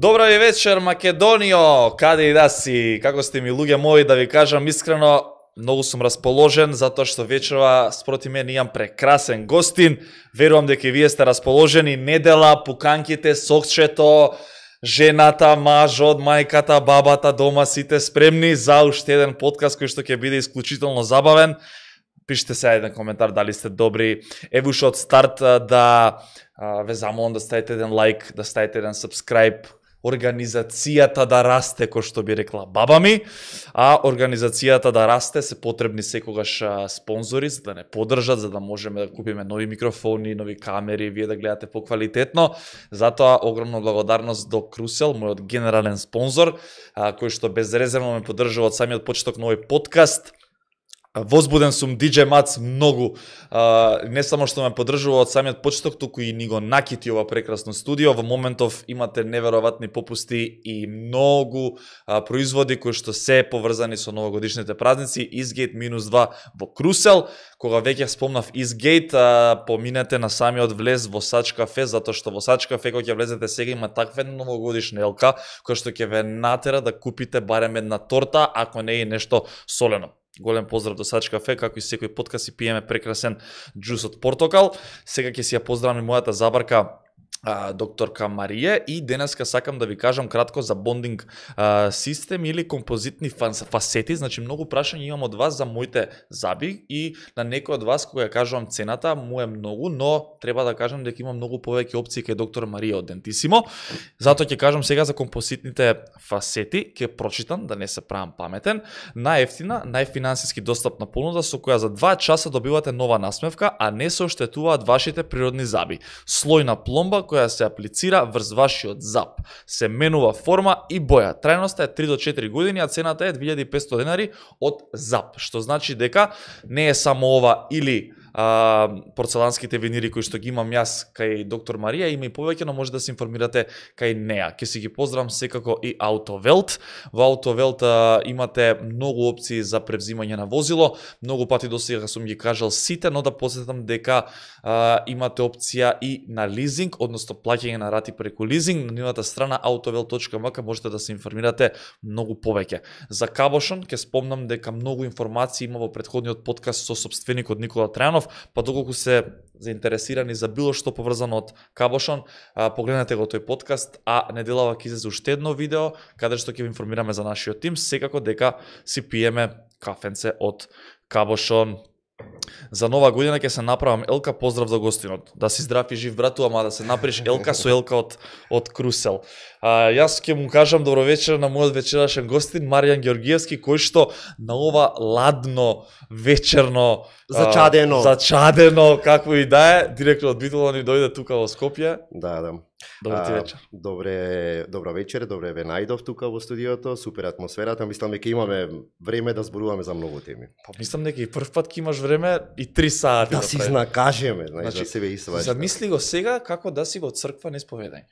Добра ви вечер, Македонио, каде и да си, како сте ми луѓе мои, да ви кажам искрено, многу сум расположен, затоа што вечерва спроти мене имам прекрасен гостин, верувам дека и вие сте расположени, недела, пуканките, сокчето, жената, мажот, мајката, бабата, дома, сите спремни за уште еден подкаст кој што ќе биде исклучително забавен. Пишете се еден коментар дали сте добри. Ево уште од старт да ве замолам да ставите еден лайк, да ставите еден subscribe. Организацијата да расте, кој што би рекла баба ми, а организацијата да расте се потребни секогаш спонзори за да не поддржат, за да можеме да купиме нови микрофони, нови камери, вие да гледате поквалитетно. Затоа огромна благодарност до Крусел, мојот генерален спонзор, кој што безрезервно ме поддржува од самиот почеток на овој подкаст. Возбуден сум DJ Мац многу, не само што ме поддржува од самиот почеток, туку и ни го накити ова прекрасно студио. Во моментов имате неверојатни попусти и многу производи кои што се поврзани со новогодишните празници. Eastgate -2 во Крусел. Кога веќе спомнав Eastgate, поминете на самиот влез во Сач кафе, затоа што во Сач кафе кога ќе влезете сега има таква новогодишна елка, која што ќе ве натера да купите барем една торта, ако не е нешто солено. Голем поздрав до Сач кафе, како и секој подкаст си пиеме прекрасен џус од портокал. Сега ќе си ја поздравам мојата забарка докторка Марија и денеска сакам да ви кажам кратко за бондинг систем или композитни фасети. Значи многу прашања имам од вас за моите заби и на некој од вас кога ја кажувам цената му е многу, но треба да кажам дека има многу повеќе опции кај доктор Марија од Дентисимо. Затоа ќе кажам сега за композитните фасети, ќе прочитам да не се правам паметен. Најефтина, најфинансиски достапна понуда со која за 2 часа добивате нова насмевка, а не се оштетуваат вашите природни заби. Слојна пломба која се аплицира врз вашиот зап. Се менува форма и боја. Трајноста е 3 до 4 години, а цената е 2500 денари од зап. Што значи дека не е само ова или порцеланските винири кои што ги имам јас кај доктор Марија, има и повеќе, но може да се информирате кај неа. Ке си ги поздравам секако и Autowelt. Во Autowelt имате многу опции за превзимање на возило. Многу пати до сега сум ги кажал сите, но да посетам дека имате опција и на лизинг, односно плаќање на рати преку лизинг. На нивната страна autowelt.mk можете да се информирате многу повеќе. За Кабошон ќе спомнам дека многу информации има во претходниот подкаст со собственикот Никола Трајанов, па доколку се заинтересирани за било што поврзано од Кабошон, погледнете го тој подкаст, а неделава ќе излезе уште едно видео каде што ќе ви информираме за нашиот тим, секако дека си пиеме кафенце од Кабошон. За нова година ќе се направам елка, поздрав за гостинот. Да си здрав и жив, брату, ама да се направиш елка со елка од Крусел. Јас ќе му кажам добро вечер на мојот вечерашен гостин Маријан Георгиевски, кој што на ова ладно вечерно зачадено какво и да е, директно од Битола ни дојде тука во Скопје. Да. Добро ти вечер. Добра вечер, добре ве најдов тука во студиото, супер атмосферата, мислам дека имаме време да зборуваме за многу теми. Па мислам дека и прв пат ќе имаш време и 3 сати да си знакажеме, значи, да себе и сваќа. Замисли го сега како да си во црква на исповедање.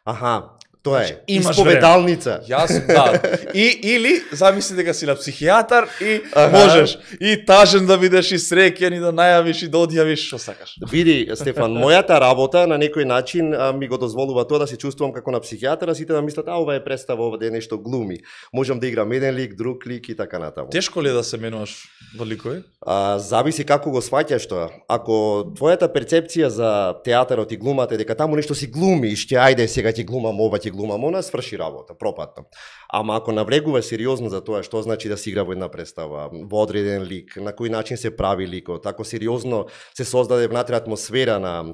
Аха, тоа е, имаш исповедалница. Јас, да. Или замисли дека си на психијатар и можеш и тажен да бидеш и среќен и да најавиш и да одјавиш што сакаш. Види, Стефан, мојата работа на некој начин ми го дозволува тоа да се чувствувам како на психијатар, а сите да мислат, ова е представа, ова е нешто глуми. Можам да играм еден лик, друг лик и така натаму. Тешко ли е да се менуваш во ликови? Зависи како го сваќаш тоа. Ако твојата перцепција за театарот и глумата е дека таму нешто си глумиш, ќе ајде сега ќе глумам ова, ќе глумам она, сврши работа, пропатно. Ама ако навлегува сериозно за тоа што значи да се игра во една представа, во одреден лик, на кој начин се прави ликот, ако сериозно се создаде внатре атмосфера на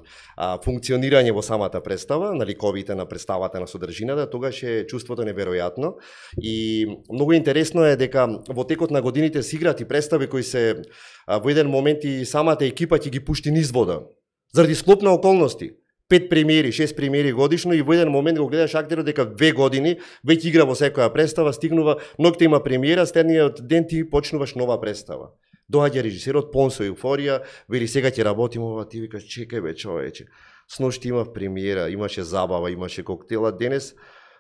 функционирање во самата представа, на ликовите, на представата, на содржината, тогаш е чувството неверојатно. И многу интересно е дека во текот на годините се играат и представи кои се во еден момент и самата екипа ќе ги пушти низ вода. Заради склоп на околности. 5 премиери, 6 премиери годишно и во еден момент го гледаш актерот дека 2 години веќе игра во секоја представа, стигнува, ноќта има премиера, следниот ден ти почнуваш нова представа. Доаѓа режисерот пон со еуфорија, вели сега ќе работиме ова, ти викаш чекај бе човече. Сношти имав премиера, имаше забава, имаше коктела, денес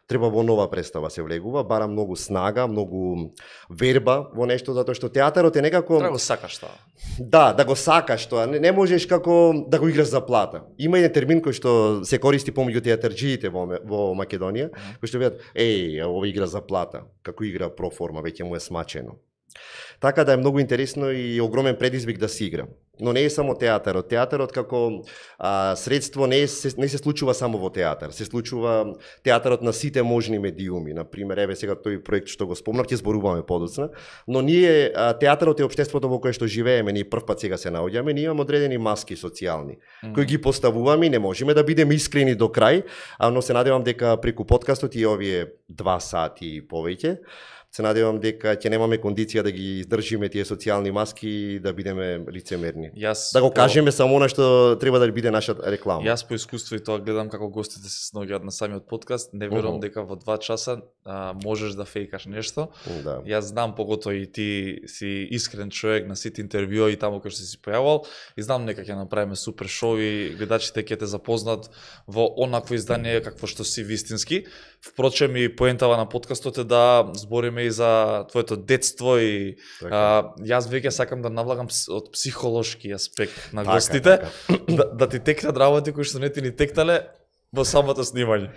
Треба во нова представа се влегува, бара многу снага, многу верба во нешто, затоа што театарот е некако... Треба го сакаш тоа. Да го сакаш тоа, не можеш како да го играш за плата. Има еден термин кој што се користи помеѓу театарџиите во Македонија, кој што велат, ова игра за плата, како игра проформа, веќе му е смачено. Така да е многу интересно и огромен предизвик да се игра. Но не е само театарот. Театарот како средство не се случува само во театар. Се случува театарот на сите можни медиуми. Например, еве сега тој проект што го спомнав, ќе зборуваме подоцна, но ние театарот е општеството во кое што живееме, ние првпат сега се наоѓаме, ние имаме одредени маски социјални кои ги поставуваме и не можеме да бидеме искрени до крај, но се надевам дека преку подкастот и овие 2 сати и повеќе се надевам дека ќе немаме кондиција да ги издржиме тие социјални маски и да бидеме лицемерни. Да го кажеме само она што треба да биде наша реклама. Јас по искуство и тоа гледам како гостите се снаоѓаат на самиот подкаст, не верувам дека во 2 часа можеш да фејкаш нешто. Да. Јас знам, поготоа и ти си искрен човек на сите интервјуи таму кај што си појавувал и знам дека ќе направиме супер шоу и гледачите ќе те запознат во онакво издание какво што си вистински. Впрочем и поентава на подкастот е да збориме и за твоето детство и јас веќе сакам да навлагам од психолошки аспект на гостите, да ти текнат работи кои што не ти ни текнале во самото снимање.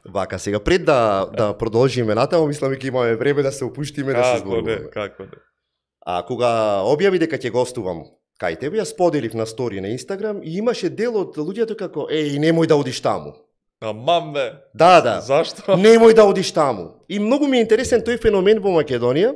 Вака, сега пред да продолжиме натаму, мислам дека имаме време да се опуштиме да се зборуваме. Како не. Кога објави дека ќе гостувам кај тебе, ја споделив на стори на Инстаграм и имаше дел од луѓето како немој да одиш таму. Мамбе. Да. Зашто? Немој да одиш таму. И многу ми е интересен тој феномен во Македонија.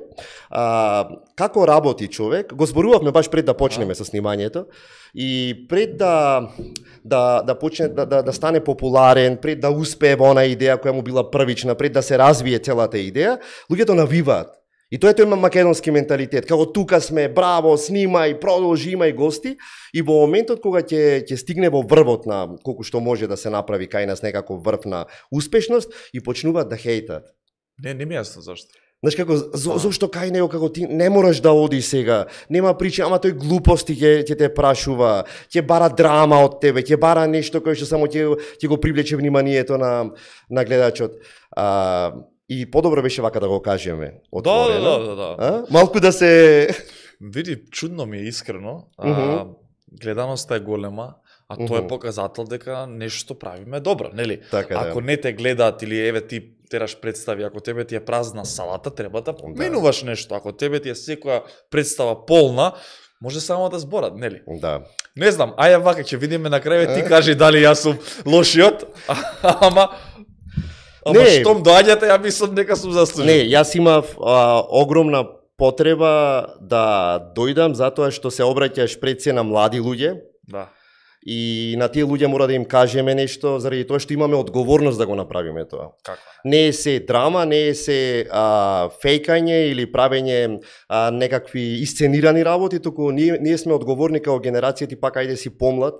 Како работи човек? Го зборувавме баш пред да почнеме со снимањето. И пред да почне да стане популарен, пред да успее во она идеја која му била првична, пред да се развие целата идеја, луѓето навиваат. И тоа е тој македонски менталитет, како тука сме, браво, снимај, продолжи, имај гости, и во моментот кога ќе стигне во врвот на колку што може да се направи кај нас некако врв на успешност и почнуваат да хейтат. Не ми јасно зашто. Знаеш како, зошто кај него, како ти не мораш да оди сега, нема причина, ама тој глупости ќе те прашува, ќе бара драма од тебе, ќе бара нешто кој што само ќе го привлече вниманието на гледачот. И подобро беше вака да го кажеме отворено. Да. Малку да се... Види, чудно ми е искрено. Гледаноста е голема, а тоа е показател дека нешто правиме добро, нели? Така, ако не те гледаат или еве ти тераш представи, ако тебе ти е празна салата, треба да поменуваш нешто. Ако тебе ти е секоја представа полна, може само да зборат, нели? Да. Не знам, ајде вака ќе видиме на крај, ти кажи дали јас сум лошиот, ама штом доаѓате, ја мислам дека сум заслужен. Не, јас имав огромна потреба да дојдам затоа што се обраќаш пред се на млади луѓе. Да. И на тие луѓе мора да им кажеме нешто, заради тоа што имаме одговорност да го направиме тоа. Како? Не е се драма, не е се фејкање или правење некакви исценирани работи, туку ние сме одговорни као генерација, ти пак ајде си помлад,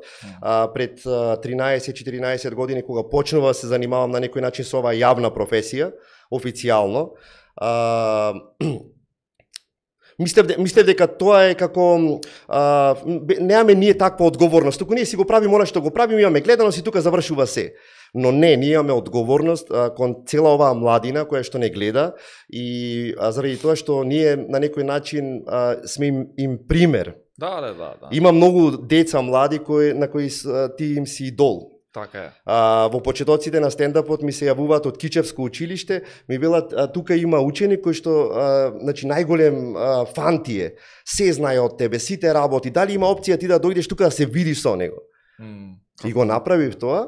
пред 13-14 години кога почнува да се занимавам на некој начин со оваа јавна професија, официјално, Мислев дека тоа е како немаме ние таква одговорност, туку ние си го правиме она што го правиме, имаме гледаност и тука завршува се. Но не, ние имаме одговорност кон цела оваа младина која што не гледа и заради тоа што ние на некој начин сме им пример. Да. Има многу деца млади на кои ти им си идол. Така е. Во почетоците на стендапот ми се јавуваат од Кичевско училиште, ми велат тука има ученик кој што значи најголем фан ти е, се знае од тебе, сите работи, дали има опција ти да дојдеш тука да се видиш со него. И го направив тоа.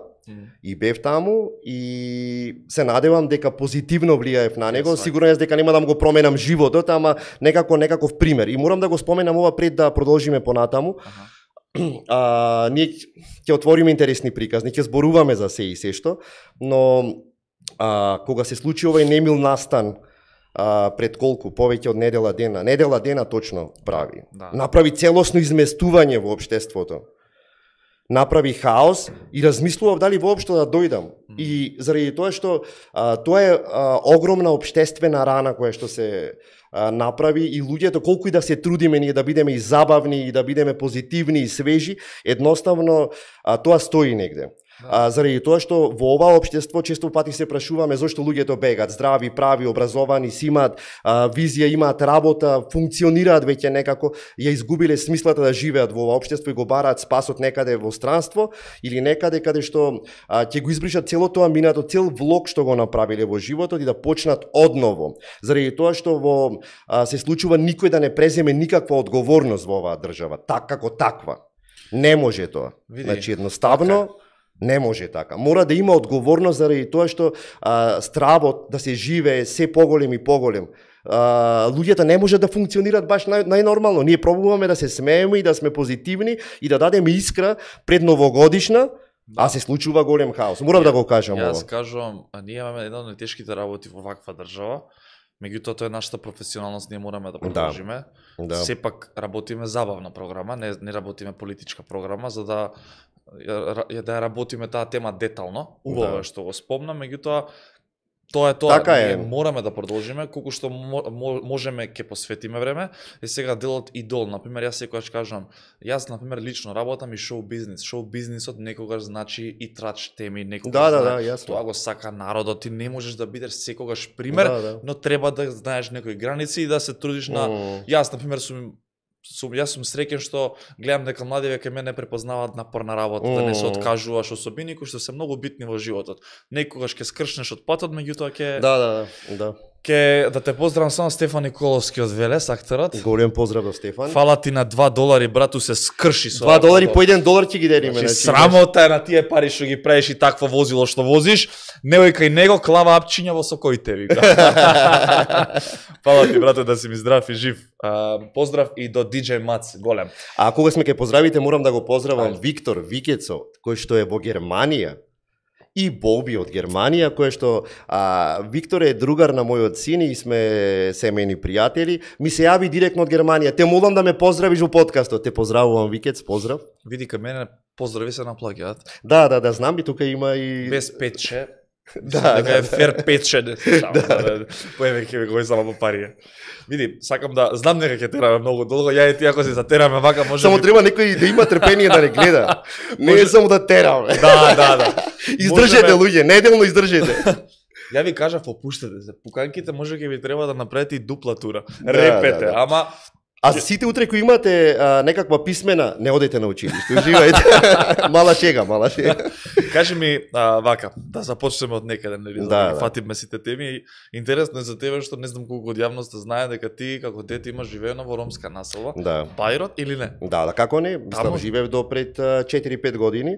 И бев таму и се надевам дека позитивно влијаев на него. Сигурно јас дека нема да му го променам животот, ама некаков пример. И морам да го споменам ова пред да продолжиме понатаму. Ние ќе отвориме интересни приказни, ќе зборуваме за се и се што, но кога се случи овој немил настан пред колку, повеќе од недела дена точно прави. Направи целосно изместување во општеството. Направи хаос и размислував дали воопшто да дојдам. И заради тоа што тоа е огромна општествена рана која што се направи и луѓето колку и да се трудиме ние да бидеме и забавни и да бидеме позитивни и свежи, едноставно тоа стои негде. Заради тоа што во ова општество често пати се прашуваме зошто луѓето бегат, здрави, прави, образовани, си имаат визија, имаат работа, функционираат веќе некако, ја изгубиле смислата да живеат во ова општество и го бараат спасот некаде во странство или некаде каде што ќе го избришат цело тоа минато, цел влог што го направиле во животот и да почнат одново. Заради тоа што се случува никој да не преземе никаква одговорност во оваа држава, како таква. Не може тоа. Значи едноставно не може така. Мора да има одговорност заради тоа што стравот да се живее се поголем и поголем. Луѓето не може да функционираат баш најнормално. Ние пробуваме да се смееме и да сме позитивни и да дадеме искра пред новогодишна, а се случува голем хаос. Морам да го кажам ова. Јас кажувам, ние имаме една од најтешките работи во ваква држава. Меѓутоа тоа е нашата професионалност, ние мораме да продолжиме. Да. Сепак работиме забавна програма, не работиме политичка програма, за да ја работиме таа тема детално. Убаво е што го спомнам, меѓутоа тоа е тоа. Така е. Ние мораме да продолжиме колку што можеме ќе посветиме време. И сега делот идол, например, јас секогаш кажам, јас например лично работам и шоу бизнис. Шоу бизнисот некогаш значи и трач теми, некогаш јасно. Тоа го сака народот, ти не можеш да бидеш секогаш пример, но треба да знаеш некои граници и да се трудиш на јас например јас сум среќен што гледам дека младиве кај мене препознаваат напорна работа, да не се откажуваш, особини кои што се многу битни во животот. Некогаш ќе скршнеш од патот, меѓутоа ќе Ке да те поздравам само Стефан Николовски од Велес, акторот. Голем поздрав до Стефан. Фала ти на $2, брату, се скрши со $2 по $1 ќе ги делиме. Значи срамота е на тие пари што ги правиш и такво возило што возиш. Невој кај него клава апчиња во сокоите, вика. Фала ти, брате, да си ми здрав и жив. Поздрав и до DJ Мац, голем. А кога сме кај поздравите, морам да го поздравам Виктор Викецо, кој што е во Германија. И Боби од Германија, кој што Виктор е другар на мојот син и сме семејни пријатели, ми се јави директно од Германија. Те молам да ме поздравиш во подкастот. Те поздравувам, Викец, поздрав. Види кај мене поздрави се наплаќаат. Да, знам и тука има и без петче. Дека е фер петче. Поеме ќе го само по пари. Види, сакам да знам дека ќе тераме многу долго, ја и ти ако се затераме вака може. Само треба некој да има трпение да не гледа. Не е само да тераме. Да. Издржете луѓе, неделно издржете. Ја ви кажав, опуштете се. Пуканките може ќе ви треба да направите и дупла тура. Репете, ама а сите утре кои имате некаква писмена, не одете на училиште, уживајте. Мала шега. Кажи ми вака, да започнеме од некаде, нели, да фатиме сите теми. Интересно е за тебе што не знам колку од јавноста знае дека ти како дете имаш живеено во ромска населба. Да. Бајрот или не? Да, како не? Мислам живеев до пред 4-5 години.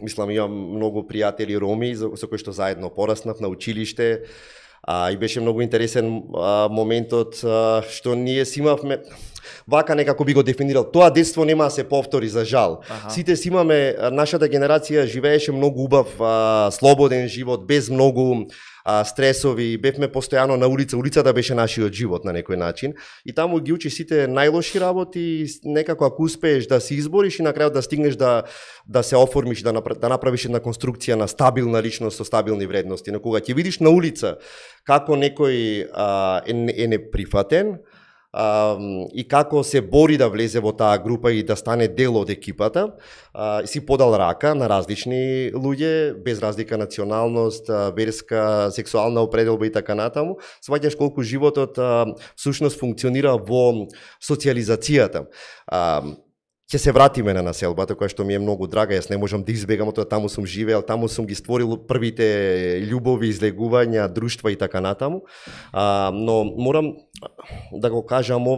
Мислам имам многу пријатели роми со кои што заедно пораснав на училиште. И беше многу интересен моментот што ние си имавме, вака некако би го дефинирал, тоа детство нема да се повтори за жал. Сите си имаме, нашата генерација живееше многу убав, слободен живот, без многу стресови, бевме постојано на улица, улицата беше нашиот живот на некој начин и таму ги учиш сите најлоши работи, некако ако успееш да се избориш и на крајот да стигнеш да се оформиш, да направиш една конструкција на стабилна личност со стабилни вредности. Но кога ќе видиш на улица како некој е неприфатен, и како се бори да влезе во таа група и да стане дел од екипата, си подал рака на различни луѓе, без разлика националност, верска, сексуална определба и така натаму, сваќаш колку животот всушност функционира во социјализацијата. Ќе се вратиме на населбата, која што ми е многу драга, јас не можам да избегам, тоа таму сум живеел, таму сум ги створил првите љубови, излегувања, друштва и така натаму. Но морам да го кажам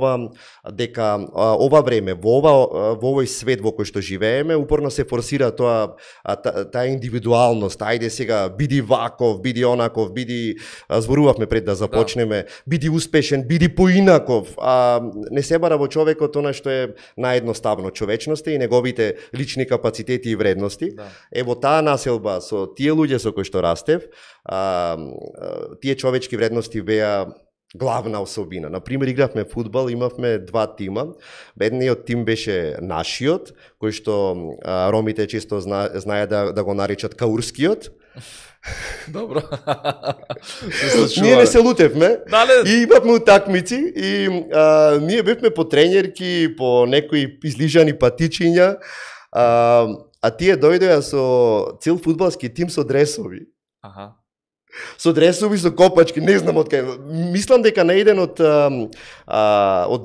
дека ова време, во овој свет во кој што живееме, упорно се форсира таа индивидуалност. Ајде сега, биди ваков, биди онаков, зборувавме пред да започнеме, биди успешен, биди поинаков. Не се бара во човекот она што е наједноставно, човечноста и неговите лични капацитети и вредности. Во таа населба со тие луѓе со кои што растев, тие човечки вредности беа главна особина. Например, игравме фудбал, имавме два тима. Едниот тим беше нашиот, кој што ромите често знаеат да го наричат каурскиот. Добро. Ние не се лутевме и имавме утакмици и ние бевме по тренерки, по некои излижани патичиња. А тие дојдоа со цел фудбалски тим со дресови. Аха. Со дресови, со копачки, не знам од кај. Мислам дека на еден од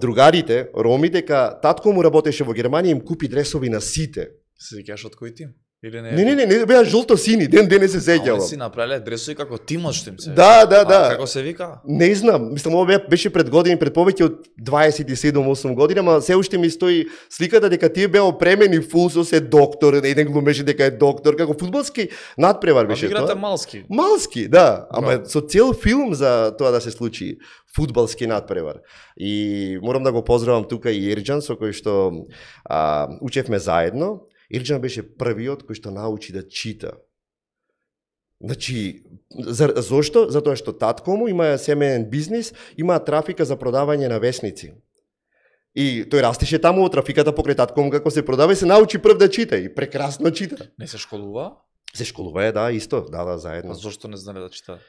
другарите, роми, дека татко му работеше во Германија, им купи дресови на сите. Се сеќаваш од кој тим? Или не? Не, беа жолто-сини, ден не се сеќавам. А си направиле дресови како тимот што им се. Да. Како се вика? Не знам, мислам ова беше пред години, пред повеќе од 27-8 години, ама се уште ми стои сликата дека тие беа опремени фул со се доктор, еден глумеше дека е доктор, како фудбалски надпревар беше тоа. Играте малски. Малски, да, ама со цел филм за тоа да се случи фудбалски надпревар. И морам да го поздравам тука и Ерџан со кој што учевме заедно. Ерџан беше првиот кој што научи да чита. Значи, зошто? Затоа што татко му има семеен бизнис, има трафика за продавање на весници. И тој растеше таму од трафиката покрај татко му како се продава и се научи прв да чита и прекрасно чита. Не се школува? Се школува, да, исто, да, заедно. А зошто не знае да чита?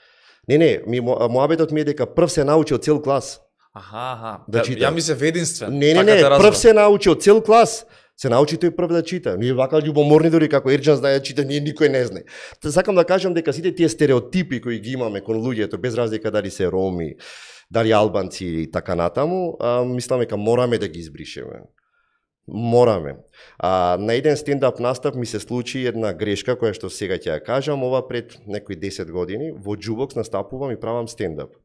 Не, моабетот ми е дека прв се научи од цел клас. Аха. Да чита. Ја мислев единствен. Не, прв се научи од цел клас. Се научи тој прв да чита. Ние вака љубоморни дори како Ерџан знае да чита, ние никој не знае. Сакам да кажам дека сите тие стереотипи кои ги имаме кон луѓето, без разлика дали се роми, дали албанци и така натаму, мислам дека мораме да ги избришеме. Мораме. На еден стендап настап ми се случи една грешка која што сега ќе ја кажам, ова пред некои 10 години, во Џубокс настапувам и правам стендап.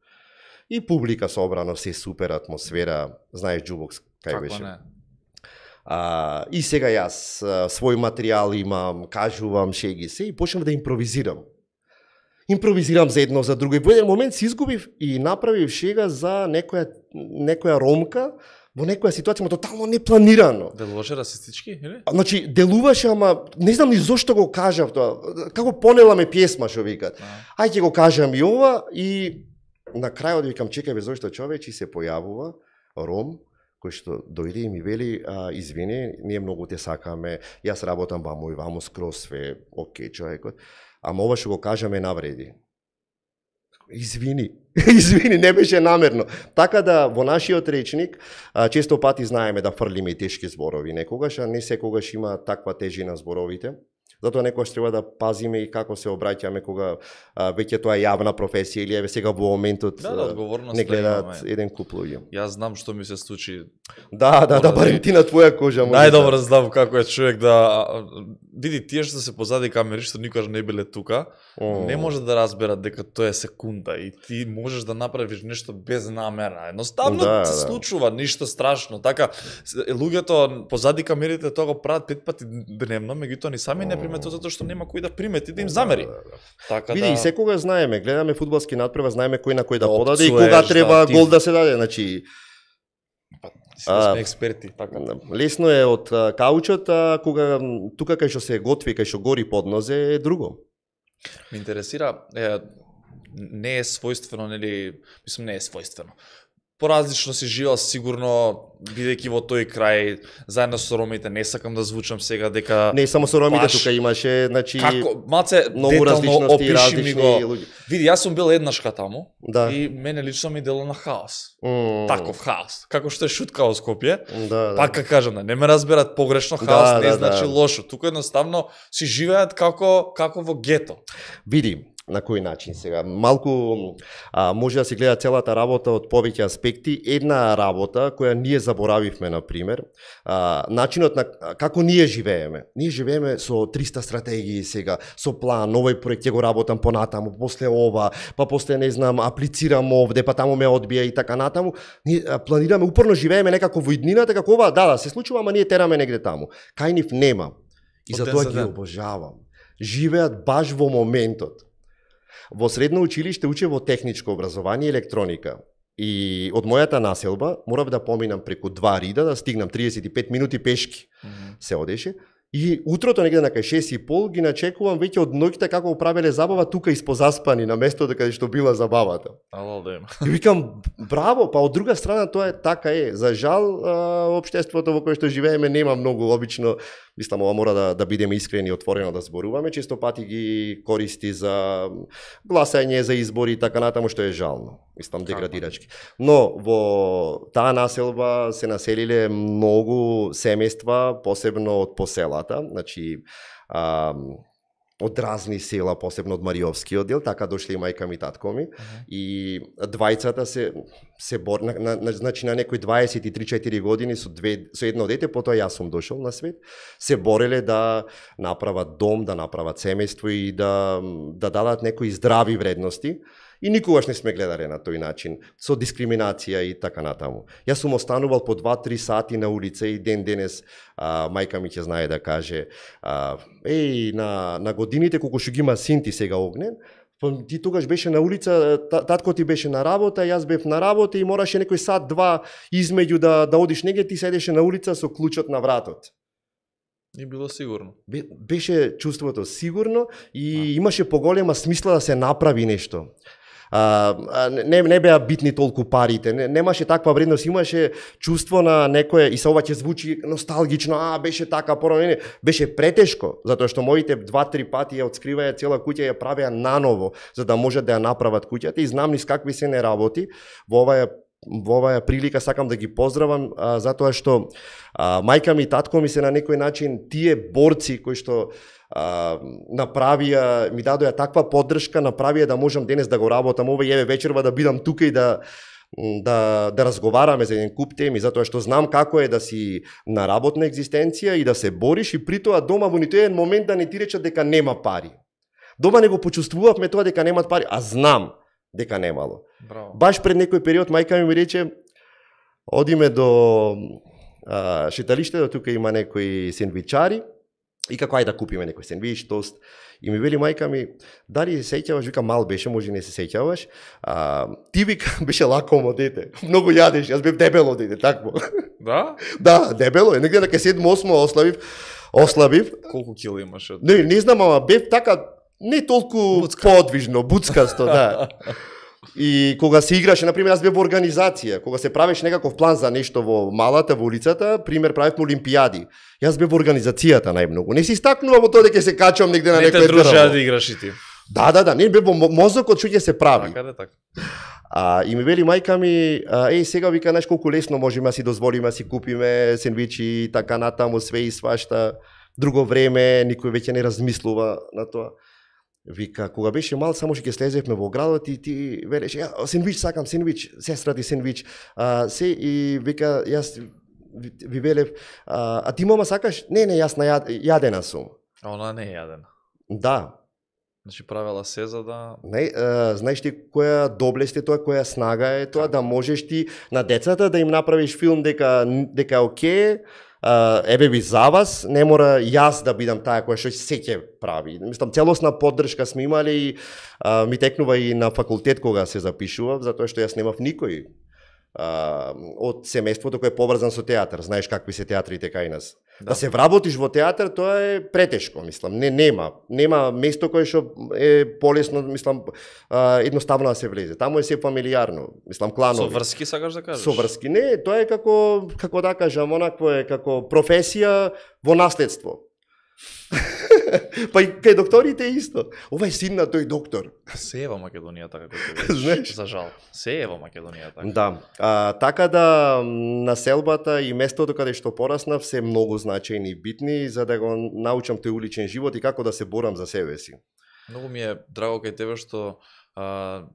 И публика собрано, се супер атмосфера, знаеш Џубокс кај беше. Не? И сега јас свој материјал имам, кажувам шеги се и почнав да импровизирам. Импровизирам за едно, за друго. И во еден момент се изгубив и направив шега за некоја ромка во некоја ситуација, тотално непланирано. Делуваше расистички, или? Значи, делуваше, ама не знам ни зошто го кажав тоа. Како понела ме песма, што викат. Ајде го кажам и ова и на крајот викам, чекај бе, зошто човечи се појавува ром, кој што дојде и ми вели, извини, ние многу те сакаме, јас работам ваму и ваму скроз све, окей човекот, ама ова што го кажаме навреди. Извини, не беше намерно. Така да во нашиот речник често пати знаеме да фрлиме и тешки зборови некогаш, а не секогаш има таква тежина зборовите. Затоа некогаш треба да пазиме и како се обраќаме кога веќе тоа е јавна професија или еве сега во моментот не гледаат еден куп луѓе. Јас знам што ми се случи. Да, барем ти на твоја кожа. Најдобро знам како е човек да види тие што се позади камери што никогаш не биле тука, не може да разберат дека тоа е секунда и ти можеш да направиш нешто без намера. Едноставно се случува, ништо страшно. Така луѓето позади камерите тоа го прават 5 пати дневно, меѓутоа ни сами не приметот затоа што нема кој да примети да им замери. Така види, и секогаш знаеме, гледаме фудбалски надпревар, знаеме кој на кој да подаде и кога треба гол да се даде, значи сме експерти, така. Лесно е од каучот, кога тука кај што се готви, кај што гори поднозе е друго. Ме интересира, не е својствено, нели, мислам не е својствено. Поразлично си живеел сигурно, бидејќи во тој крај, заедно со ромите, не сакам да звучам сега дека... Не само со ромите, тука имаше, значи... Како, малце детално опиши ми го. Види, јас сум бил еднашка таму и мене лично ми дело на хаос. Таков хаос. Како што е шутка во Скопје, пака кажам, не ме разберат погрешно, хаос не значи лошо. Тука едноставно си живеат како во гето. Види, на кој начин сега? Малку може да се гледа целата работа од повеќе аспекти. Една работа која ние заборавивме, например, начинот на како ние живееме. Ние живееме со 300 стратегии сега, со план, овој проект ќе го работам понатаму, после ова, па после не знам, аплицирам овде, па таму ме одбија и така натаму. Ние планираме, упорно живееме некако во иднината, како ова, се случува, ама ние тераме негде таму. Кај нив нема. И затоа ги обожавам. Живеат баш во моментот. Во средно училиште учев во техничко образование и електроника. И од мојата населба морав да поминам преку 2 рида, да стигнам 35 минути пешки. Се одеше. И утрото негде на кај 6:30 ги начекувам веќе од ноќта како правеле забава тука испозаспани на местото каде што била забавата. И викам, браво, па од друга страна тоа е така е. За жал, општеството во кое што живееме нема многу обично, мислам, ова мора да бидеме искрени и отворено да зборуваме, често пати ги користи за гласање, за избори и така натаму, што е жално. мислам деградирачки. Но во таа населба се населиле многу семејства, посебно од поселата, значи од разни села, посебно од Мариовскиот дел, така дошле и мајка ми, татко ми, и двајцата се бор, значи на некои 23-4 години со едно дете, потоа јас сум дошол на свет, се бореле да направат дом, да направат семејство и да дадат некои здрави вредности. И никогаш не сме гледале на тој начин, со дискриминација и така натаму. Јас сум останувал по 2-3 сати на улица и ден денес мајка ми ќе знае да каже на годините колку што ги има син ти сега Огнен, ти тогаш беше на улица, татко ти беше на работа, јас бев на работа и мораше некој сат-два измеѓу да одиш негде, ти седеше на улица со клучот на вратот. Не било сигурно. Беше чувството сигурно и имаше поголема смисла да се направи нешто. Не беа битни толку парите, немаше таква вредност, имаше чувство на некое, и се ова ќе звучи носталгично, беше така, порано, беше претешко, затоа што моите 2-3 пати ја отскриваја цела куќа, ја правеа наново, за да можат да ја направат куќата, и знам низ какви се не работи. Во оваа прилика сакам да ги поздравам, затоа што мајка ми и татко ми се на некој начин тие борци кои што направија, ми дадоа таква поддршка, направија да можам денес да го работам ова и еве вечерва да бидам тука и да разговараме за еден куп теми, затоа што знам како е да си на работна екзистенција и да се бориш и при тоа дома во ниту еден момент да не ти речат дека нема пари. Дома не го почувствувавме тоа дека немат пари, а знам дека немало. Браво. Баш пред некој период мајка ми рече, одиме до шеталиштето, тука има некои сендвичари, и како ајде да купиме некој сендвич, тост. И ми вели мајка ми, дали се сеќаваш, вика мал беше, може не се сеќаваш, ти вика беше лакомо дете, многу јадеш, јас бев дебело дете, такво. Да? Да, дебело е, негде на 7-8 ослабив. Колку кило имаше? Не знам, ама бев така, не толку подвижно, буцкасто, да. И кога се играше, например, јас бев во организација, кога се правеше некаков план за нешто во малата, во улицата, пример, правевме олимпијади. Јас бев во организацијата најмногу. Не си стакнува во тоа дека се качувам негде на некој дрво. Не те дружеа да играш и ти. Да, не бев во мозокот што ќе се прави. Така. И ми вели мајка ми, сега вика, знаеш колку лесно можеме да си дозволиме да си купиме сендвичи, така натаму, све и свашта. Друго време, никој веќе не размислува на тоа. Вика, кога беше мал, само што ќе слезевме во градот и ти велеше, сендвич сакам, сендвич, сестра ти сендвич. И вика, јас ви велев, а ти мама сакаш? Не, јас јадена сум. А она не е јадена. Да. Значи правела се за да... Знаеш ти која доблест е тоа, која снага е тоа, да можеш ти на децата да им направиш филм дека е окей, еве ви за вас, не мора јас да бидам таа која што се ќе прави. Мислам, целосна поддршка сме имали и ми текнува и на факултет кога се запишував, затоа што јас немав никој од семејството кој е поврзан со театар. Знаеш какви се театрите кај нас. Да се вработиш во театар, тоа е претешко, мислам. Нема место кое што е полесно, мислам, едноставно да се влезе. Таму е се фамилиарно, мислам, кланови. Со врски сакаш да кажеш? Со врски, не, тоа е како да кажам, онакво е како професија во наследство. Па и кај докторите е исто. Ова е син на тој доктор. Се е во Македонија така како знаеш. За жал. Се е во Македонија така. Да. Така да населбата и местото каде што пораснав се многу значајни и битни за да го научам тој уличен живот и како да се борам за себе си. Многу ми е драго кај тебе што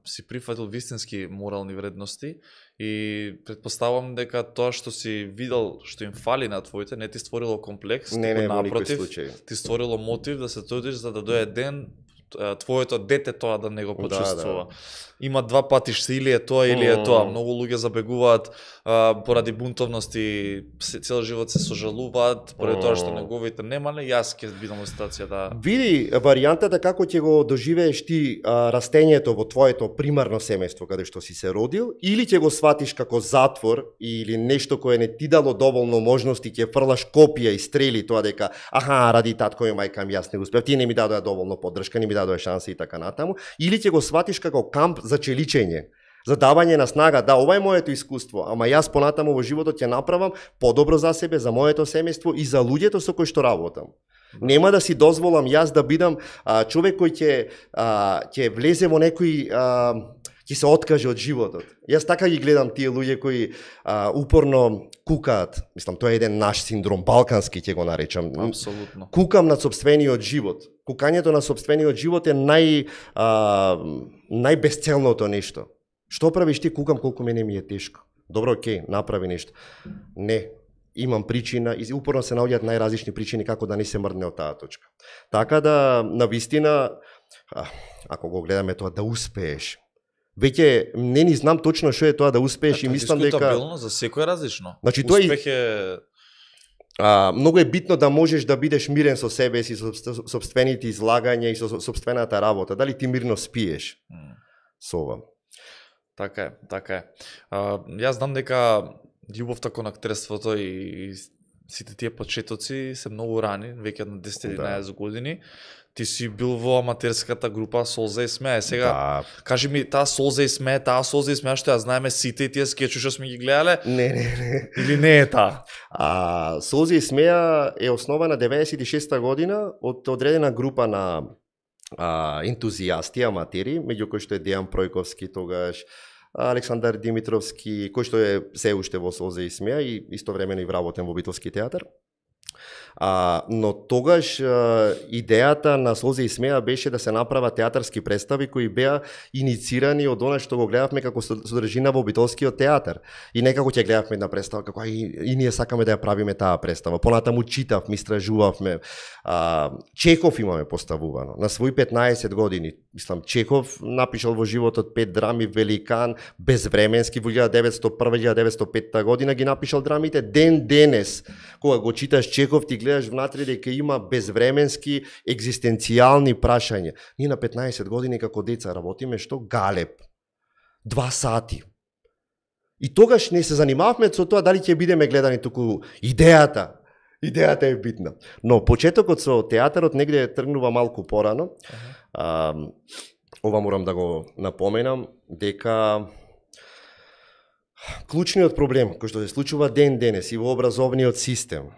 си прифатил вистински морални вредности и предпоставам дека тоа што си видел што им фали на твоите не ти створило комплекс, не, напротив, ти створило мотив да се трудиш за да дое ден твоето дете тоа да не го почувствува. Да. Има два патишта, или е тоа или е тоа. Многу луѓе забегуваат поради бунтовности, цел живот се сожалуваат, поради тоа што неговите нема, не јас ќе бидам во ситуација да... Види, варијантата како ќе го доживееш ти растењето во твоето примарно семејство каде што си се родил, или ќе го сватиш како затвор или нешто кое не ти дало доволно можности, ќе фрлаш копија и стрели тоа дека ради татко и мајка ми јас не успев, ти не ми дадоа доволно поддршка, не ми дадоа шанси и така натаму, или ќе го сватиш како камп за челичење, за давање на снага, да, ова е моето искуство, ама јас понатаму во животот ќе направам подобро за себе, за моето семејство и за луѓето со кои што работам. Нема да си дозволам јас да бидам човек кој ќе влезе во некој ќе се откаже од животот. Јас така ги гледам тие луѓе кои упорно кукаат. Мислам, тоа е еден наш синдром, балкански ќе го наречам. Апсолутно. Кукам над сопствениот живот. Кукањето на сопствениот живот е најбесцелното нешто. Што правиш ти? Кукам колку мене ми е тешко. Добро, окей, направи нешто. Не, имам причина и упорно се наоѓаат најразлични причини како да не се мрдне од таа точка. Така да, навистина, ако го гледаме тоа, да успееш. Веќе не ни знам точно што е тоа да успееш и мислам дека дискутабилно за секој различно. Значи тоа успех е многу е битно да можеш да бидеш мирен со себе си, со сопствените излагања и со сопствената работа. Дали ти мирно спиеш со ова? Така е, така е. Јас знам дека љубовта кон актерството и сите тие почетоци се многу рани, веќе на 10-11 години. Ти си бил во аматерската група Солза и смеа. Сега, кажи ми, таа Солза и смеа што ја знаеме сите и тие скечи што сме ги гледале? Не. Или не е таа? Солза и смеа е основана 96-та година од одредена група на ентузијасти, аматери, меѓу кои што е Дејан Пројковски тогаш, Александар Димитровски, кој што е се уште во Солза и смеа и истовремено и вработен во Битолски театар. Но тогаш идејата на Солза и смеа беше да се направат театарски представи кои беа иницирани од она што го гледавме како содржина во Битолскиот театар. И некако ќе гледавме една представа како и ние сакаме да ја правиме таа представа. Понатаму читавме, истражувавме. Чехов имаме поставувано на своји 15 години. Мислам, Чехов напишал во животот 5 драми, Великан, Безвременски во 1901-1905 година ги напишал драмите. Ден денес, кога го читаш Чехов, ти гледаш внатре дека има безвременски екзистенцијални прашања. Ние на 15 години како деца работиме што? Галеб. 2 сати. И тогаш не се занимававме со тоа дали ќе бидеме гледани, туку идејата е битна. Но почетокот со театарот негде тргнува малку порано. Ова морам да го напоменам, дека клучниот проблем кој што се случува ден денес и во образовниот систем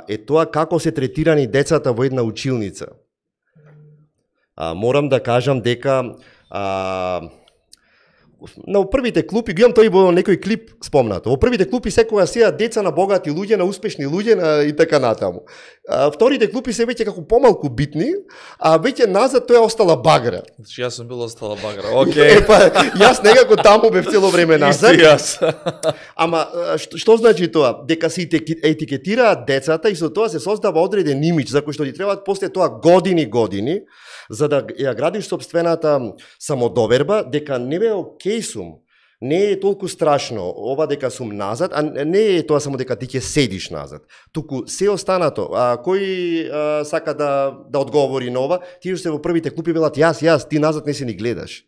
е тоа како се третирани децата во една училница. Морам да кажам дека на првите клупи, го имам тој во некој клип спомнато. Во првите клупи секогаш сеат деца на богати луѓе, на успешни луѓе и така натаму. Вторите клупи се веќе како помалку битни, а веќе назад тоа е остала багра. Значи јас сум бил остала багра. Океј. Јас некако таму бев цело време назад. Јас. Ама што значи тоа? Дека се етикетираат децата и со тоа се создава одреден имидж за кој што ти требаат после тоа години за да ја градиш сопствената самодоверба, дека не бе окей сум, не е толку страшно ова дека сум назад, а не е тоа само дека ти ќе седиш назад. Туку се останато, кој сака да одговори на ова, тие што се во првите клупи велат јас, ти назад не се ни гледаш.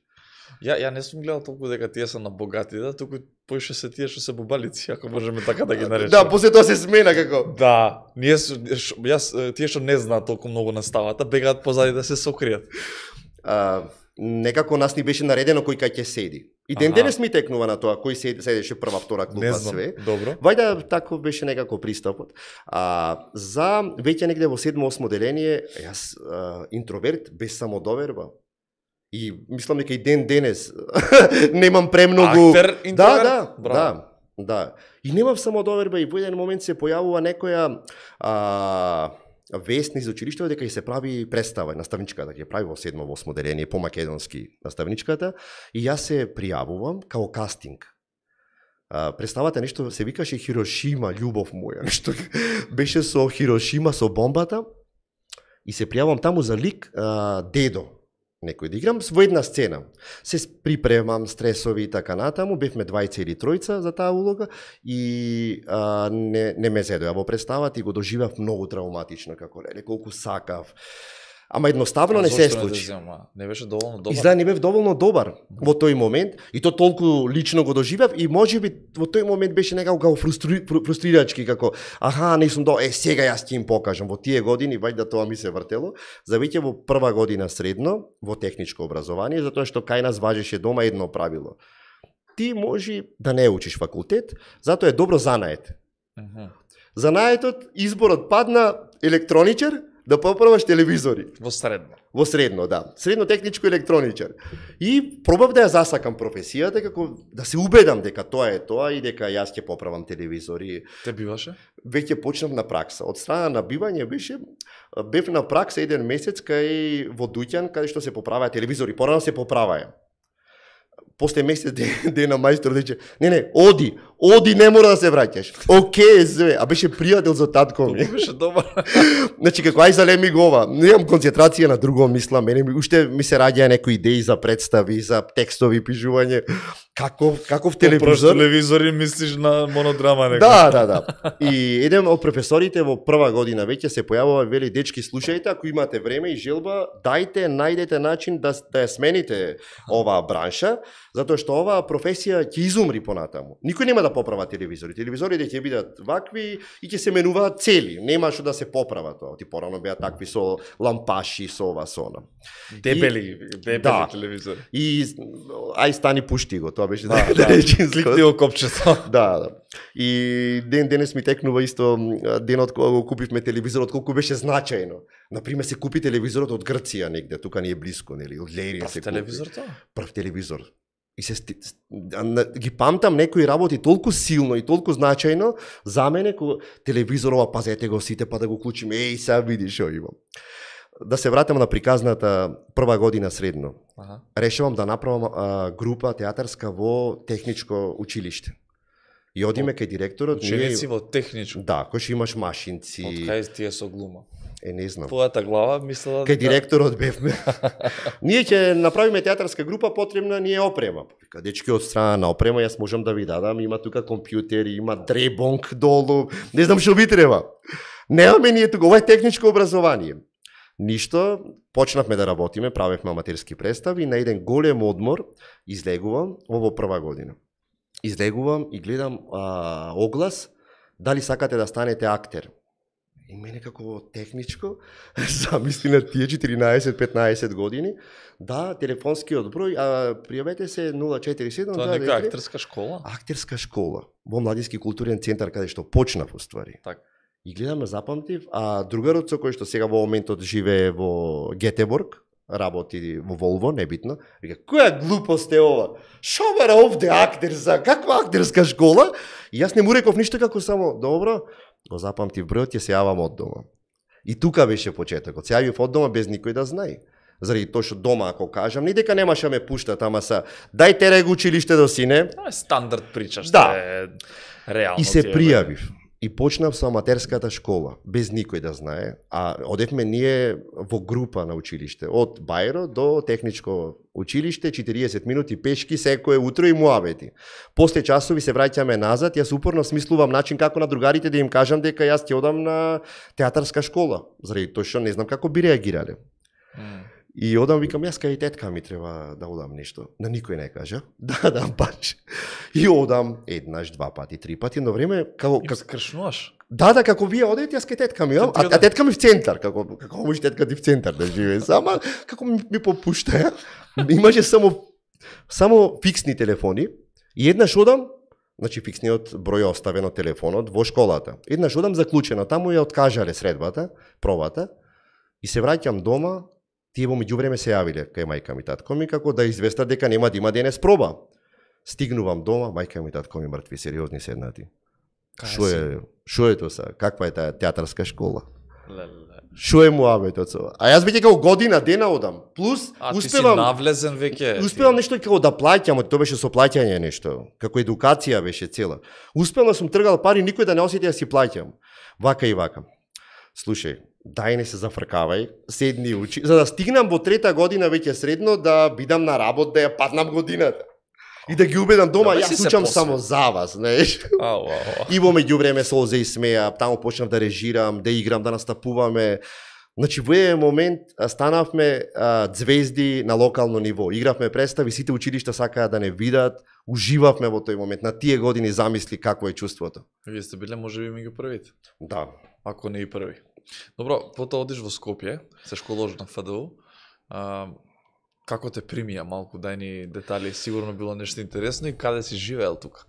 Ја не сум гледал толку дека тие се на богати, туку поише се тие што се бубалици, ако можеме така да ги наречеме. Да, после тоа се смена како. Да, тие што не знаат толку многу на ставата, бегаат позади да се сокријат. Некако нас ни беше наредено кој кај ќе седи. И ден денес ми текнува на тоа кој седеше прва, втора клупа, све. Добро. Вајда тако беше некако пристапот. За веќе негде во 7-8 деление, јас интроверт без самодоверба. И мислам дека и ден денес немам премногу. Актер, интроверт? Да. И немам самодоверба и во еден момент се појавува некоја вест низ училиштето дека ќе се прави представа, наставничката ќе прави во 7-8 деление по македонски наставничката и јас се пријавувам као кастинг. Представата нешто се викаше Хирошима, љубов моја, нешто беше со Хирошима, со бомбата и се пријавувам таму за лик дедо. Некој да играм во една сцена. Се припремам, стресови и така натаму, бевме 2 или 3 за таа улога и не ме зедоја во представата и го доживав многу травматично, како леле, колку сакав. Ама едноставно не се случи. Не беше доволно добар. Изгледа не бев доволно добар во тој момент и то толку лично го доживав и можеби во тој момент беше некако фрустрирачки како не сум сега јас ќе им покажам во тие години вајда тоа ми се вртело за веќе во прва година средно во техничко образование затоа што кај нас важеше дома едно правило. Ти може да не учиш факултет, затоа е добро занает. Занаетот изборот падна електроничар, да поправаш телевизори. Во средно. Во средно, да. Средно техничко електроничар. И пробав да ја засакам професијата, како да се убедам дека тоа е тоа и дека јас ќе поправам телевизори. Те биваше? Веќе почнав на пракса. Од страна на бивање бев на пракса 1 месец кај во Дуќан, каде што се поправаа телевизори. Порано се поправаа. После месец дена мајстор рече, не, оди, не мора да се враќаш. Океј, све, а беше пријател за татко ми. Беше добар. Значи, како ај залеми го ова, немам концентрација на друго, мислам, уште ми се раѓаа некои идеи за представи, за текстови пишување. Каков телевизор? Телевизори мислиш на монодрама нека. Да. И еден од професорите во прва година веќе се појавува, вели, дечки, слушајте, ако имате време и желба, најдете начин да ја смените оваа бранша, затоа што оваа професија ќе изумри понатаму. Никој нема да поправа телевизори. Телевизорите ќе бидат вакви и ќе се менуваат цели. Нема што да се поправа тоа. Ти порано беа такви со лампаши, со ова, со она. Дебели телевизори. И ај стани пушти го, тоа беше да кликни го копчето. Да. И денес ми текнува исто денот кога го купивме телевизорот, колку беше значајно. Например, се купи телевизорот од Грција негде, тука ни е блиско, нели, од Лерин се купи. Телевизор тоа? Прв телевизор. И ги памтам некои работи толку силно и толку значајно за мене, кога телевизорова, пазете го сите, па да го клучиме, сега видиш што имам. Да се вратам на приказната прва година средно. Решавам да направам група театарска во техничко училиште. И одиме кај директорот. Ученици во техничко? Да, кој што имаш машинци. Од кај тие со глума? Не знам. Твојата глава мислела кај директорот бевме. Ние ќе направиме театарска група, потребна ни е опрема. Вика, дечки, од страна на опрема јас можам да ви дадам, има тука компјутери, има дребонг долу, не знам што ви треба. Немаме ние тука, ова е техничко образование. Ништо, почнавме да работиме, правевме аматерски представи и на еден голем одмор излегувам, во прва година. Излегувам и гледам оглас, дали сакате да станете актер. И мене како техничко, замисли на тие 14-15 години, да, телефонскиот број, пријавете се 047. Тоа нека актерска школа? Актерска школа, во Младински културен центар, каде што почнав уствари. Так. И гледаме, запамтив, а другарот со кој што сега во моментот живее во Гетеборг, работи во Волво, небитно, вика, која глупост е ова? Шо бара овде актерска, каква актерска школа? И јас не му реков ништо, како само, добро, го запамтив бројот, ќе се јавам од дома. И тука беше почетокот. Се јавив од дома без никој да знае. Заради тоа што дома, ако кажам, ни дека немаше да ме пуштат, ама са, дај тереј го училиште до сине. Тоа е стандард причаш, да. Е реално. И се пријавив. И почнав со аматерската школа, без никој да знае, а одевме ние во група на училиште, од Бајро до техничко училиште, 40 минути пешки секое утро и муабети. После часови се враќаме назад, јас упорно смислувам начин како на другарите да им кажам дека јас ќе одам на театарска школа, заради тоа што не знам како би реагирале. И одам, викам, јас кај тетка ми треба да одам нешто. На никој не кажа. Да, баш. И одам еднаш, 2 пати, 3 пати, но време како скршнуваш. Да, како вие одете, јас кај тетка ми, а тетка ми в центар, како може тетка ти в центар да живее, сама како ми попушта. Имаше само фиксни телефони и еднаш одам, значи фиксниот број оставен од телефонот во школата. Еднаш одам заклучено, таму ја откажале средбата, пробата и се враќам дома. Тие во меѓувреме се јавиле кај мајка ми, татко ми, како да известат дека нема да има денес проба. Стигнувам дома, мајка ми, татко ми мртви, сериозни седнати. Шо е тоа са? Каква е таа театарска школа? Шо е муабетот со? А јас веќе како година дена одам. Плюс успевам ти си навлезен веќе. Успевам нешто како да плаќам, тоа беше со плаќање нешто, како едукација беше цела. Успевам да сум тргал пари, никој да не осети да си плаќам. Вака и вака. Слушај, дај не се зафркавај, седни учи, за да стигнам во 3-та година веќе средно да бидам на работ, да ја паднам годината. И да ги убедам дома, јас учам само за вас, знаеш. И во меѓувреме солзе и смеа, таму почнав да режирам, да играм, да настапуваме. Значи во еден момент станавме звезди на локално ниво. Игравме представи, сите училишта сакаа да не видат, уживавме во тој момент. На тие години замисли какво е чувството. Вие сте биле можеби меѓу првите. Да. Ако не и први. Добро, потоа одиш во Скопје, се школуваш на ФДУ. Како те примија малку, дај ни детали, сигурно било нешто интересно и каде си живеел тука?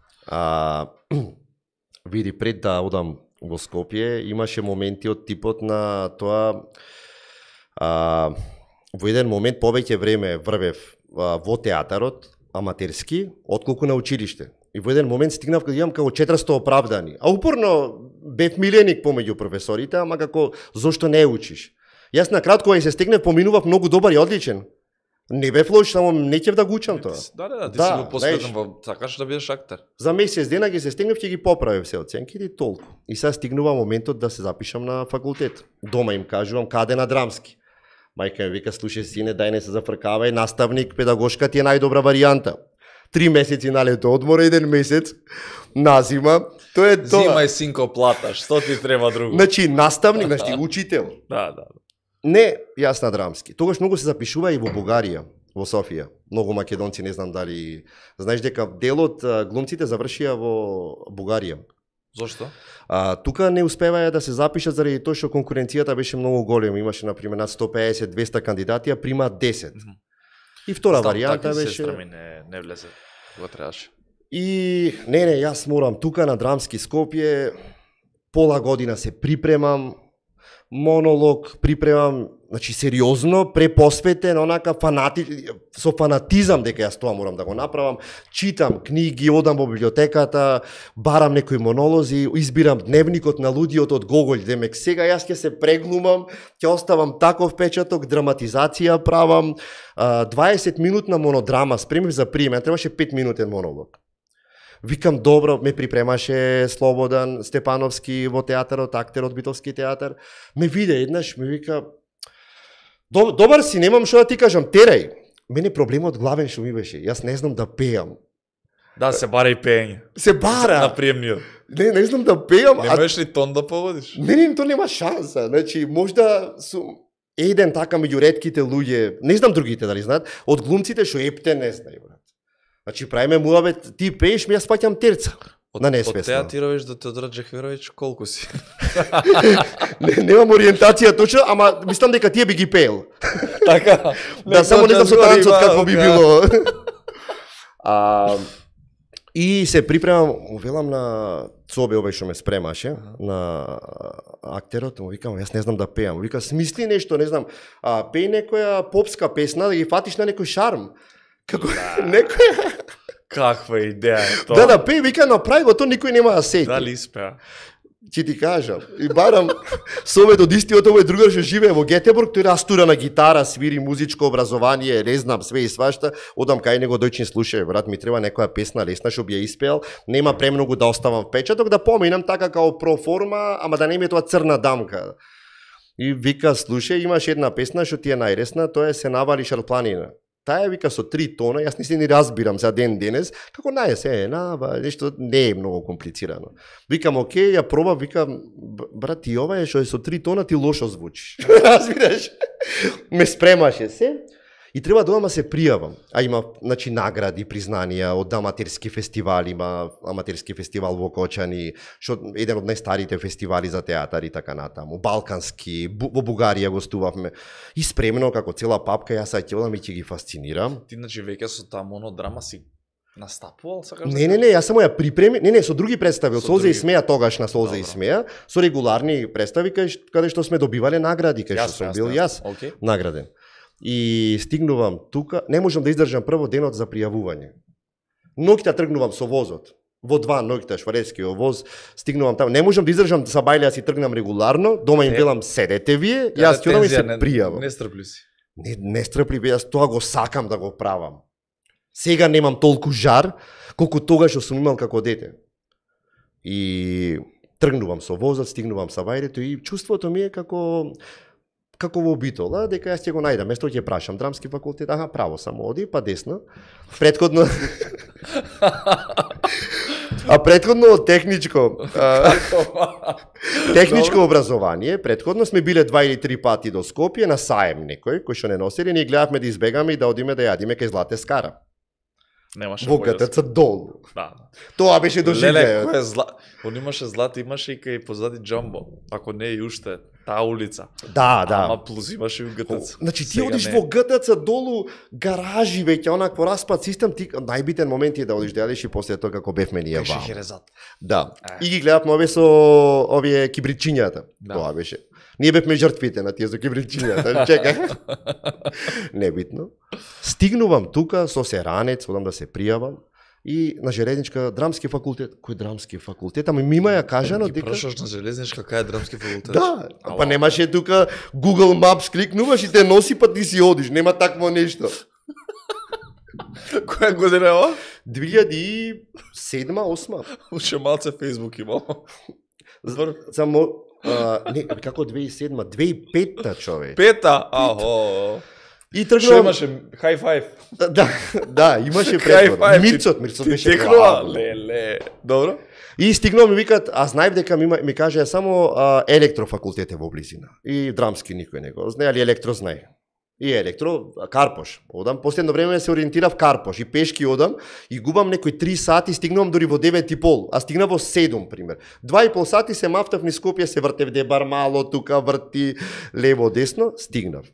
Види, пред да одам во Скопје имаше моменти од типот на тоа во еден момент повеќе време врвев во театарот аматерски отколку на училиште. И во еден момент стигнав кога имам како 400 оправдани. А упорно бев миленик помеѓу професорите, ама како зошто не учиш? Јас на кратко кога се стегнев поминував многу добар и одличен. Не бев лош, само не ќе да го учам тоа. Да, ти си го посветен во сакаш да бидеш актер. За месец дена ги се стегнев, ќе ги поправев се оценките и толку. И сега стигнува моментот да се запишам на факултет. Дома им кажувам каде на драмски. Мајка ми вика, слушај сине, дај не се зафркавај, наставник, педагошка ти е најдобра варијанта. 3 месеци на лето одмор, 1 месец на зима. Тоа е тоа. Зима и синко платаш, што ти треба друго? Значи наставник, значи учител. Да. Не, јас на драмски. Тогаш многу се запишува и во Бугарија, во Софија. Многу македонци, не знам дали знаеш дека дел од глумците завршија во Бугарија. Зошто? Тука не успеваја да се запишат заради тоа што конкуренцијата беше многу голема. Имаше на пример над 150-200 кандидати, а примаат 10. И втора варијанта беше сестра ми не влезе кога требаше. И не, јас морам тука на драмски Скопје пола година се припремам, монолог припремам, значи сериозно, препосветен, онака со фанатизам дека јас тоа морам да го направам. Читам книги, одам во библиотеката, барам некои монолози, избирам дневникот на луѓето од Гоголј, демек сега јас ќе се преглумам, ќе оставам таков печаток, драматизација правам, 20 минутна монодрама, спремив за прием, требаше 5 минутен монолог. Викам, добро, ме припремаше Слободан Степановски во театарот, актер од Битолски театар. Ме виде еднаш, ме вика, добар си, немам што да ти кажам, терај. Мене проблемот главен што ми беше, јас не знам да пеам. Да, се бара и пење. Се бара. На приемниот. Не знам да пеам. Не можеш ли тон да погодиш? Не, то нема шанса. Значи, можда еден така меѓу ретките луѓе, не знам другите дали знаат, од глумците што ептен не знај, брат. Значи, правиме муабет, ти пееш, ми јас паќам терца. На несвесно. Од театировиш до Теодор Джехверович, колку си? Немам ориентација точно, ама мислам дека тие би ги пеел. Така. Да, само не знам со танцот какво би било. И се припремам, велам на Цобе овој што ме спремаше, на актерот, му викам, јас не знам да пеам. Вика, смисли нешто, не знам, пеј некоја попска песна, да ги фатиш на некој шарм. Како некоја... Каква идеја е тоа? Да, пеј, вика, направи го, то никој нема да сети. Дали испеа? Ќе ти кажам. И барам совет од истиот овој другар што живее во Гетеборг, тој растура на гитара, свири музичко образование, не знам, све и свашта. Одам кај него, дојчни слушај, брат, ми треба некоја песна лесна што би ја испеал. Нема премногу да оставам впечаток, да поминам така као проформа, ама да не ми е тоа црна дамка. И вика, слушај, имаш една песна што ти е најресна, тоа е Се навали шарпланина. Таа вика со 3 тона, јас не се ни разбирам за ден денес, како нешто не е многу комплицирано. Викам, окей, ја проба, викам, брат, ти ова е што е со 3 тона, ти лошо звучиш. Разбираш? Ме спремаше се и треба да одам се пријавам. А има, значи, награди, признанија од аматерски фестивали, има аматерски фестивал во Кочани, што еден од најстарите фестивали за театар и така натаму, балкански, во Бугарија гостувавме. И спремено како цела папка, јас ќе одам и ќе ги фасцинирам. Ти значи веќе со таа монодрама си настапувал, сакаш? Не, јас само ја припремив, со други представи, од Солза и смеја тогаш на Солза и смеја, со регуларни представи каде што сме добивале награди, каде што сум бил јас награден. И стигнувам тука, не можам да издржам прво денот за пријавување. Ноќта тргнувам со возот. Во 2 ноќта шварецкиот воз, стигнувам таму. Не можам да издржам са бајле, си тргнам регуларно, дома им велам седете вие, јас ќе одам и се пријавам. Не стрпли си. Не стрпли, јас тоа го сакам да го правам. Сега немам толку жар колку тогаш што сум имал како дете. И тргнувам со возот, стигнувам са бајлето и чувството ми е како во Битола, дека јас ќе го најдам. Место ќе прашам, драмски факултет, право само оди, па десно. Претходно претходно техничко образование, претходно сме биле 2 или 3 пати до Скопје на саем некој, кој што не носели, ние гледавме да избегаме и да одиме да јадиме кај Злате Скара. Немаше Во појас. ГТЦ долу. Да. Тоа беше Леле, доживење. кој е зла... Он имаше злато, имаше и кај позади Джамбо. Ако не и уште, таа улица. Да, да. Ама плюс имаше и у ГТЦ. Значи ти Сега одиш не. во ГТЦ долу, гаражи веќе, онакво распад систем, ти најбитен момент е да одиш да јадеш и после тоа како бевме ние Беше ваму. Херезат. Да. Е. И ги гледавме овие со овие кибричињата. Да. Тоа беше. Ние бевме жртвите на тие со кибричињата. Чекај. Небитно. Стигнувам тука со серанец, одам да се пријавам. И на железничка драмски факултет. Кој драмски факултет? Ами мима ја кажано Ги дека прошаш на железничка, кај е драмски факултет? да, Ала. па немаше тука Google Maps кликнуваш и те носи па ти си одиш, нема такво нешто. Која година е ова? 2007-2008. Уште малце Facebook имал. Само не, како 2007, 2005-та човек. Пета! Ахо. И Што тргнувам. имаше? High five. Да, имаше High претвор. five. Мирцот Ти беше текнува? главно. Леле. Добро? И стигнувам и викат, а знаев дека ми кажа само електрофакултет е во близина. И драмски никој не го знае, али електро знае. И електро, Карпош. Одам, последно време се ориентирав Карпош и пешки одам и губам некои 3 сати, стигнувам дори во 9:30, а стигна во 7, пример. 2,5 сати се мафтав низ Скопје, се вртев дебар мало, тука врти лево десно, стигнав.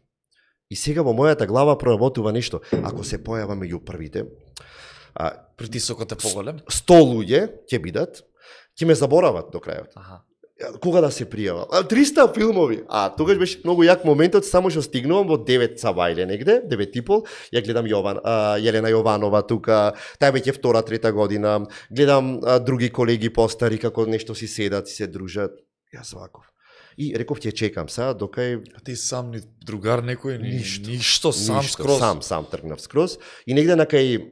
И сега во мојата глава проработува нешто. Ако се појава меѓу првите, Притисокот е поголем? 100 луѓе ќе бидат, ќе ме заборават до крајот. Аха. Кога да се пријава? 300 филмови. Тогаш беше многу јак моментот, само што стигнувам во 9 сабајле негде, 9:30, ја гледам Јелена Јованова тука, тај веќе втора, трета година, гледам други колеги постари како нешто си седат, си се дружат. Јас ваков. И реков ќе чекам сега докај А ти сам ни другар некој, Ништо. ништо сам ништо, скроз. Сам тргнав скроз. И негде на кај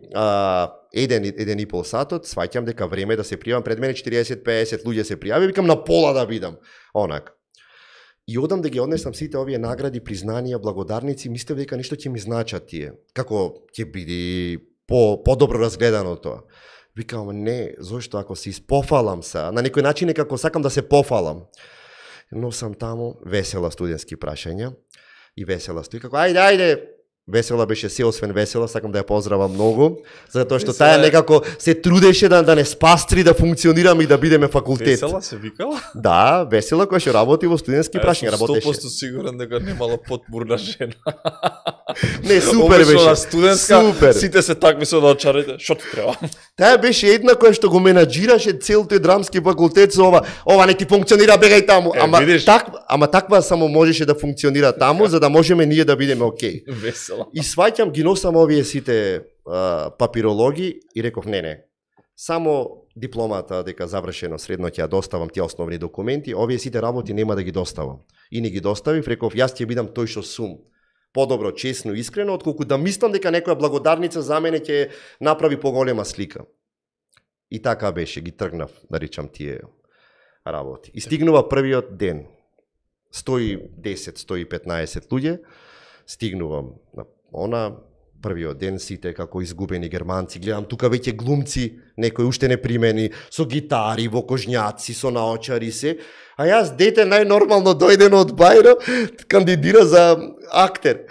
1,5 сатот, сваќам дека време е да се пријавам, пред мене 40-50 луѓе се пријави, викам на пола да видам. Онак. И одам да ги однесам сите овие награди, признанија, благодарници, мислев дека нешто ќе ми значат тие. Како ќе биде подобро разгледано тоа. Викам, не, зошто ако се испофалам се, на некој начин е како сакам да се пофалам. Но сам таму, весела студентски прашања, и весела стои како, ајде, Весела беше се освен весела, сакам да ја поздравам многу, затоа што Весела таа некако се трудеше да не спастри, да функционираме и да бидеме факултет. Весела се викала? Да, Весела која што работи во студентски прашања, Јас сум работеше. 100% сигурен дека немала потмурна жена. Не, супер Обично беше. на студентска, Супер. сите се такви со очарите, што ти треба? Таа беше една која што го менаџираше цел тој драмски факултет со ова не ти функционира, бегај таму. Видиш? Ама таква само можеше да функционира таму, за да можеме ние да бидеме окей. Весела. И сваќам, ги носам овие сите папирологи и реков не. Само дипломата дека завршено средно ќе ја доставам тие основни документи, овие сите работи нема да ги доставам. И не ги доставив, реков јас ќе бидам тој што сум. Подобро, честно, искрено, отколку да мислам дека некоја благодарница за мене ќе направи поголема слика. И така беше, ги тргнав, да речам, тие работи. И стигнува првиот ден. 110-115 луѓе, стигнувам на првиот ден, сите како изгубени германци, гледам тука веќе глумци, некои уште не примени, со гитари, во кожњаци, со наочари се, а јас дете најнормално дојдено од Бајро, кандидира за актер.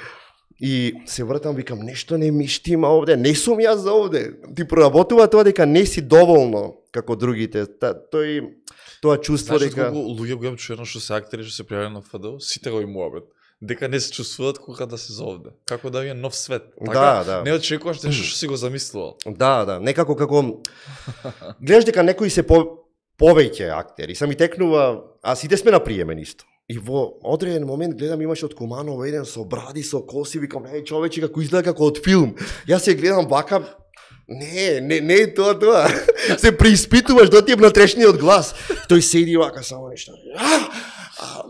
И се вртам, викам, нешто не ми штима овде, не сум јас за овде. Ти проработува тоа дека не си доволно како другите. Тоа чувство Знаеш дека... колку луѓе го имам чуено што се актери, што се пријавиле на ФДО, сите го имуваат. Дека не се чувствуваат кога да се за овде. Како да е нов свет. Така, Да. не очекуваш нешто што си го замислувал. Да, некако како... Гледаш дека некои се повеќе актери, сами текнува, а сите сме на приемен исто. И во одреден момент гледам имаше од Куманово еден со бради, со коси, викам, човече како изгледа како од филм. Јас се гледам вака, не е тоа. Се преиспитуваш да ти е внатрешниот глас. Тој седи вака само нешто.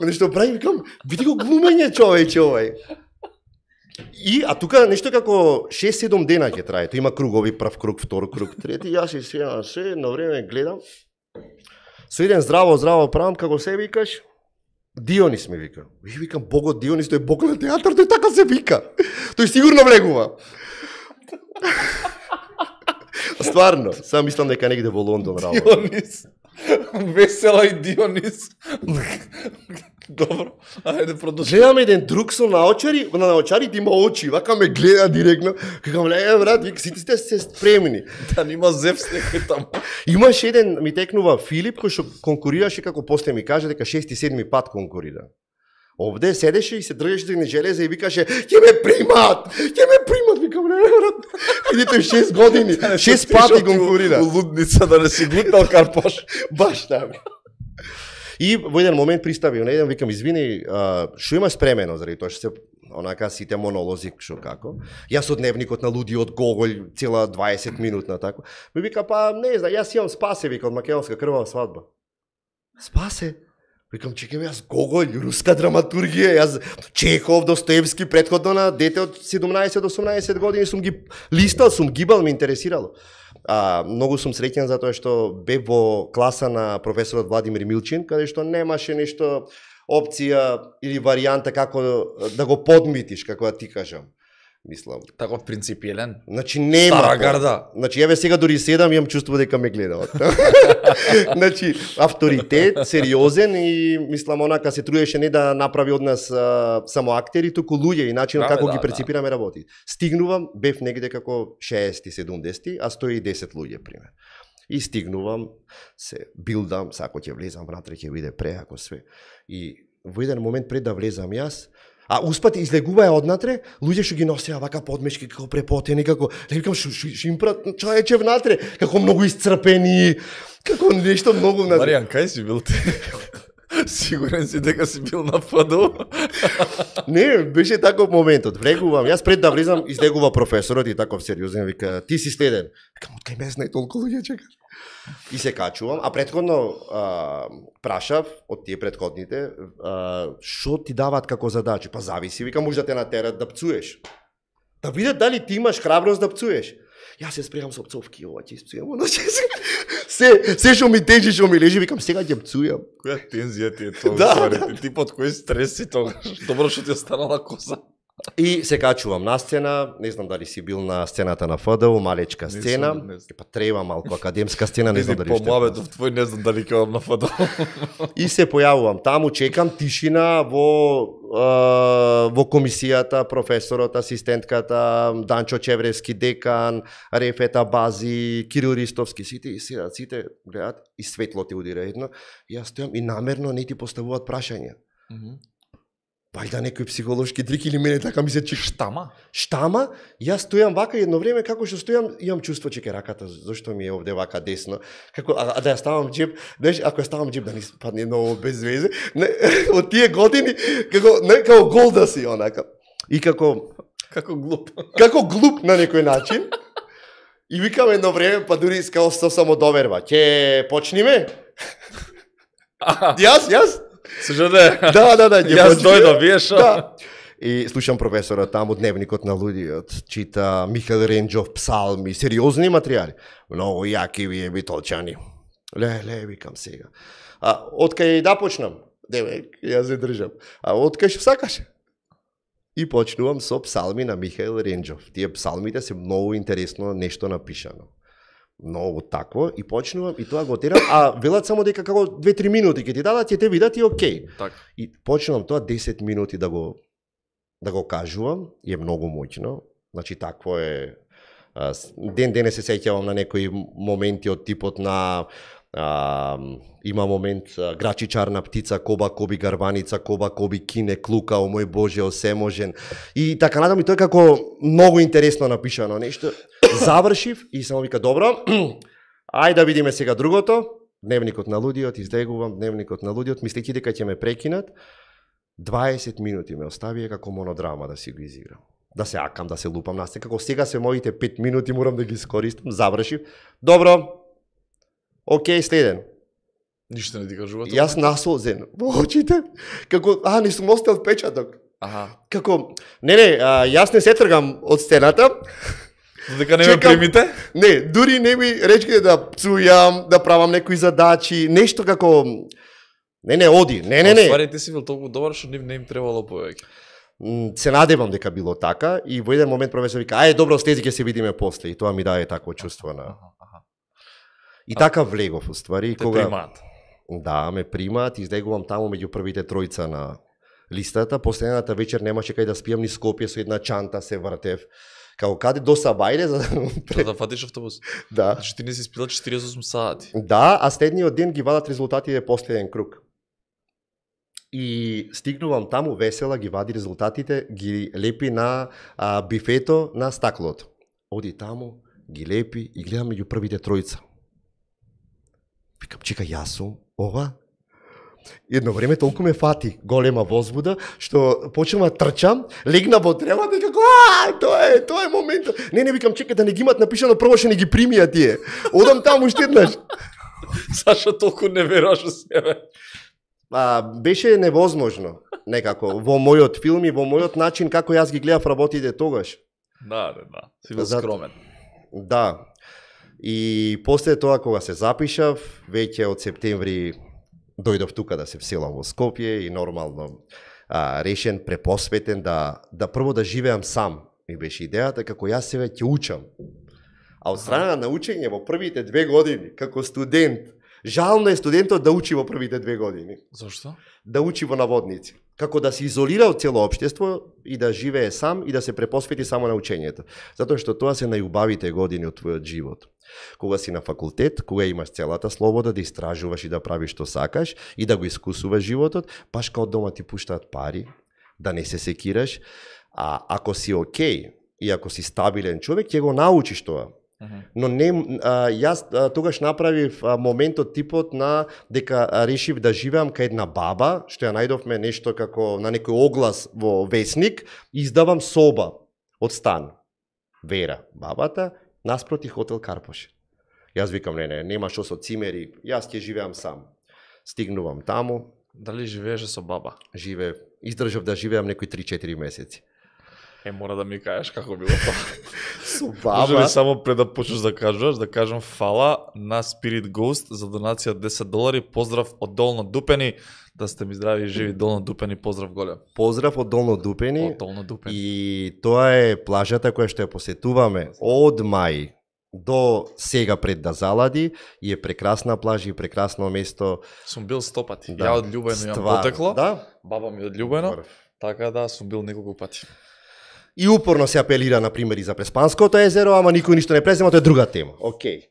Нешто прави, викам, види го глумење човече овај. А тука нешто како 6-7 дена ќе трае. Тоа има кругови, прв круг, втор круг, трети. Јас се седам, на време гледам. Со еден здраво правам, како се викаш? Дионис ми вика. И викам, богот Дионис, тој е бог на театар, тој така се вика. Тој сигурно влегува. Стварно, сам мислам дека негде во Лондон работи. Дионис. Весела и Дионис. Добро, ајде продолжи. Гледам еден друг со наочари, на наочарите има очи, вака ме гледа директно. Кажам, ле, брат, вика, сите сте се спремни. Да нима Зевс некој таму. Имаш еден, ми текнува Филип, кој што конкурираше, како после ми каже, дека 6-7 пат конкурира. Овде седеше и се држеше за железа и викаше, ќе ме примат, викам, не, брат, идите 6 години, 6 пати конкурира. У лудница да не си глутнал карпош. Баш така. И во еден момент пристави, на еден викам, извини, што имаш спремено, заради тоа што се онака сите монолози, што како. Јас од дневникот на лудиот Гоголј, цела 20 минутна тако. Ми вика, па не знам, јас имам Спасе, вика, од македонска крвава свадба. Спасе? Викам, чекам, јас Гоголј, руска драматургија, јас Чехов, Достоевски, претходно на дете од 17 до 18 години сум ги листал, сум гибал, ме интересирало. Многу сум среќен затоа што бев во класа на професорот Владимир Милчин, каде што немаше нешто опција или варијанта како да го подмитиш, како да ти кажам. Мислам. Таков принципиелен. Значи нема. Стара гарда. Значи еве сега дури седам имам чувство дека ме гледаат. Значи авторитет, сериозен и мислам онака се трудеше не да направи од нас само актери, туку луѓе и начинот како ги перципираме работи. Стигнувам, бев негде како 60-70, а 110 луѓе пример. И стигнувам, се билдам, сако ќе влезам внатре, ќе биде преако све. И во еден момент пред да влезам јас, успат излегуваја однатре, луѓе што ги носеа вака подмешки, како препотени, како, не викам, што им прат човече внатре, како многу исцрпени, како нешто многу внатре. Маријан, кај си бил ти? Сигурен си дека си бил на ФДУ? Не, беше таков моментот. Влегувам, јас пред да влезам, излегува професорот и таков сериозен, вика, ти си следен. Викам, од кај ме знае толку луѓе чекаш. И се качувам, а претходно прашав од тие претходните, што ти даваат како задачи? Па зависи, вика, може да те натерат да пцуеш. Да видат дали ти имаш храброст да пцуеш. Јас се спремам со пцовки, ова ќе испцујам, се што ми тежи, што ми лежи, викам, сега ќе пцујам. Која тензија ти е тоа? Да. Ти под кој стрес си тогаш? Добро што ти останала коса. И се качувам на сцена, не знам дали си бил на сцената на ФДУ, малечка сцена, па треба малку академска сцена, не знам дали што. По муабетов твој не знам дали ќе одам на ФДУ. И се појавувам таму, чекам тишина во комисијата, професорот, асистентката, Данчо Чевревски декан, Рефета Бази, Кирил Ристовски, сите гледат и светло ти удира едно. И јас стојам и намерно не ти поставуваат прашања. Вајда некој психолошки трик или мене така ми се чик. Штама, јас стојам вака едно време, како што стојам, имам чувство че раката, зашто ми е овде вака десно. Како, да ја ставам джеб, знаеш, ако ја ставам джеб да не падне ново без везе, од тие години, како гол да си, онака. И како глуп. Како глуп на некој начин. И викам едно време, па дури искал со самодоверба. Ќе почниме? Јас? Сужаде. Да. Јас дојдов, виеш. Да. И слушам професорот таму дневникот на лудиот, чита Михаил Ренџов псалми, сериозни материјали. Многу јаки вие битолчани. Ле, викам сега. Откај да почнам? Деве, јас се држам. Откај што сакаш? И почнувам со псалми на Михаил Ренџов. Тие псалмите се многу интересно нешто напишано. Многу такво и почнувам и тоа го терам, велат само дека како 2-3 минути ќе ти дадат, ќе те видат и окей. Так. И почнувам тоа 10 минути да го кажувам, е многу моќно. Значи такво е. Ден се сеќавам на некои моменти од типот на има момент Грачи чарна птица, коба коби гарваница, коба коби кине клука, о мој Боже, осеможен. И така надам и тоа како многу интересно напишано нешто. Завршив и само вика, добро, ајде да видиме сега другото. Дневникот на лудиот, излегувам дневникот на лудиот, мислејќи дека ќе ме прекинат. 20 минути ме оставија како монодрама да си го изиграм. Да се акам, да се лупам на сцена, како сега се моите 5 минути, морам да ги искористам. Завршив. Добро. Океј, следен. Ништо не ти кажува тоа? Јас насолзен во очите. Како, не сум остел впечаток. Како, јас не се тргам од сцената. Дека не ме примите? Не, дури не ми речките да пцујам, да правам некои задачи, нешто како... Не, оди, не. Ствари, ти си бил толку добар, што не им требало повеќе. Се надевам дека било така и во еден момент професор вика, добро, слези ќе се видиме после, и тоа ми даде такво чувство на... И така влегов, уствари. Те примаат. Да, ме примаат, излегувам таму меѓу првите тројца на листата. Последната вечер немаше кај да спијам ни Скопје, со една чанта се вртев. Како каде до Сабајле за Да фатиш автобус. Да. Значи ти не си спила 48 сати. Да, а следниот ден ги вадат резултатите последен круг. И стигнувам таму весела, ги вади резултатите, ги лепи на бифето на стаклото. Оди таму, ги лепи и гледам меѓу првите тројца. Викам, чека, јас сум ова? Едно време толку ме фати голема возбуда, што почнам да трчам, легна во древото и како, тоа е моментот. Не, викам, чека да не ги имат напишано, прво што не ги примија тие. Одам таму уште еднаш. Зашо толку не веруваш во себе? Беше невозможно, некако, во мојот филм и во мојот начин како јас ги гледав работите тогаш. Да. Си бил скромен. Да. И после тоа кога се запишав, веќе од септември дојдов тука да се вселам во Скопје и нормално решен, препосветен да прво да живеам сам. Ми беше идејата како јас себе ќе учам. А од страна на учење во првите 2 години, како студент, жално е студентот да учи во првите 2 години. Зошто? Да учи во наводници. Како да се изолира од цело општество и да живее сам и да се препосвети само на учењето. Затоа што тоа се најубавите години од твојот живот. Кога си на факултет, кога имаш целата слобода да истражуваш и да правиш што сакаш и да го искусуваш животот, баш као дома ти пуштаат пари, да не се секираш, а ако си окей и ако си стабилен човек, ќе го научиш тоа. Но не, јас тогаш направив моментот типот на дека решив да живеам кај една баба, што ја најдовме нешто како на некој оглас во весник, издавам соба од стан. Вера, бабата, наспроти хотел Карпош. Јас викам, не, нема што со цимери, јас ќе живеам сам. Стигнувам таму. Дали живееше со баба? Издржав да живеам некои 3-4 месеци. Мора да ми кажеш како било тоа. Со баба. Може ли само пред да почнеш да кажуваш, да кажам фала на Spirit Ghost за донација од $10. Поздрав од Долно Дупени. Да сте ми здрави и живи, Долно Дупени, поздрав голем. Поздрав од Долно Дупени. Од Долно Дупени. И тоа е плажата која што ја посетуваме од мај до сега пред да залади и е прекрасна плажа и прекрасно место. Сум бил 100 пати. Да. Ја од Љубено јам потекло. Да? Баба ми од Љубено. Така да, сум бил неколку пати. И упорно се апелира на примери за Преспанското езеро, ама никој ништо не презема, тоа е друга тема. Океј.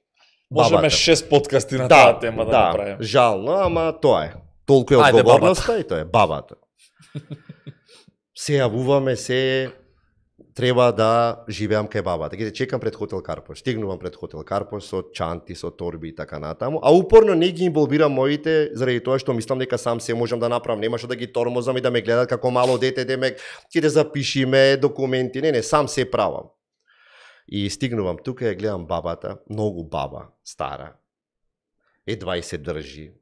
Можеме 6 подкасти на таа тема да направиме. Жално, ама тоа е. Толку е одговорноста и тоа е бабата. Се јавуваме, треба да живеам кај бабата. Ќе чекам пред хотел Карпош. Стигнувам пред хотел Карпош со чанти, со торби и така натаму, а упорно не ги инволвирам моите заради тоа што мислам дека сам се можам да направам, немаше да ги тормозам и да ме гледат како мало дете, демек ќе да запишиме документи, не, сам се правам. И стигнувам тука и гледам бабата, многу баба, стара. Едва и се држи.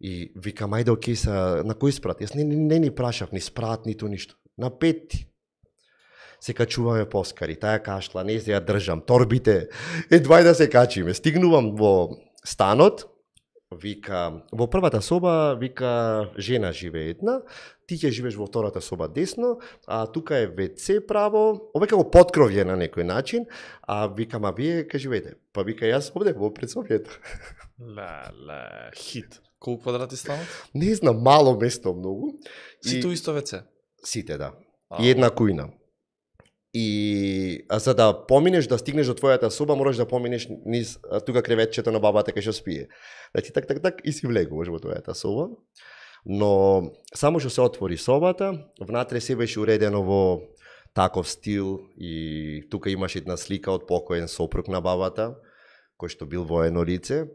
И викам, ајде окей са, на кој спрат? Јас не ни прашав, ни спрат, ниту ништо. На 5. Се качуваме поскари, таја кашла, не се ја држам, торбите, едва и да се качиме. Стигнувам во станот, вика, во првата соба, вика, жена живее една, ти ќе живееш во втората соба десно, а тука е WC право, ова е како подкровје на некој начин, а викам, а вие ка живеете? Па вика, јас овде во предсобјето. Хит. Колку квадрати станот? Не знам, мало место многу. Сите исто WC? Сите, да. И една кујна. И за да поминеш, да стигнеш до твојата соба, мораш да поминеш низ тука креветчето на бабата кај што спие. Значи так и си влегуваш во твојата соба. Но само што се отвори собата, внатре се беше уредено во таков стил и тука имаше една слика од покоен сопруг на бабата, кој што бил воено лице.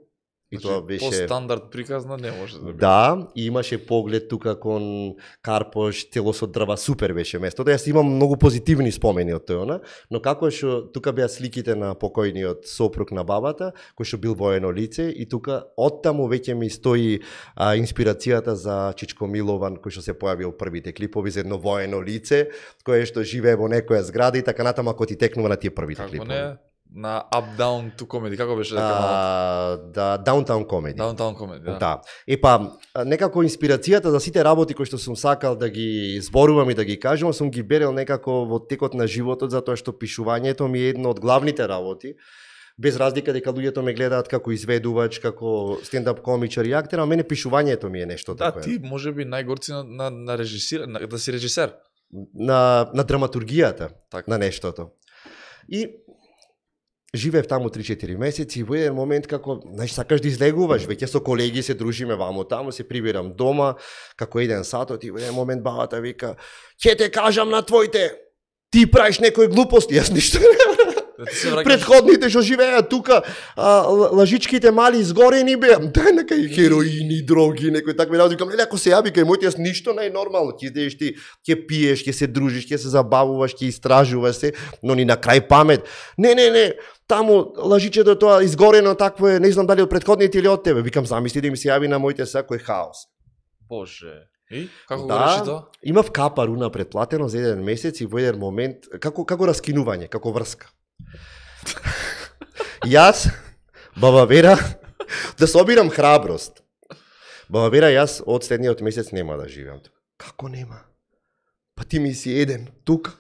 И значи, тоа беше по стандард приказна не може да биде. Да, и имаше поглед тука кон Карпош, тело со дрва, супер беше местото. Јас имам многу позитивни спомени од тоа, но како што тука беа сликите на покојниот сопруг на бабата, кој што бил воено лице и тука оттаму веќе ми стои инспирацијата за Чичко Милован, кој што се појави во првите клипови за едно воено лице, кое што живее во некоја зграда и така натаму ако ти текнува на тие првите клипови. Како не? На Up Down to Comedy, како беше дека да, Downtown Comedy. Downtown Comedy, да. Да. Некако инспирацијата за сите работи кои што сум сакал да ги зборувам и да ги кажам, сум ги берел некако во текот на животот, затоа што пишувањето ми е едно од главните работи Без разлика дека луѓето ме гледаат како изведувач, како стендап комичар и актер, а мене пишувањето ми е нешто Да, такое. ти можеби најгорци на режисир, да си режисер. На драматургијата Така. на нештото. И живеев таму 3-4 месеци и во еден момент како, знаеш, сакаш да излегуваш, веќе со колеги се дружиме ваму таму, се прибирам дома, како еден сатот и во еден момент бабата вика: "Ќе те кажам на твоите, ти правиш некои глупости, јас ништо не." Да ти се враќаш. Предходните што живееат тука, лажичките мали изгорени беа, дај нека и хероини, дроги, некои такви работи. Викам, леле, ако се јави кај моите, јас ништо не е нормално. Ти идеш, ти ќе пиеш, ќе се дружиш, ќе се забавуваш, ќе истражуваш се, но ни на крај памет. Не, таму лажичето тоа изгорено такво е, не знам дали од предходните или од тебе. Викам, замисли да ми се јави на моите сако е хаос. Боже. И како го реши тоа? Имав капару на предплатено за еден месец и во еден момент како раскинување, како врска. Јас, баба Вера, да собирам храброст. Баба Вера, јас од следниот месец нема да живеам тука. Како нема? Па ти ми си еден тука.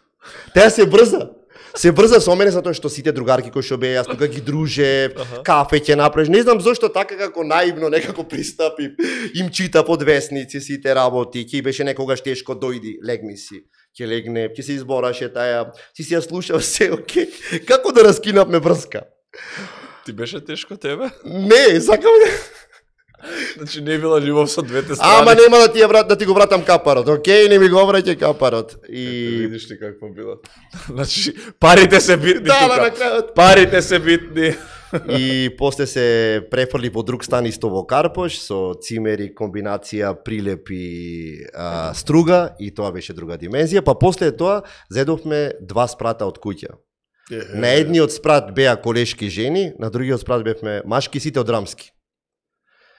Теја се брза. Се брза со мене затоа што сите другарки кои што беа, јас тука ги дружев, кафе ќе направиш. Не знам зошто така како наивно некако пристапи. Им чита под весници сите работи. Ќе беше некогаш тешко, дојди, легни си. Ќе легне, ќе се избораше таја, си ја слушав се, окей. Како да раскинавме врска? Ти беше тешко тебе? Не, сакам Значи не била љубов со двете страни. Ама нема да ти го вратам капарот, окей, не ми го враќај капарот. И видиш ли какво било. Значи парите се битни да, тука. на крајот. Парите се битни. И после се префрли во друг стан исто во Карпош со цимери, комбинација, прилепи, струга и тоа беше друга димензија. Па после тоа зедовме 2 спрата од куќа. На едниот спрат беа колешки жени, на другиот спрат бевме машки, сите од рамски.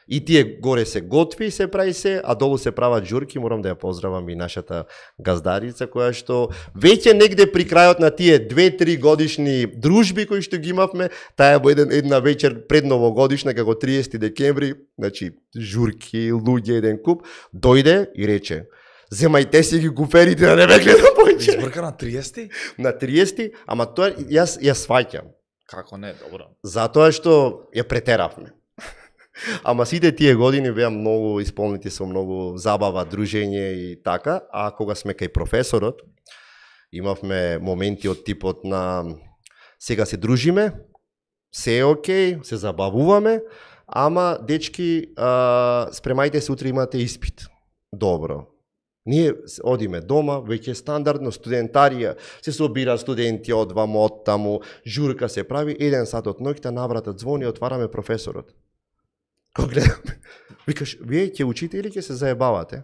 И тие горе се готви, се прави се, а долу се прават журки. Морам да ја поздравам и нашата газдарица, која што веќе негде при крајот на тие 2-3 годишни дружби кои што ги имавме, таа во една вечер пред новогодишна, како 30 декември, значи журки, луѓе, еден куп, дојде и рече: "Земајте си ги куферите да не ме гледам повеќе." Избрка на 30? На 30, ама тоа јас ја сваќам. Како не, добро. Затоа што ја претеравме. Ама сите тие години беа многу исполнети со многу забава, дружење и така, а кога сме кај професорот, имавме моменти од типот на сега се дружиме, се е окей, се забавуваме, ама дечки, спремајте се, утре имате испит. Добро. Ние одиме дома, веќе стандардно студентарија, се собира студенти од ваму, од таму, журка се прави, 1 сат од ноќта навратот звони, отвараме професорот. Кога гледаме, викаш, вие ќе учите или ќе се заебавате?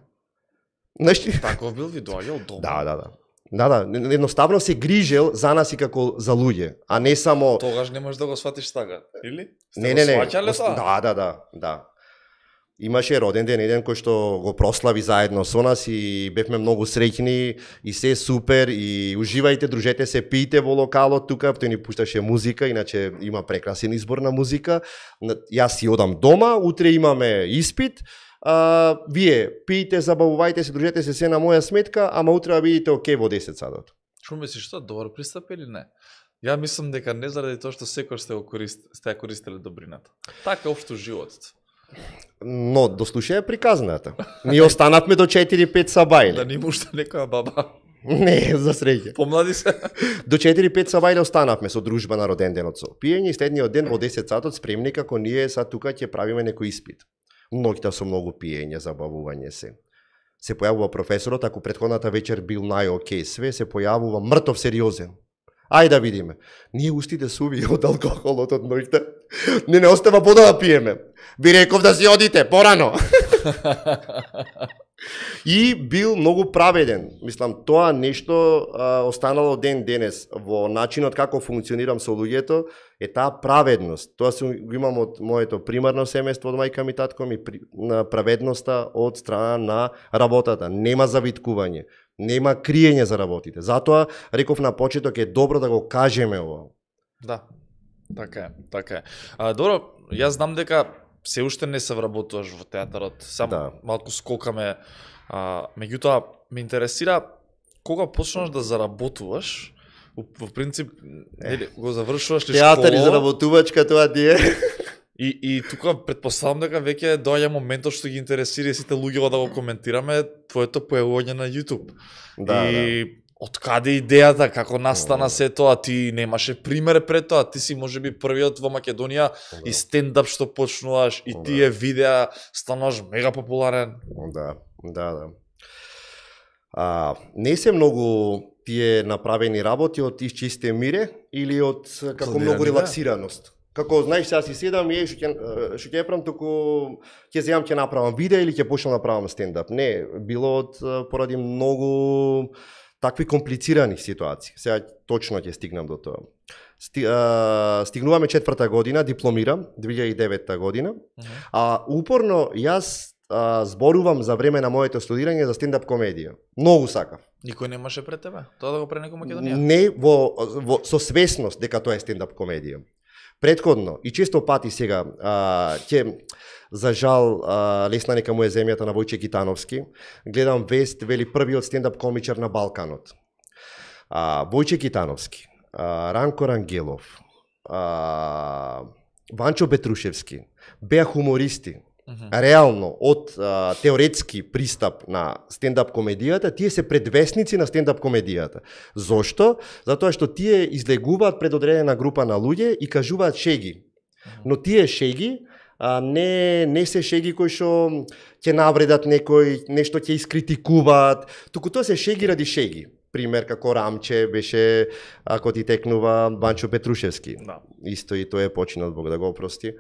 Знаеш, Таков бил ви доаѓал дома. Да, едноставно се грижел за нас и како за луѓе, а не само... Тогаш не можеш да го сватиш така, или? Не. Сваќале тоа? Да. Имаше роден ден еден кој што го прослави заедно со нас и бевме многу среќни и се супер и уживајте, дружете се, пијте во локалот тука, тој ни пушташе музика, иначе има прекрасен избор на музика. Јас си одам дома, утре имаме испит, вие пијте, забавувајте се, дружете се на моја сметка, ама утре видите окей во 10 сатот. Што мислиш, тоа добар пристап или не? Ја мислам дека не заради тоа што секој сте ја користеле добрината. Така општо животот. Но дослушај приказната. Ние останавме до 4-5 сабајле. Да ни мушта некоја баба. Не, за среќа. Помлади се. До 4-5 сабајле останавме со дружба на роден денот со пиење и следниот ден во 10 сатот спремни како ние са тука ќе правиме некој испит. Ноќта со многу пиење, забавување се. Се појавува професорот, ако претходната вечер бил нај-окей све, се појавува мртов сериозен. Ајде да видиме. Ние устите суви од алкохолот од ноќта. Не остава вода да пиеме. Ви реков да си одите порано. И бил многу праведен. Мислам, тоа нешто останало ден денес во начинот како функционирам со луѓето е таа праведност. Тоа го имам од моето примарно семејство, од мајка ми, татко ми, на праведноста од страна на работата. Нема завиткување, нема криење за работите. Затоа реков на почеток е добро да го кажеме ова. Да. Така е. Добро, јас знам дека се уште не се вработуваш во театарот, само малку скокаме, меѓутоа ме интересира кога почнаш да заработуваш Во принцип, нели, го завршуваш ли Театар и школа заработувачка, тоа ти е. и тука претпоставам дека веќе доаѓа моментот што ги интересира и сите луѓе да го коментираме твоето појавување на YouTube. И од каде идејата, како настана се тоа, ти немаше пример пред тоа, ти си можеби првиот во Македонија и стендап што почнуваш и тие видеа стануваш мега популарен. Да. Не се многу тие направени работи од исчисте мире или од како многу релаксираност. Како знаеш, сега си седам и што ќе правам, туку ќе земам ќе направам видео или ќе почнам да правам стендап. Не, било од поради многу такви комплицирани ситуации. Сега точно ќе стигнам до тоа. Стигнуваме 4-та година, дипломирам 2009 година. Упорно јас зборувам за време на моето студирање за стендап комедија. Многу сакав. Никој немаше пред тебе? Тоа да го прави некој Македонија? Не со свесност дека тоа е стендап комедија. Предходно и често пати сега ќе за жал лесна нека му е земјата на Војче Китановски, гледам вест, вели првиот стендап комичар на Балканот. Војче Китановски, Ранко Рангелов, Ванчо Петрушевски беа хумористи. Реално, од теоретски пристап на стендап комедијата, тие се предвесници на стендап комедијата. Зошто? Затоа што тие излегуваат пред одредена група на луѓе и кажуваат шеги. Но тие шеги не се шеги кои што ќе навредат некој, нешто ќе искритикуваат, туку тоа се шеги ради шеги. Пример како Рамче беше, ако ти текнува, Ванчо Петрушевски. Исто и тој е починал, Бог да го опрости.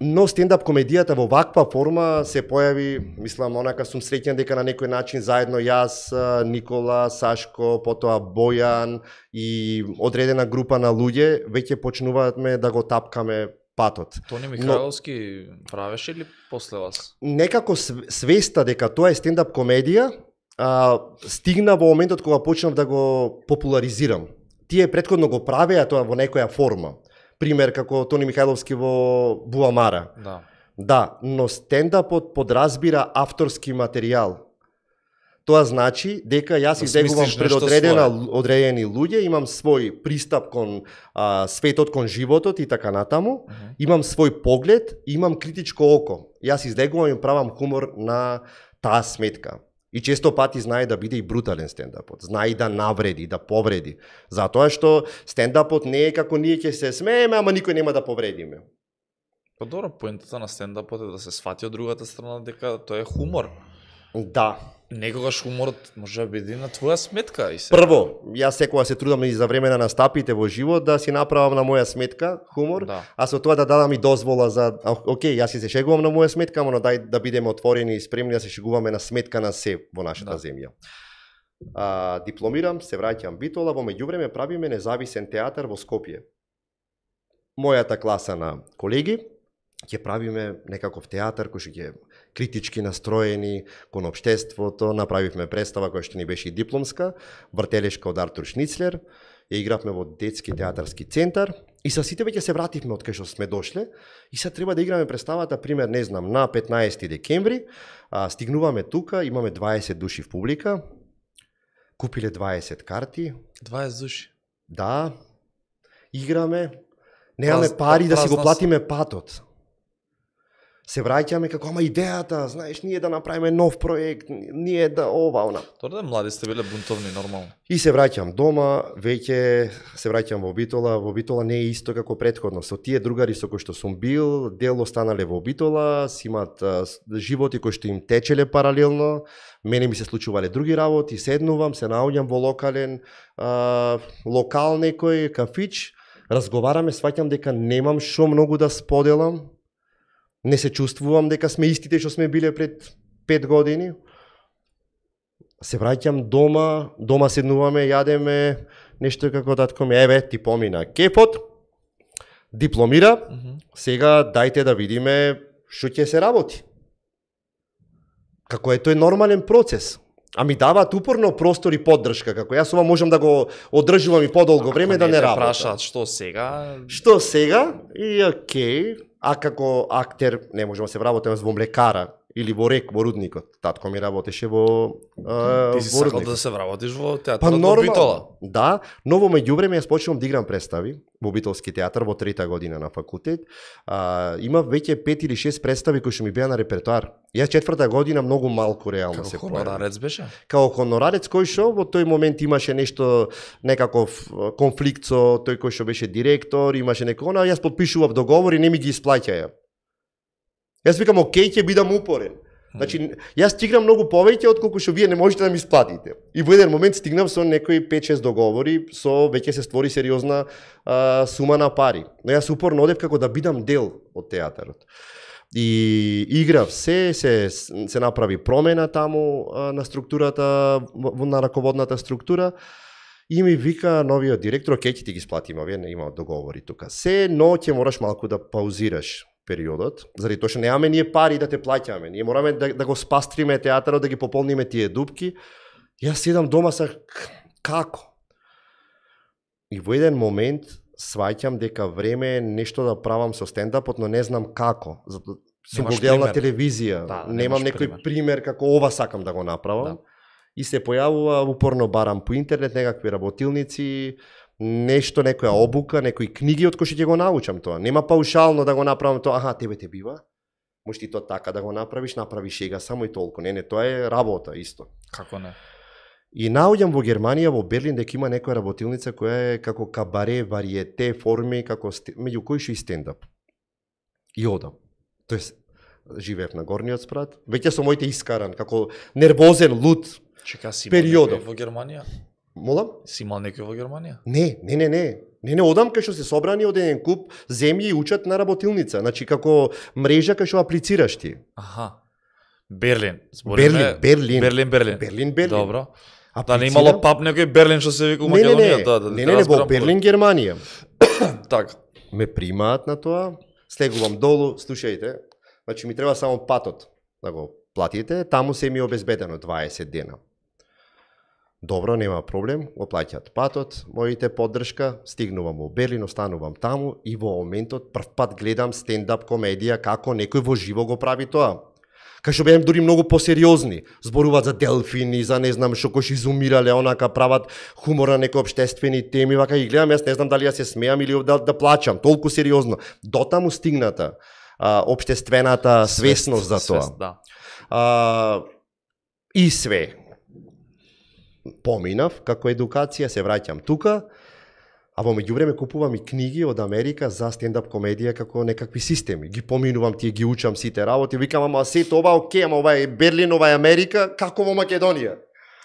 Но стендап комедијата во ваква форма се појави, мислам, онака сум среќен дека на некој начин заедно јас, Никола, Сашко, потоа Бојан и одредена група на луѓе веќе почнуваме да го тапкаме патот. Тони Михајловски правеше или после вас? Некако свеста дека тоа е стендап комедија стигна во моментот кога почнав да го популаризирам. Тие претходно го правеа тоа во некоја форма. Пример како Тони Михајловски во Буамара. Да, но стендапот подразбира авторски материјал. Тоа значи дека јас излегувам пред одредени луѓе, имам свој пристап кон светот, кон животот и така натаму, имам свој поглед, имам критичко око. Јас излегувам и правам хумор на таа сметка. И често пати знае да биде и брутален стендапот, знае и да навреди, да повреди. Затоа што стендапот не е како ние ќе се смееме, ама никој нема да повредиме. Па добро, поентата на стендапот е да се свати од другата страна дека тоа е хумор. Да. Некогаш хуморот може да биде на твоја сметка. И Прво, јас секогаш се трудам и за време на настапите во живот да си направам на моја сметка хумор, а со тоа да дадам и дозвола за окей, јас се шегувам на моја сметка, ама дај да бидеме отворени и спремни да се шегуваме на сметка на се во нашата земја. Дипломирам, се враќам Битола, во меѓувреме правиме независен театар во Скопје. Мојата класа на колеги ќе правиме некаков театар кој што ќе критички настроени кон општеството, направивме представа која што ни беше и дипломска, Вртелешка од Артур Шницлер, ја игравме во детски театарски центар и со сите веќе се вративме од кај што сме дошле и сега треба да играме представата, пример, не знам, на 15 декември, стигнуваме тука, имаме 20 души в публика, купиле 20 карти. 20 души? Да, играме, немаме пари да си го платиме патот. Се враќаме како, ама идејата, знаеш, ние да направиме нов проект, ние да ова, она. Тоа да млади сте биле бунтовни, нормално. И се враќам дома, веќе се враќам во Битола не е исто како претходно. Со тие другари со кои што сум бил, дел останале во Битола, си имат животи кои што им течеле паралелно, мене ми се случувале други работи, седнувам, се наоѓам во локал некој кафич, разговараме, сваќам дека немам шо многу да споделам, не се чувствувам дека сме истите што сме биле пред 5 години. Се враќам дома седнуваме, јадеме, нешто како татко ми, еве, ти помина кепот, дипломира, сега дајте да видиме што ќе се работи. Како е тој нормален процес. А ми даваат упорно простор и поддршка, како јас ова можам да го одржувам и подолго време да не работам. Прашаат што сега? Што сега? И окей. А како актер не можам да се вработам во млекара или во Рек, во Рудникот. Татко ми работеше во Ти си во сакал Рудникот. да се вработиш во театарот Па во Битола. Да, но во меѓувреме јас почнувам да играм представи во Битолски театар во 3-та година на факултет. Има веќе 5 или 6 представи кои што ми беа на репертоар. Јас 4-та година многу малку реално Како се хонорарец беше? Као хонорарец кој што во тој момент имаше нешто, некаков конфликт со тој кој што беше директор, имаше некој, јас потпишував договор и не ми ги исплаќаја. Јас викам, окей, ќе бидам упорен. Значи, јас ти играм многу повеќе отколку што вие не можете да ми исплатите. И во еден момент стигнав со некои 5-6 договори, со веќе се створи сериозна сума на пари. Но јас упорно одев како да бидам дел од театарот. И играв се направи промена таму на структурата, на раководната структура. И ми вика новиот директор, окей, ќе ти ги сплатиме, овие не има договори тука. Но ќе мораш малку да паузираш периодот, заради тоа што немаме ние пари да те плаќаме. Ние мораме да го спастриме театарот, да ги пополниме тие дупки. Јас седам дома како? И во еден момент сваќам дека време е нешто да правам со стендапот, но не знам како. Сум го гледал на телевизија, немам некој пример како ова сакам да го направам. Да. И се појавува, упорно барам по интернет некакви работилници, нешто, некоја обука, некои книги од кои што ќе го научам тоа. Нема паушално да го направам тоа, аха, тебе те бива. Можеш ти тоа така да го направиш сега само и толку. Не, тоа е работа исто. Како не? И наоѓам во Германија, во Берлин, дека има некоја работилница која е како кабаре, вариете, форми, како меѓу кои што и стендап. И одам. Тоест, живеев на горниот спрат, веќе со моите искаран, како нервозен, луд. Чека, си периодов во Германија? Молам? Си имал некој во Германија? Не, одам кај што се собрани од еден куп земји и учат на работилница, значи како мрежа кај што аплицираш ти. Аха. Берлин. Берлин. Добро. Да не имало пап некој Берлин што се вика Македонија, Не, во Берлин, Германија. Така. Ме примаат на тоа, слегувам долу, слушајте, значи ми треба само патот да го платите, таму се ми обезбедено 20 дена. Добро, нема проблем, го плаќаат патот, моите поддршка, стигнувам во Берлин, останувам таму и во моментот прв пат гледам стендап комедија како некој во живо го прави тоа. Кај што беам дури многу посериозни, зборуваат за делфини, за не знам што кои што изумирале, онака прават хумор на некои општествени теми, вака ги гледам, јас не знам дали ја се смеам или да плачам, толку сериозно. Дотаму стигната општествената свесност за тоа. И све. Поминав како едукација, се враќам тука, а во меѓувреме купувам и книги од Америка за стендап комедија како некакви системи. Ги поминувам, тие ги учам сите работи, викам, ама сето ова окей, ама ова е Берлин, ова е Америка, како во Македонија?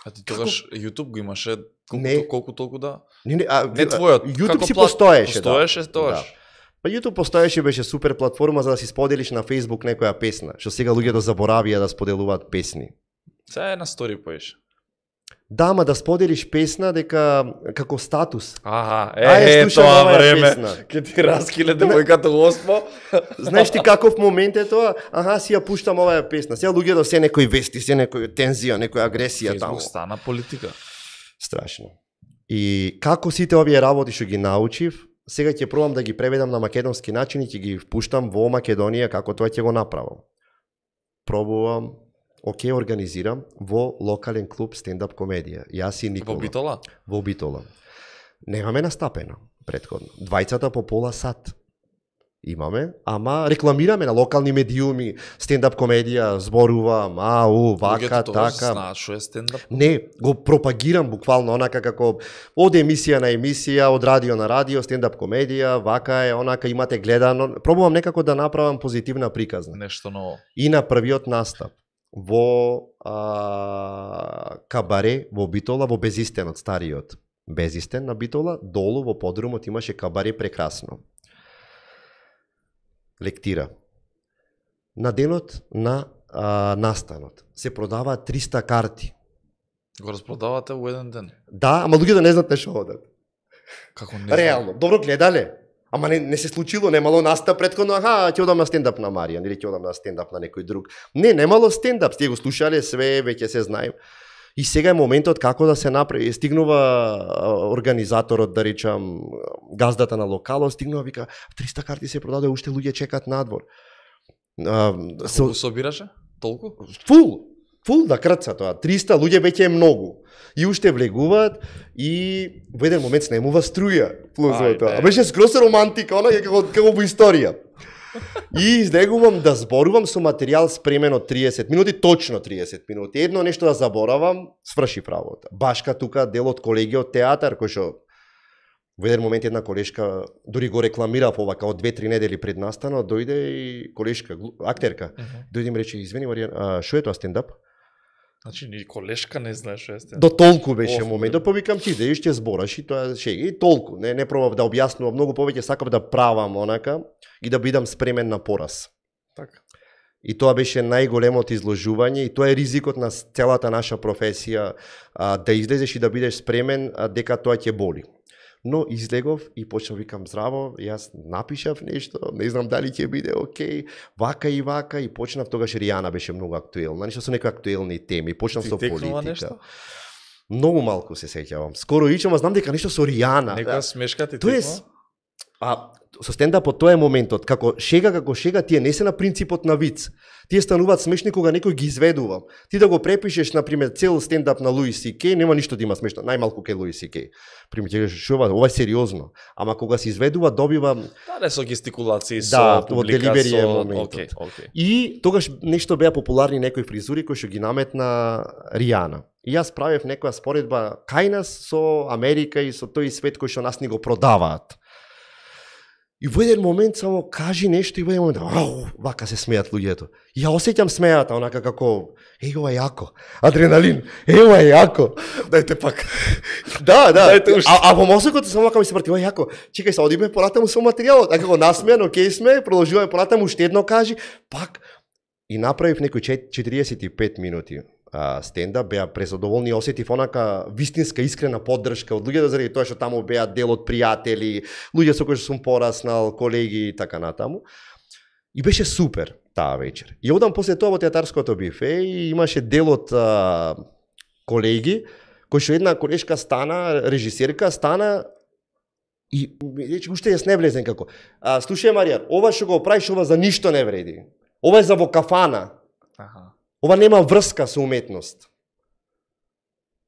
А ти тогаш YouTube го имаше колку толку да? Не твојот. YouTube си постоеше. Постоеше тогаш. Па YouTube постоеше, беше супер платформа за да си споделиш на Facebook некоја песна, што сега луѓето заборавија да споделуваат песни. Сега е на стори поеш. Да, ама да споделиш песна дека како статус. Аха, тоа време. Ке ти раскиле девојката Госпо. Знаеш ти каков момент е тоа? Аха, си ја пуштам оваа песна. Сега луѓето се некои вести, се некоја тензија, некоја агресија таму. Facebook стана политика. Страшно. И како сите овие работи што ги научив, сега ќе пробам да ги преведам на македонски начин и ќе ги впуштам во Македонија како тоа ќе го направам. Пробувам, окей, организирам во локален клуб стендап комедија. Јас и Никола. Во Битола? Во Битола. Немаме настапено претходно. Двајцата по пола сат. Имаме, ама рекламираме на локални медиуми, стендап комедија, зборувам, вака, така. Знаат што е стендап? Не, го пропагирам буквално онака како од емисија на емисија, од радио на радио, стендап комедија, вака е, онака имате гледано. Пробувам некако да направам позитивна приказна. Нешто ново. И на првиот настап во кабаре во Битола, во Безистенот, стариот Безистен на Битола, долу во подрумот имаше кабаре прекрасно. Лектира. На денот на настанот се продаваат 300 карти. Го распродавате во еден ден? Да, ама луѓето не знаат што одат. Како не? Реално, добро гледале. Ама не се случило, немало настап претходно, ќе одам на стендап на Маријан или ќе одам на стендап на некој друг. Немало стендап, сте го слушале све, веќе се знаем. И сега е моментот како да се направи. Стигнува организаторот, да речам, газдата на локалот, стигнува, вика, 300 карти се продаде, уште луѓе чекат надвор. Колку собираше? Толку? Фул да крца тоа. 300 луѓе веќе е многу. И уште влегуваат и во еден момент снемува струја. А беше скроз романтика, она е како во историја. И излегувам да зборувам со материјал спремен од 30 минути, точно 30 минути. Едно нешто да заборавам, сврши работа. Башка тука дел од колегиот театар, кој што во еден момент една колешка дури го рекламира ова као 2-3 недели пред настанот, дојде и колешка, актерка. Дојде и ми рече: "Извини Маријан, што е тоа стендап?" Значи ни колешка не знае што е стендап. До толку беше моментот, повикам ти идеш ќе збораш и тоа шега и толку. Не пробав да објаснувам многу повеќе, сакав да правам онака и да бидам спремен на пораз. Така. И тоа беше најголемото изложување и тоа е ризикот на целата наша професија, да излезеш и да бидеш спремен дека тоа ќе боли. Но излегов и почнав викам: "Здраво, јас напишав нешто, не знам дали ќе биде окей, вака и почнав. Тогаш Ријана беше многу актуелна, нешто со некои актуелни теми, почнав со политика. Нешто? Многу малку се сеќавам. Скоро ичам, знам дека нешто со Ријана. Некоја смешка ти текнува? Со стендапот тоа е моментот, како шега, тие не се на принципот на виц. Тие стануваат смешни кога некој ги изведува. Ти да го препишеш, например, цел стендап на Луис Сикеј, нема ништо да има смешно, најмалку кај Луис Сикеј. Пример, ова е сериозно, ама кога се изведува добива не со гестикулации, со публика, со моментот. И тогаш нешто беа популарни некои фризури кои што ги наметна Ријана. И јас правев некоја споредба кај нас со Америка и со тој свет кој што нас ни го продаваат. И во еден момент само кажи нешто и во еден момент вака се смеат луѓето. И ја осеќам смејата, онака како ова е јако, адреналин, ова е јако. Дајте пак. Да. А во мозокот само вака ми се врти, ова е јако. Чекај се, одиме понатаму со материјалот. А како насмеан, окей сме, продолжуваме понатаму, уште едно кажи, пак. И направив некои 45 минути стендап, беа презадоволни, осетив онака вистинска искрена поддршка од луѓето заради тоа што таму беа дел од пријатели, луѓе со кои што сум пораснал, колеги и така натаму. И беше супер таа вечер. И одам после тоа во театарското бифе и имаше дел од колеги, кој што една колешка стана, режисерка стана и рече уште јас не влезен како. Слушај Маријан, ова што го правиш, ова за ништо не вреди. Ова е за во кафана. Ова нема врска со уметност.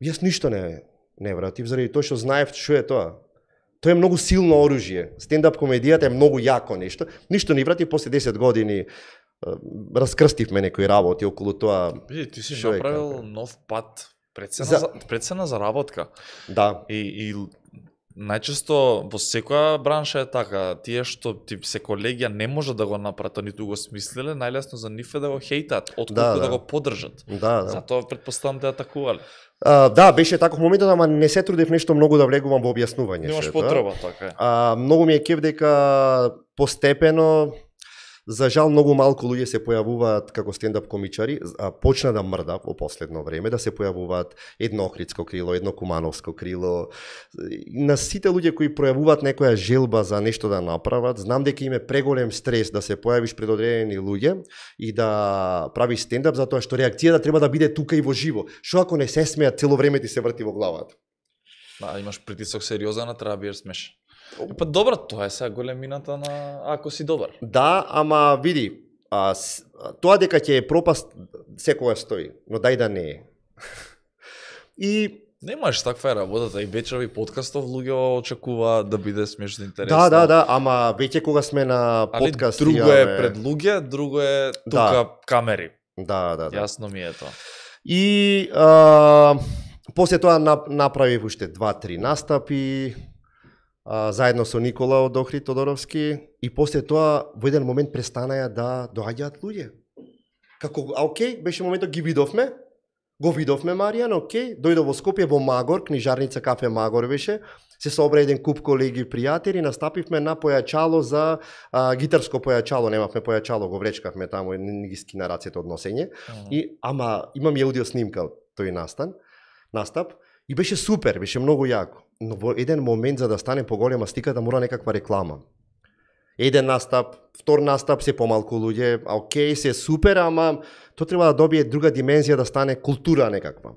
Јас ништо не вратив, заради тоа што знаев што е тоа. Тоа е многу силно оружје. Стендап комедијата е многу јако нешто. Ништо не вратив, после 10 години раскрстивме некои работи околу тоа. Ти си направил нов пат, прецена за работка. Да. И најчесто во секоја бранша е така, тие што се колегија не може да го направат, ниту го смислиле, најлесно за нив е да го хейтат, отколку да го поддржат. Затоа предпоставам да атакувале. Да, беше таков моментот, ама не се трудев нешто многу да влегувам во објаснување. Немаш потреба, така е. Многу ми е кеф дека постепено, за жал многу малку луѓе се појавуваат како стендап комичари, почна да мрда во последно време, да се појавуваат едно Охридско крило, едно Кумановско крило. На сите луѓе кои пројавуваат некоја желба за нешто да направат, знам дека им е преголем стрес да се појавиш пред одредени луѓе и да правиш стендап, затоа што реакцијата треба да биде тука и во живо. Што ако не се смеат, цело време ти се врти во главата? Да, имаш притисок сериозен, а треба да бидеш смешен. Па добро, тоа е сега големината на ако си добар. Да, ама види, тоа дека ќе е пропаст секогаш стои, но дај да не е. И немаш таква е работата и вечерови подкастов луѓе очекуваат да биде смешно интересно. Да, ама веќе кога сме на подкаст, друго е пред луѓе, друго е тука камери. Да. Јасно ми е тоа. И после тоа направив уште 2-3 настапи, заедно со Никола од Охрид Тодоровски, и после тоа во еден момент престанаја да доаѓаат луѓе. Како, окей, беше моментот, го видовме Маријан, окей, дојде во Скопје во Магор, книжарница кафе Магор беше, се собра еден куп колеги пријатели, настапивме на појачало за гитарско појачало, немавме појачало, го влечкавме таму, не ги скина рацете од носење, и ама имам и аудио снимка од тој настап, и беше супер, беше многу јако. Но во еден момент, за да стане поголема стиката, мора некаква реклама. Еден настап, втор настап, се помалку луѓе, окей, се супер, ама тоа треба да добие друга димензија, да стане култура некаква.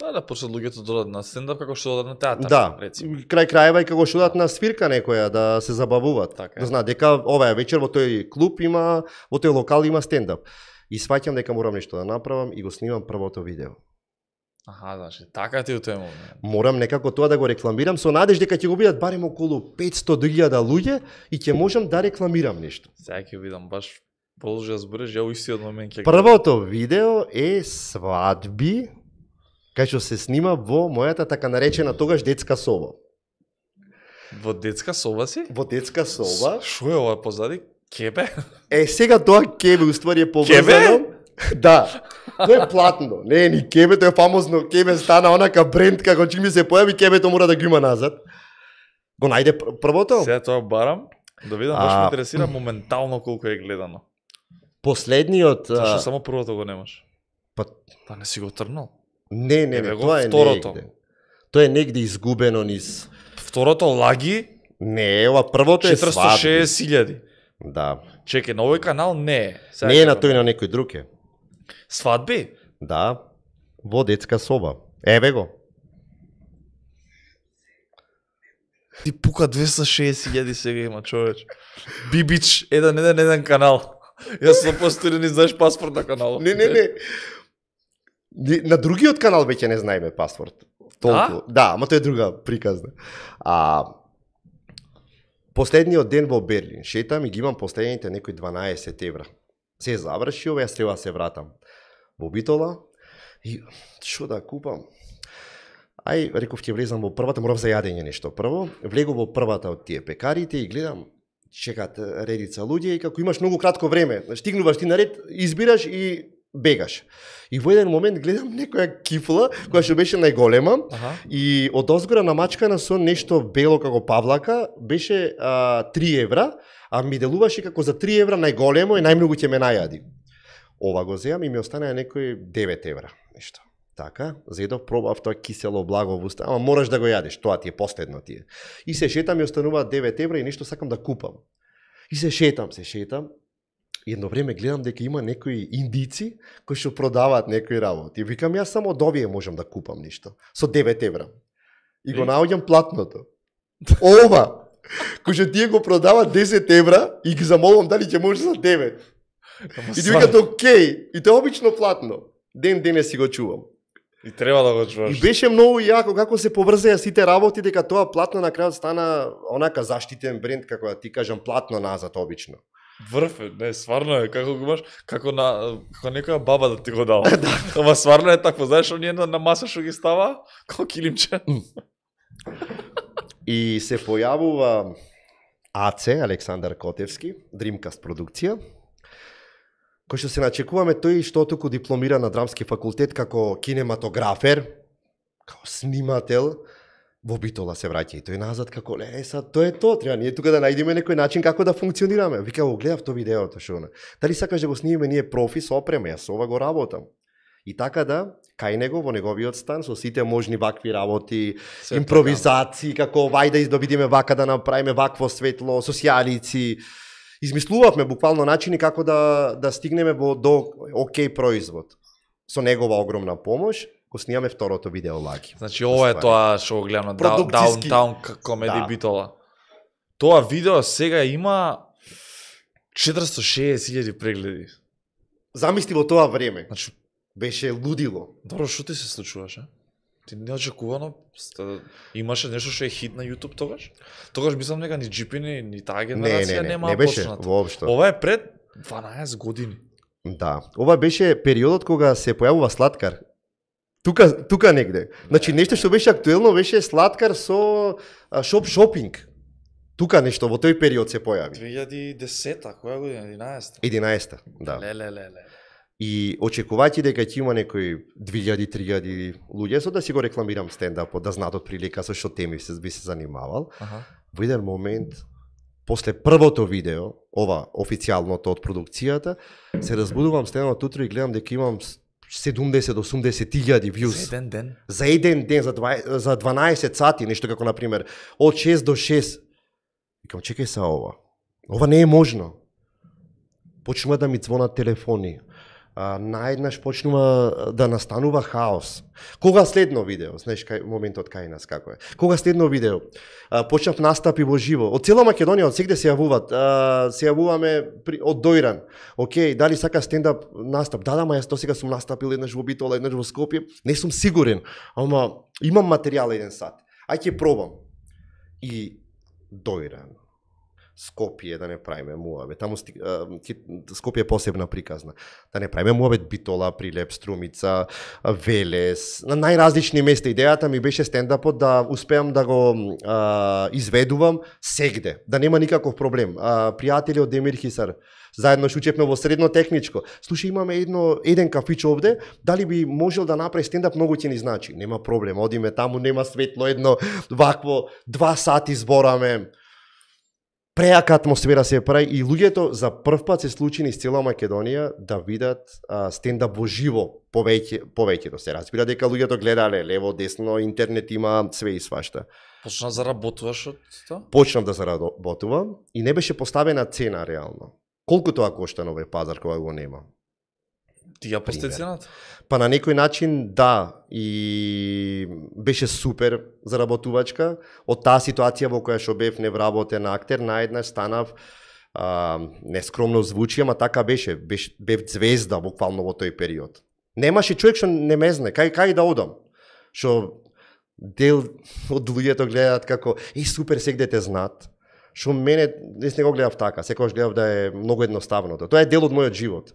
Да почнат луѓето да одат на стендап како што одат на театар, да, рецимо. Крај крајва и како што одат на свирка некоја, да се забавуваат. Така, да знаат дека оваа вечер во тој клуб има, во тој локал има стендап. И сваќам дека морам нешто да направам и го снимам првото видео. Аха, значи, така ти у тој момент. Морам некако тоа да го рекламирам со надеж дека ќе го видат барем околу 500.000 луѓе и ќе можам да рекламирам нешто. Сега ќе видам баш продолжи да збориш, ја у истиот момент ќе Првото видео е свадби, кај што се снима во мојата така наречена тогаш детска соба. Во детска соба си? Во детска соба. Шо е ова позади? Кебе? Сега тоа кебе уствари е поврзано. Да. Тоа е платно. Не е ни кебе, тоа е фамозно кебе, стана онака бренд како чим се појави кебето мора да го има назад. Го најде првото? Сега тоа барам, да видам, баш ме интересира моментално колку е гледано. Последниот... Зашто само првото го немаш? Па не си го трнал? Не, тоа е второто. негде. Тоа е негде изгубено низ... Второто лаги? Не, ова првото е свадби. 460.000. Да. Чекај, на овој канал не е. Не е на тој, на некој друг е. Свадби? Да, во детска соба. Еве го. Ти пука 260.000 сега има, човеч. Бибич, еден канал. Јас сум постирен и знаеш паспорт на каналот. Не. На другиот канал веќе не знаеме паспорт. Толку. Да, ама тоа е друга приказна. Последниот ден во Берлин, шетам и ги имам последните некои 12 евра. Се заврши ова, јас треба да се вратам во Битола и што да купам? Реков ќе влезам во првата, морав за јадење нешто прво. Влегов во првата од тие пекарите и гледам, чекат редица луѓе и како имаш многу кратко време, стигнуваш ти на ред, избираш и бегаш. И во еден момент гледам некоја кифла која што беше најголема и од озгора намачкана со нешто бело како павлака, беше 3 евра, а ми делуваше како за 3 евра најголемо и најмногу ќе ме најади. Ова го земам и ми останаа некои 9 евра, нешто. Така, зедов, пробав тоа кисело благо во уста, ама мораш да го јадеш, тоа ти е последно ти е. И се шетам и остануваат 9 евра и нешто сакам да купам. И се шетам. И едно време гледам дека има некои индици кои што продаваат некои работи. И викам, јас само од овие можам да купам нешто. Со 9 евра. И го наоѓам платното. Ова! Кој што тие го продаваат 10 евра и ги замолувам дали ќе може за 9. И ти викат, окей. И тоа обично платно. Денес си го чувам. И треба да го чуваш. И беше многу јако како се поврзеа сите работи, дека тоа платно на крајот стана онака заштитен бренд, како да ти кажам, платно назад обично. Врв е, не, сварно е, како го имаш, како некоја баба да ти го дава. Ама сварно е такво, знаеш, оние на маса што ги става, како килимче. И се појавува АЦ, Александар Котевски, Dreamcast продукција, кој што се начекуваме тој што туку дипломира на драмски факултет како кинематографер, како снимател, во Битола се враќа и тој назад како тоа е тоа, треба ние тука да најдеме некој начин како да функционираме. Вика, го гледав тоа видеото што она. Дали сакаш да го снимиме ние профи со опрема, јас ова го работам. И така да, кај него во неговиот стан со сите можни вакви работи, импровизации, како вајда да видиме вака да направиме вакво светло, социјалици. Измислувавме буквално начини како да стигнеме до окей производ. Со негова огромна помош го снимаме второто видео лаги. Значи ова е тоа што го гледам на Downtown Comedy Битола. Тоа видео сега има 460.000 прегледи. Замисли во тоа време. Значи беше лудило. Добро, што ти се случуваше? Ти неочекувано имаше нешто што е хит на YouTube тогаш? Тогаш мислам дека ни GP ни таа генерација нема почнато. Воопшто. Ова е пред 12 години. Да, ова беше периодот кога се појавува Слаткар. Тука негде. Значи нешто што беше актуелно беше Слаткар со шопинг. Тука нешто во тој период се појави. 2010-та, која година? 11-та? 11-та, да. Леле. И очекувајќи дека ќе има некои 2000-3000 луѓе, со да си го рекламирам стендапот, да знаат од прилика со што теми би се занимавал. Во еден момент, после првото видео, ова официјалното од продукцијата, се разбудувам стенот утро и гледам дека имам 70-80 views. За еден ден? За еден ден, за 12 сати, нешто како, например, од 6 до 6. Викам, чекај са ова. Ова не е можно. Почнува да ми звонат телефони. наеднаш почнува да настанува хаос. Кога следно видео, знаеш кај моментот кај нас како е. Кога следно видео, почнав настапи во живо. Од цела Македонија, од сегде се јавуваат. Се јавуваме од Дојран. Океј, дали сака стендап настап? Да, ма јас досега сум настапил еднаш во Битола, еднаш во Скопје. Не сум сигурен, ама имам материјал еден сат. Ај ќе пробам. И Дојран. Скопје, да не правиме муабет. Таму Скопје е посебна приказна. Да не правиме муабет Битола, Прилеп, Струмица, Велес, на најразлични места. Идејата ми беше стендапот да успеам да го изведувам сегде, да нема никаков проблем. Пријатели од Демир Хисар, заедно шучевме во средно техничко. Слушај, имаме еден кафич овде, дали би можел да направи стендап, многу ќе ни значи. Нема проблем, одиме таму, нема светло, едно вакво 2 сати збораме. Преака атмосфера се прави и луѓето за прв пат се случи низ цела Македонија да видат стендап во живо повеќето се разбира дека луѓето гледале лево, десно, интернет има све и свашта. Почна да заработуваш од тоа? Почнав да заработувам и не беше поставена цена реално. Колку тоа кошта на овој пазар кога го нема? Ти ја пости цената? Па на некој начин да, и беше супер заработувачка. Од таа ситуација во која што бев невработен актер, наеднаш станав, нескромно звучи, ама така беше. Бев звезда буквално во тој период. Немаше човек што не ме знае, кај да одам. Што дел од луѓето гледаат како, супер, сегде те знаат. Што мене, не го гледав така, секогаш гледав да е многу едноставното. Тоа е дел од мојот живот.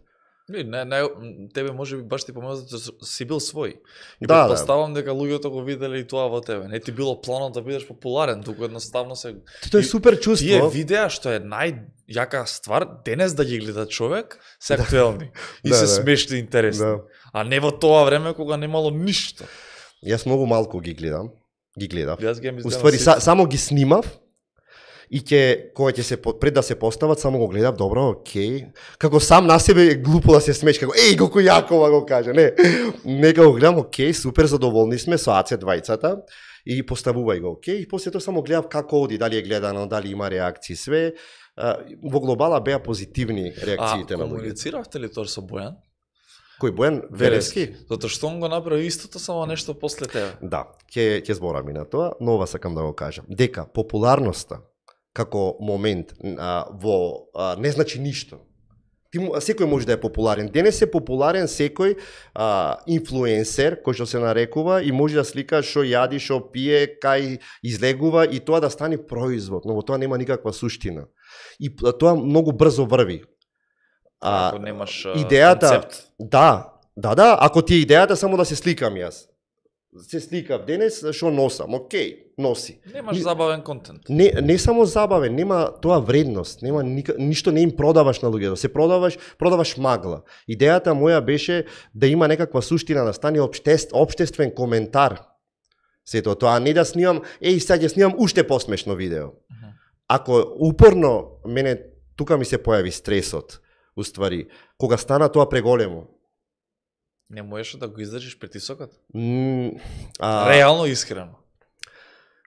Тебе може би баш ти помогна да си бил свој. И да, предпоставам дека луѓето го виделе и тоа во тебе. Не ти било планот да бидеш популарен, туку едноставно се... Тоа е супер чувство. Тие видеа што е најјака ствар, денес да ги гледа човек, се актуелни. И се смешни и интересни. А не во тоа време кога немало ништо. Јас многу малку ги гледам. Јас ги Уствари, само ги снимав. И кога ќе се пред да се постават, само го гледав, добро, окей. Како сам на себе глупо да се смееш, како колку јакова го кажа, не. Нека го гледам, окей, супер задоволни сме со АЦ двајцата и поставувај го, окей. И после тоа само гледав како оди, дали е гледано, дали има реакции, све. Во глобала беа позитивни реакциите на луѓето. Комунициравте ли тоа со Бојан? Кој Бојан Велевски? Затоа што он го направи истото, само нешто после тебе. Да, ќе зборам и на тоа, но ова сакам да го кажам. Дека популарноста како момент не значи ништо. Секој може да е популарен. Денес е популарен секој инфлуенсер, кој што се нарекува, и може да слика што јади, што пие, кај излегува и тоа да стане производ, но во тоа нема никаква суштина. И тоа многу брзо врви. Ако немаш концепт. Да, ако ти е идејата само да се сликам јас. Се сликав денес, што носам, окей, носи. Немаш забавен контент. Не само забавен, нема тоа вредност, нема ништо не им продаваш на луѓето, се продаваш магла. Идејата моја беше да има некаква суштина, да стане општествен коментар. Сето тоа, не да снимам, сега ќе снимам уште посмешно видео. Ако упорно, мене тука ми се појави стресот, уствари, кога стана тоа преголемо. Не можеш да го издржиш притисокот? Реално искрено.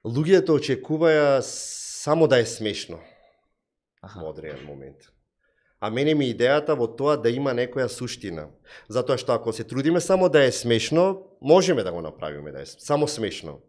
Луѓето очекуваја само да е смешно во одреден момент. А мене ми идејата во тоа да има некоја суштина. Затоа што ако се трудиме само да е смешно, можеме да го направиме да е само смешно.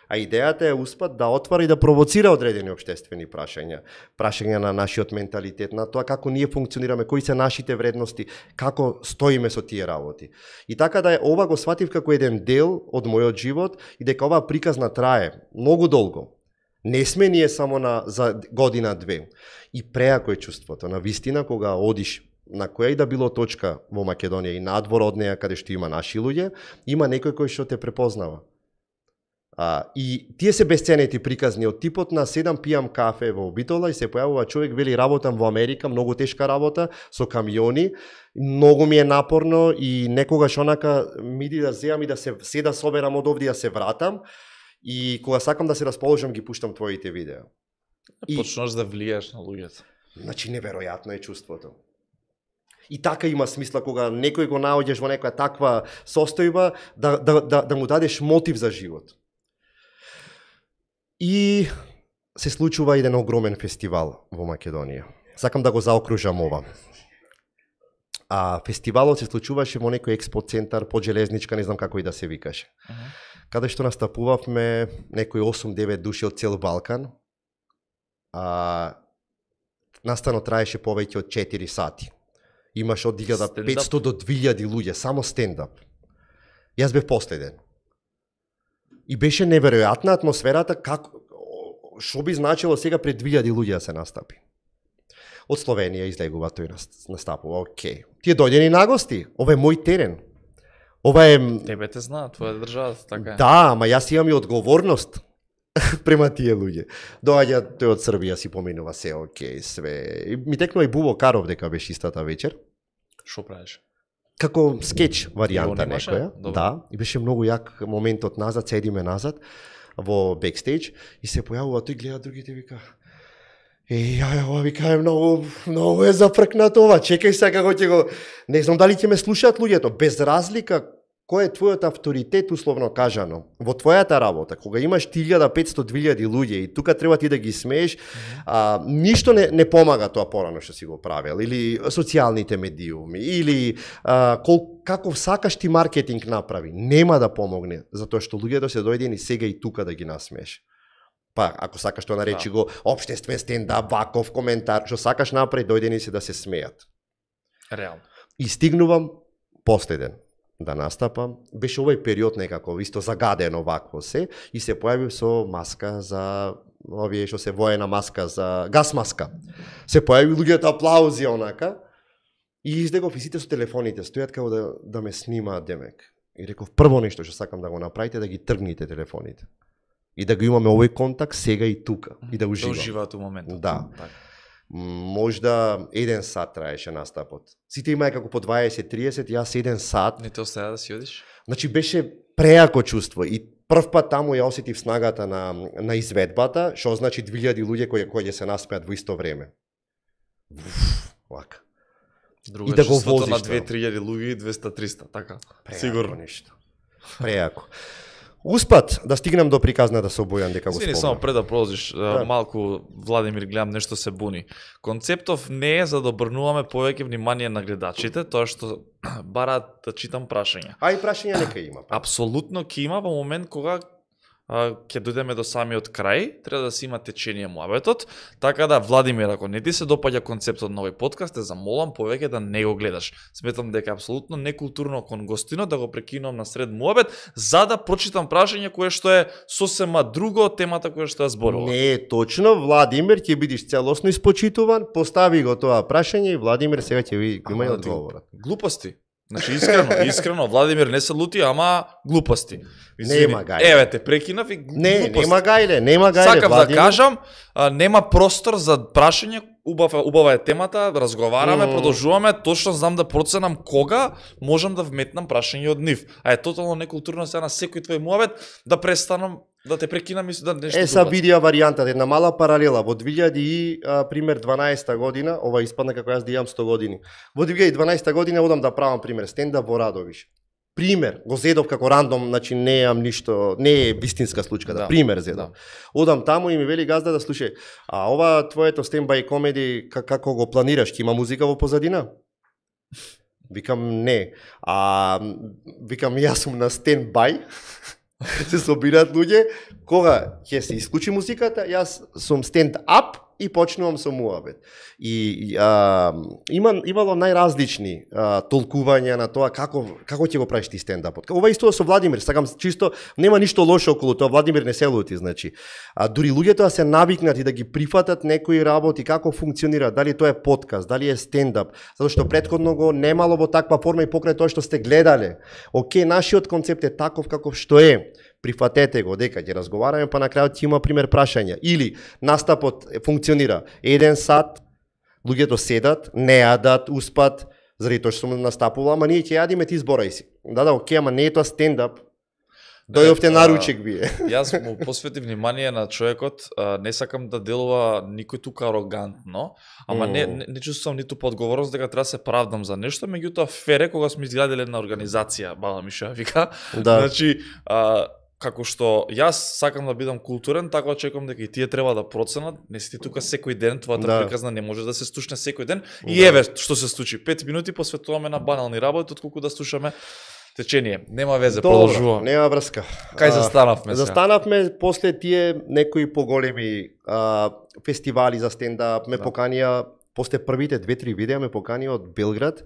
А идејата е успат да отвара и да провоцира одредени општествени прашања на нашиот менталитет, на тоа како ние функционираме, кои се нашите вредности, како стоиме со тие работи. И така да ова го сватив како еден дел од мојот живот и дека оваа приказна трае многу долго. Не сме ние само за година-две. И преако е чувството, на вистина, кога одиш на која и да било точка во Македонија и надвор од неја каде што има наши луѓе, има некој кој што те препознава. И тие се бесценети приказни од типот на 7 пијам кафе во Битола и се појавува човек, вели работам во Америка, многу тешка работа, со камиони, многу ми е напорно и некогаш онака миди да земам и да се да соберам од овде да се вратам и кога сакам да се расположам ги пуштам твоите видеа. Почнаш да влијаш на луѓето. Значи неверојатно е чувството. И така има смисла кога некој го наоѓаш во некоја таква состојба да му дадеш мотив за живот. И се случува еден огромен фестивал во Македонија. Сакам да го заокружам ова. А фестивалот се случуваше во некој експо центар под железничка, не знам како и да се викаше. Каде што настапувавме некои 8-9 души од цел Балкан. Настанот траеше повеќе од 4 сати. Имаше од 1500 до 2000 луѓе, само стендап. Јас бев последен. И беше неверојатна атмосферата, што би значило сега пред 2000 луѓе да се настапи. Од Словенија излегува тој настапува, окей. Тие дојдени на гости, ова е мој терен. Ова е... Тебе те знаат, твоја држава, така е. Да, ама јас имам и одговорност према тие луѓе. Доаѓа тој од Србија, си поминува се, окей, све. Ми текнува и Бубо Каров дека беше истата вечер. Што правиш? Како скеч варијанта некоја. Добре. Да, и беше многу јак моментот назад, седиме назад во бекстејдж и се појавува тој, гледа другите, вика: ова вика е многу е запркнато ова, чекај сега како ќе го... Не знам дали ќе ме слушаат луѓето, без разлика кој е твојот авторитет, условно кажано, во твојата работа, кога имаш 1500-2000 луѓе и тука треба ти да ги смееш, ништо не помага тоа порано што си го правил, или социјалните медиуми, или каков сакаш ти маркетинг направи, нема да помогне, затоа што луѓето се дојдени сега и тука да ги насмееш. Па, ако сакаш тоа наречи го општествен стендап, ваков коментар, што сакаш направи, дојдени се да се смеат. Реално. И стигнувам последен да настапам. Беше овој период некако исто загадено вакво се и се појавив со маска за овие што се воена маска за гас маска. Се појави луѓето аплаузи онака и излегов и сите со телефоните стојат како да ме снимаат демек. И реков прво нешто што сакам да го направите да ги тргните телефоните. И да го имаме овој контакт сега и тука и да уживам. Да уживаат у моментот. Да. Можда 1 сат траеше настапот. Сите имаја како по 20-30, јас 1 сат. Не те оставя да си одиш? Значи беше преако чувство и прв пат таму ја осетив снагата на изведбата, што значи 2000 луѓе кои ќе се наспеат во исто време. Вака. Друго и да го чувството возиш на 2-3000 луѓе и 200-300, така. Преако Сигурно. нешто. Преако. Успат да стигнем до приказната со Бојан дека го Извини, спомна. само пред да продолжиш, малку Владимир гледам нешто се буни. Концептов не е за да обрнуваме повеќе внимание на гледачите, тоа што бараат да читам прашања. А и прашања нека има. Апсолутно ќе има во момент кога ќе дојдеме до самиот крај, треба да се има течение муабетот, така да Владимир, ако не ти се допаѓа концептот на овој подкаст, те замолам повеќе да не го гледаш. Сметам дека е апсолутно некултурно кон гостинот да го прекинувам на сред муабет, за да прочитам прашање кое што е сосема друго од темата која што ја зборува. Не е точно, Владимир ќе бидеш целосно испочитуван, постави го тоа прашање и Владимир сега ќе ви има одговорот. Глупости. Значи искрено, Владимир не се лути, ама глупости. Нема гајле. Еве те прекинав и глупости. Не, нема гајле, Сакав Владимир. да кажам, нема простор за прашање, убава е темата, разговараме, продолжуваме, точно знам да проценам кога можам да вметнам прашање од нив. А е тотално некултурно сега на секој твој муабет да престанам да те прекинам и да нешто Са видија варијантата, една мала паралела. Во 2012 година, ова испадна како јас да имам 100 години. Во 2012 година одам да правам пример стендап во Радовиш. Пример, го зедов како рандом, значи не имам ништо, не е вистинска случка, да, пример зедов. Одам таму и ми вели газда да слушај, а ова твоето стендбај комеди како го планираш, ќе има музика во позадина? Викам не. Викам јас сум на стендбај. Се собираат луѓе, кога ќе се исклучи музиката, јас сум стенд-ап и почнувам со муабет. И имало најразлични толкувања на тоа како ќе го правиш ти стендапот. Ова исто со Владимир, сакам чисто, нема ништо лошо околу тоа, Владимир не се лути, значи. Дури луѓето да се навикнати да ги прифатат некои работи, како функционира, дали тоа е подкаст, дали е стендап, затоа што претходно го немало во таква форма и покрај тоа што сте гледале. Океј, нашиот концепт е таков каков што е. Прифатете го дека ќе разговараме, па на крајот ќе има пример прашања. Или настапот функционира 1 сат, луѓето седат, не јадат, успат, заради тоа што сум настапувал, ама ние ќе јадиме, ти зборај си. Да, окей, ама не е тоа стендап. Дојдовте на ручек вие. Јас му посветив внимание на човекот, не сакам да делува никој тука арогантно, ама не чувствувам ниту подговорност дека треба да се правдам за нешто, меѓутоа фере кога сме изградиле една организација, баба ми што ја вика. Да. Значи, како што јас сакам да бидам културен, така очекувам дека и тие треба да проценат. Не си ти тука секој ден, твојата приказна не може да се слушне секој ден. И еве што се случи. 5 минути посветуваме на банални работи, отколку да слушаме течение. Нема везе, продолжуваме. Нема врска. Кај застанавме сега? Застанавме после тие некои поголеми фестивали за стендап, ме поканија после првите 2-3 видеа ме поканија од Белград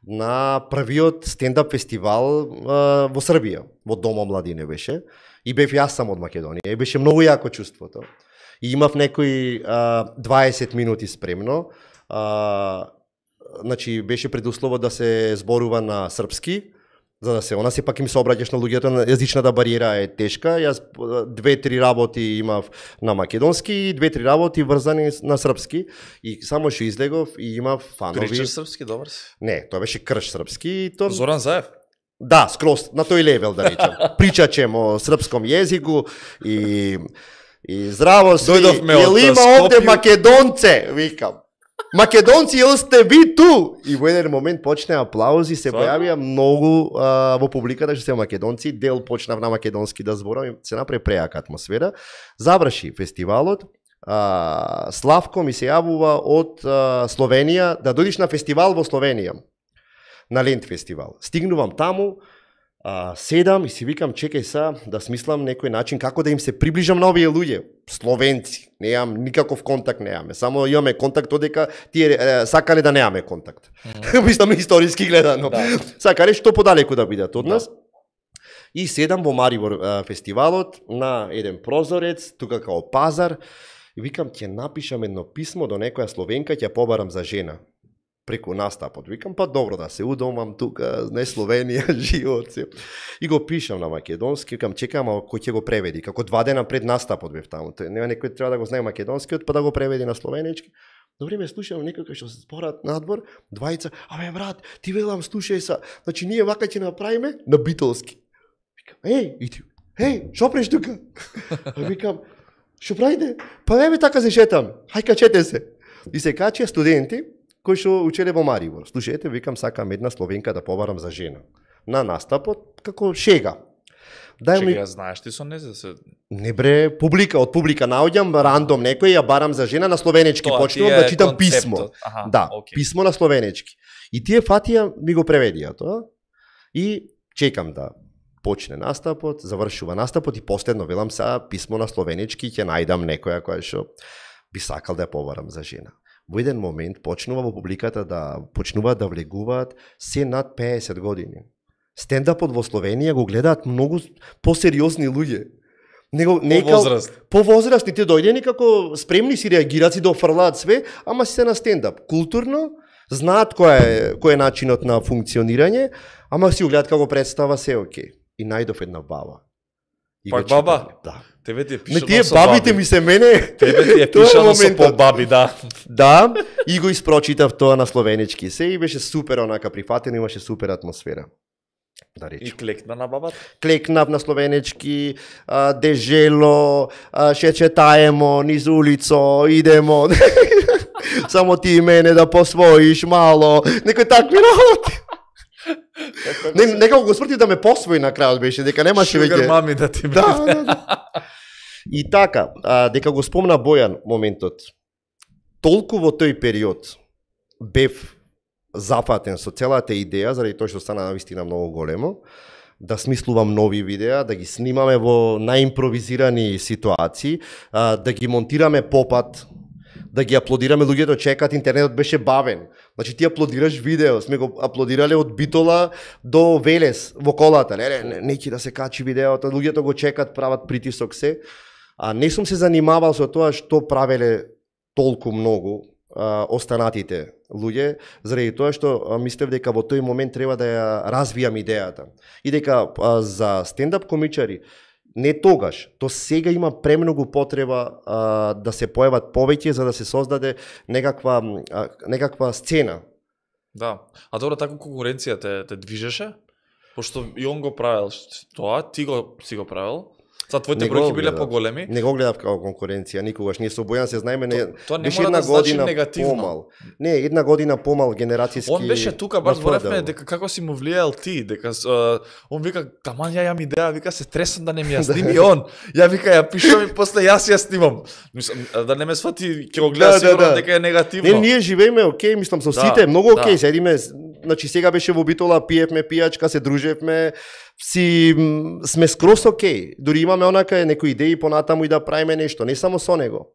на првиот стендап фестивал во Србија, во Дома младине беше. И бев јас сам од Македонија. И беше многу јако чувството. И имав некои 20 минути спремно. Значи беше предуслово да се зборува на српски, за да се она сепак им се обраќаш на луѓето, јазичната бариера е тешка. Јас 2-3 работи имав на македонски и 2-3 работи врзани на српски и само што излегов и имав фанови. Кричеш српски, добар си? Не, тоа беше крш српски. Зоран Заев? Да, скроз на тој левел да речем. Причачем о српском језику и здраво си. Јел има овде македонце, викам. Македонци, јел сте ви ту? И во еден момент почне аплаузи, се појавија многу во публиката што се македонци, дел почнав на македонски да зборам и се направи прејака атмосфера. Заврши фестивалот, Славко ми се јавува од Словенија да дојдеш на фестивал во Словенија, на Лент фестивал. Стигнувам таму, седам и си викам, чекај са да смислам некој начин како да им се приближам на овие луѓе. Словенци, неам никаков контакт неаме, само имаме контакт одека тие сакале да неаме контакт. Мислам историски гледано. Да. Сакале што подалеку да бидат од нас. И седам во Марибор фестивалот на еден прозорец, тука као пазар, и викам ќе напишам едно писмо до некоја словенка, ќе побарам за жена. Преку настапот. Викам, па добро да се удомам тука, не Словенија, живот се. И го пишам на македонски, викам, чекам, а кој ќе го преведи? Како 2 дена пред настапот бев таму. Нема некој треба да го знае македонскиот, па да го преведи на словенички. До време слушам некој што се зборат надвор, двајца, абе брат, ти велам слушај са, значи ние вака ќе направиме на битолски. Викам, еј, шо преш тука? Викам, шо правите? Па еве така се шетам, хај качете се. И се качија студенти кои што учеле во Марибор. Слушајте, викам, сакам една словенка да побарам за жена. На настапот, како шега. Шега, знаеш ти со незе се? Не бре, од публика наоѓам, рандом некој, ја барам за жена на словенечки, почнувам да читам писмо. Да, писмо на словенечки. И тие фатија ми го преведија тоа. И чекам да почне настапот, завршува настапот и последно велам са писмо на словенечки, ќе најдам некоја која што би сакал да ја побарам за жена. Во еден момент почнува во публиката да почнуваат да влегуваат се над 50 години. Стендапот во Словенија го гледаат многу посериозни луѓе. По-возрастни, те дојдени како спремни си реагираат, си да офрлаат све, ама си се на стендап. Културно, знаат кој е начинот на функционирање, ама си го гледаат како представа се окей. И најдов една баба. Пак баба? Да. Тебе ти е пишано тие со бабите баби. Ми се мене. Тебе ти е пишано со по баби, да. Да, и го испрочитав тоа на словенички се и беше супер онака прифатено, имаше супер атмосфера. Да речем. И клекна на бабата? Клекнав на словенички, дежело, ше четаемо, низ улицо, идемо. Само ти и мене да посвоиш мало. Некој такви работи. Некако го сврти да ме посвои на крајот беше, дека немаше веќе. Шугар мами да ти биде. Да. И така, дека го спомна Бојан моментот. Толку во тој период бев зафатен со целата идеја, заради тоа што стана навистина многу големо, да смислувам нови видеа, да ги снимаме во наимпровизирани ситуации, да ги монтираме попат, да ги аплодираме, луѓето чекат, интернетот беше бавен. Значи ти аплодираш видео, сме го аплодирале од Битола до Велес во колата. Не ќе да се качи видеото, луѓето го чекат, прават притисок се. Не сум се занимавал со тоа што правеле толку многу останатите луѓе, заради тоа што мислев дека во тој момент треба да ја развијам идејата. И дека за стендап комичари не тогаш, то сега има премногу потреба да се појават повеќе за да се создаде некаква сцена. Да. А добро, така конкуренција те движеше? Пошто и он го правил тоа, ти го си го правил. твоите Не го бројки биле гледав. поголеми. Не го гледав како конкуренција никогаш. Ние со Бојан се знаеме, Тоа не беше мора една да значи година негативно. помал. Не, една година помал генерацијски. Он беше тука, баш во зборевме ФДУ. дека како си му влијал ти, дека он вика, таман ја имам идеја, вика се тресам да не ми ја сними он. Ја вика ја пишувам и после јас ја снимам. Мислам, да не ме свати, ќе го гледа сигурно дека е негативно. Не, ние живееме окей, мислам со сите, многу окей, седиме, значи сега беше во Битола, пиевме пијачка, се дружевме, сме скрос окей. Дури имаме онака некои идеи понатаму и да правиме нешто, не само со него.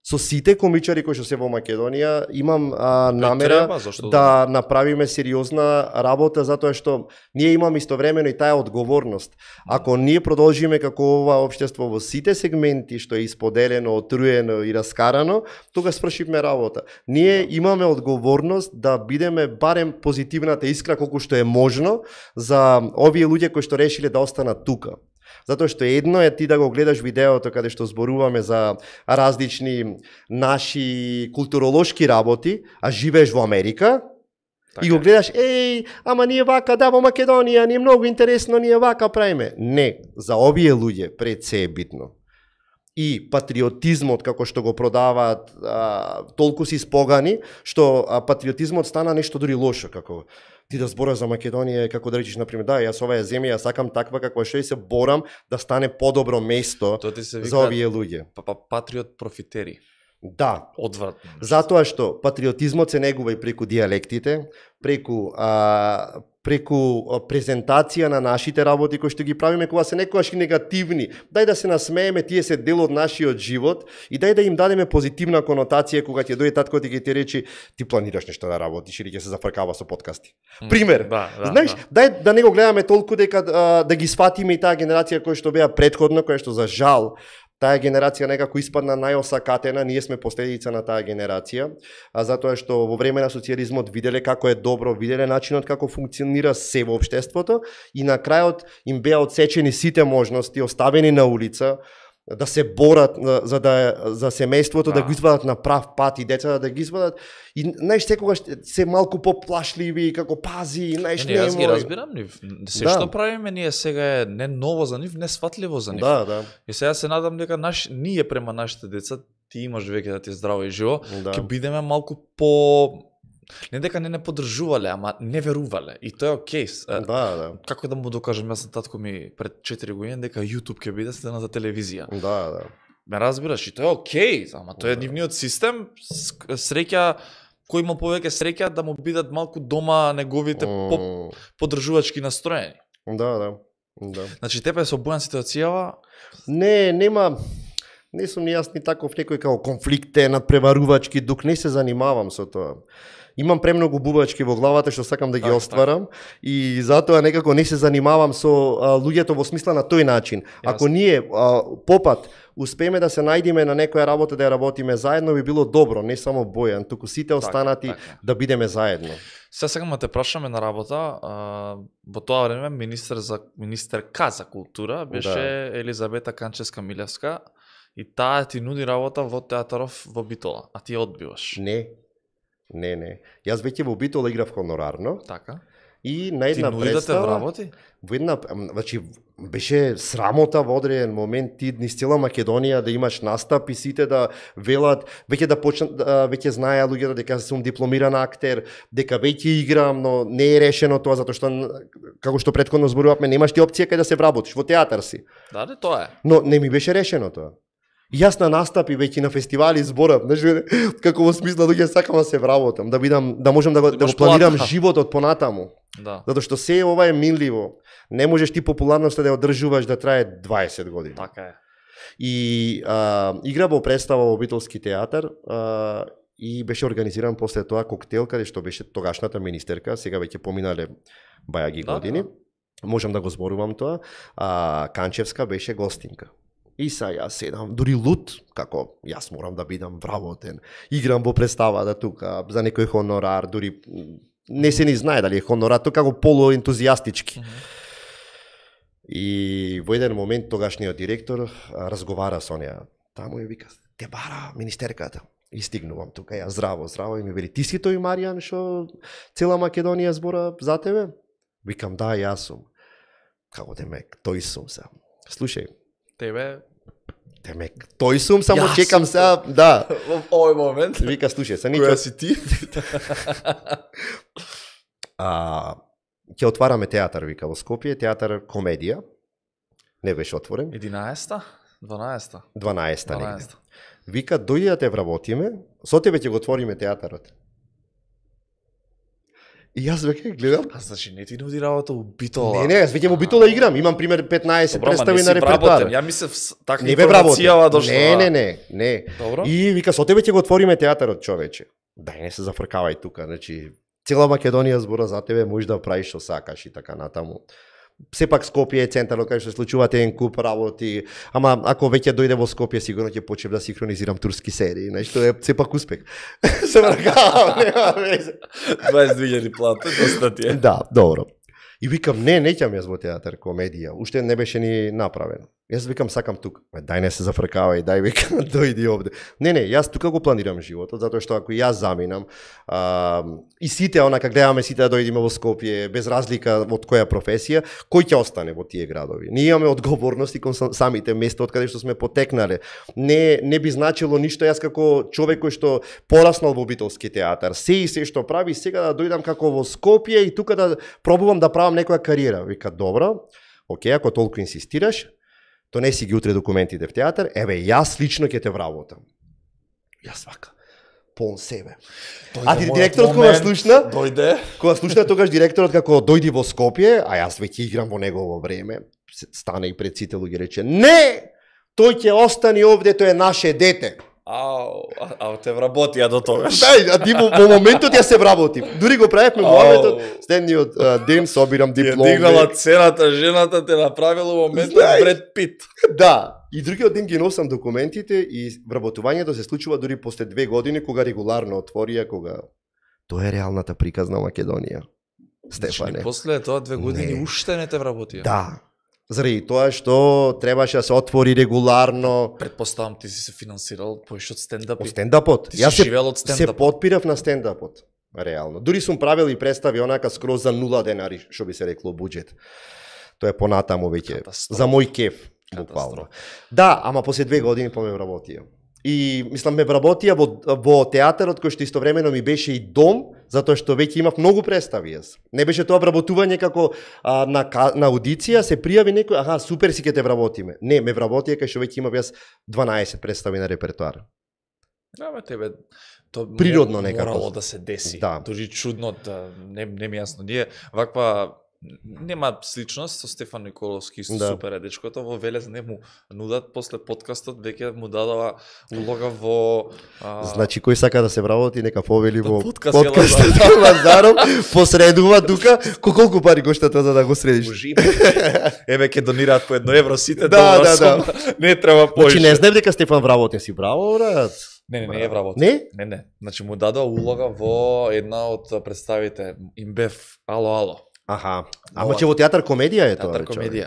Со сите комичари кои што се во Македонија имам намера да направиме сериозна работа, затоа што ние имаме истовремено и таа одговорност. Ако ние продолжиме како ова општество во сите сегменти што е исподелено, отруено и раскарано, тога свршивме работа. Ние имаме одговорност да бидеме барем позитивната искра колку што е можно за овие луѓе кои што решиле да останат тука. Затоа што едно е ти да го гледаш видеото каде што зборуваме за различни наши културолошки работи, а живееш во Америка, и го гледаш, ама ние вака, да, во Македонија, ни е многу интересно, ние вака правиме. Не, за овие луѓе пред се е битно. И патриотизмот, како што го продаваат, толку си спогани, што патриотизмот стана нешто дури лошо, како ти да збораш за Македонија, како да речеш, например, да, јас оваа земја, ја сакам таква како што и се борам да стане подобро место за овие луѓе. Патриот профитери. Да. Одвратно. Затоа што патриотизмот се негува и преку диалектите, преку презентација на нашите работи кои што ги правиме, кога се некогаш и негативни. Дај да се насмееме, тие се дел од нашиот живот и дај да им дадеме позитивна конотација кога ќе дојде татко и ќе ти речи ти планираш нешто да работиш или ќе се зафркава со подкасти. Пример. Знаеш, дај да не го гледаме толку дека да ги сватиме и таа генерација која што беа претходно, која што за жал таа генерација некако испадна најосакатена, ние сме последица на таа генерација, затоа што во време на социјализмот виделе како е добро, виделе начинот како функционира се во општеството и на крајот им беа отсечени сите можности, оставени на улица, да се борат за семејството, да го извадат на прав пат и децата да ги извадат. И знаеш, секогаш се малку поплашливи, како пази, знаеш, не јас ги разбирам нив. Се што правиме ние сега е не ново за нив, не сватливо за нив. Да. И сега се надам дека ние према нашите деца, ти имаш веќе да ти е здраво и живо, ќе бидеме малку по не дека не поддржувале, ама не верувале. И тоа е окей. Да. Како да му докажам, јас на татко ми пред 4 години дека YouTube ќе биде следната телевизија. Да. Ме разбираш, и тоа е окей, ама тоа е нивниот систем, среќа кој има повеќе среќа да му бидат малку дома неговите поддржувачки настроени. Да. Значи тебе со Бојан ситуацијава? Не сум ни јас ни таков некој како конфликтен, надпреварувачки дух, не се занимавам со тоа. Имам премногу бубачки во главата што сакам да ги остварам и затоа некако не се занимавам со луѓето во смисла на тој начин. Ако ние попат успееме да се најдеме на некоја работа да ја работиме заедно, би било добро, не само Бојан, туку сите останати да бидеме заедно. Сега сакам да те прашаме на работа, во тоа време министерка за култура беше Елизабета Канчевска-Милевска и таа ти нуди работа во театаров во Битола, а ти ја одбиваш. Не. Јас веќе во Битола играв хонорарно. Така. И на една представа... Ти нудите во работи? Во една, значи, беше срамота во одреден момент ти низ цела Македонија да имаш настап и сите да велат, веќе да почнат, веќе знаеа луѓето дека сум дипломиран актер, дека веќе играм, но не е решено тоа затоа што како што претходно зборувавме, немаш ти опција кај да се вработиш, во театар си. Да, тоа е. Но не ми беше решено тоа. Јас на настапи веќе на фестивали зборам, знаеш, како во смисла луѓе сакам да се вработам, да можам да го планирам животот понатаму. Да. Затоа што се ова е минливо. Не можеш ти популарноста да ја одржуваш да трае 20 години. Така е. И игра во представа во Битолски театар и беше организиран после тоа коктел каде што беше тогашната министерка, сега веќе поминале бајаги години. Можам да го зборувам тоа. Канчевска беше гостинка. И јас седам, дури лут, како јас морам да бидам вработен. Играм во представата тука за некој хонорар, дури не се ни знае дали е хонорар, тоа како полуентузијастички. И во еден момент тогашниот директор разговара со неа. Таму ја вика, те бара министерката. И стигнувам тука, ја здраво и ми вели, ти си тој Маријан што цела Македонија збора за тебе? Викам, да, јас сум. Како демек, тој сум сам. Слушај, Тебе Демек, тој сум, само Јас чекам сум сега, да. во овој момент. Вика, слушај, са Која нiko... си ти? Ќе отвараме театар, вика, во Скопје, театар комедија. Не беше отворен. 11-та? 12-та? 12-та негде. 12-та. Вика, дојди да те вработиме, со тебе ќе го отвориме театарот. И јас веќе гледам. А значи не ти нуди работа у Битола. Не, јас веќе во Битола играм, имам пример 15 Добро, ма представи не на си репертоар. вработен. Ја мислев така Не бе вработен. информацијава дошла. Не. Добро. И вика, со тебе ќе го отвориме театарот, човече. Дај, не се зафркавај тука, значи цела Македонија збора за тебе, можеш да правиш што сакаш и така натаму. Сепак Скопје е центарот кај што се случуваат еден куп работи, ама ако веќе дојде во Скопје, сигурно ќе почнем да синхронизирам турски серии, нешто е сепак успех. Се вракавам, нема везе. 22.000 плата, доста ти е. Да, добро. И викам, не ќам јас во театар комедија, уште не беше ни направено. Јас викам, сакам тука. Дај не се зафркавај, дај викам, дојди овде. Не, јас тука го планирам животот, затоа што ако јас заминам, и сите, онака гледаме сите да дојдеме во Скопје, без разлика од која професија, кој ќе остане во тие градови? Ние имаме одговорности кон самите места од каде што сме потекнале. Не би значило ништо јас како човек кој што пораснал во битолски театар, се што прави, сега да дојдам како во Скопје и тука да пробувам да правам некоја кариера. Вика, добро, окей, ако толку инсистираш, донеси ги утре документите в театар, еве, јас лично ќе те вработам. Јас вака, полн себе. А директорот кога слушна, тогаш директорот како дојди во Скопје, а јас веќе играм во негово време, стана и пред сите луѓе рече, не, тој ќе остане овде, тој е наше дете. А те вработија до тогаш. Да, а ти во моментот ја се вработив. Дури го правевме моментот, следниот ден собирам дипломи. Ја дигнала цената, жената те направила моментот Бред Пит. Да, и другиот ден ги носам документите и вработувањето се случува дури после 2 години, кога регуларно отворија, кога тоа е реалната приказна Македонија. Стефане. Значи, после тоа 2 години уште не те вработија. Да. Заради тоа што требаше да се отвори регуларно. Предпоставам ти си се финансирал поише од стендапи. Стендапот. Ти си живеел од стендапот. Се подпирав на стендапот. Реално. Дури сум правил и представи онака скроз за 0 денари, што би се рекло буџет. Тоа е понатаму веќе за мој кеф, буквално. Да, ама после 2 години ме вработија. И мислам ме вработија во театарот кој што истовремено ми беше и дом, затоа што веќе имав многу представи јас. Не беше тоа вработување како на аудиција, се пријави некој, аха, супер си ќе те вработиме. Не, ме вработија кај што веќе имав јас 12 представи на репертоар. Да, бе, тебе то природно некако морало да се деси. Да. Дури чудно, да, не ми јасно. Ние ваква нема сличност со Стефан Николовски, исто супер е дечкото, во Велес не му нудат после подкастот, веќе му дадова улога во... Значи, кој сака да се вработи, нека повели во подкастот Лазаров, посредува тука, колку пари кошта тоа за да го средиш? Еве ќе донираат по 1 евро сите, да. Не треба поише. Значи, не знам дека Стефан вработен си, браво, брат. Не е вработен. Не? Не. Значи, му дадова улога во една од представите, Имбев, ало. Аха. Ама че во театар комедија е тоа. Театар комедија.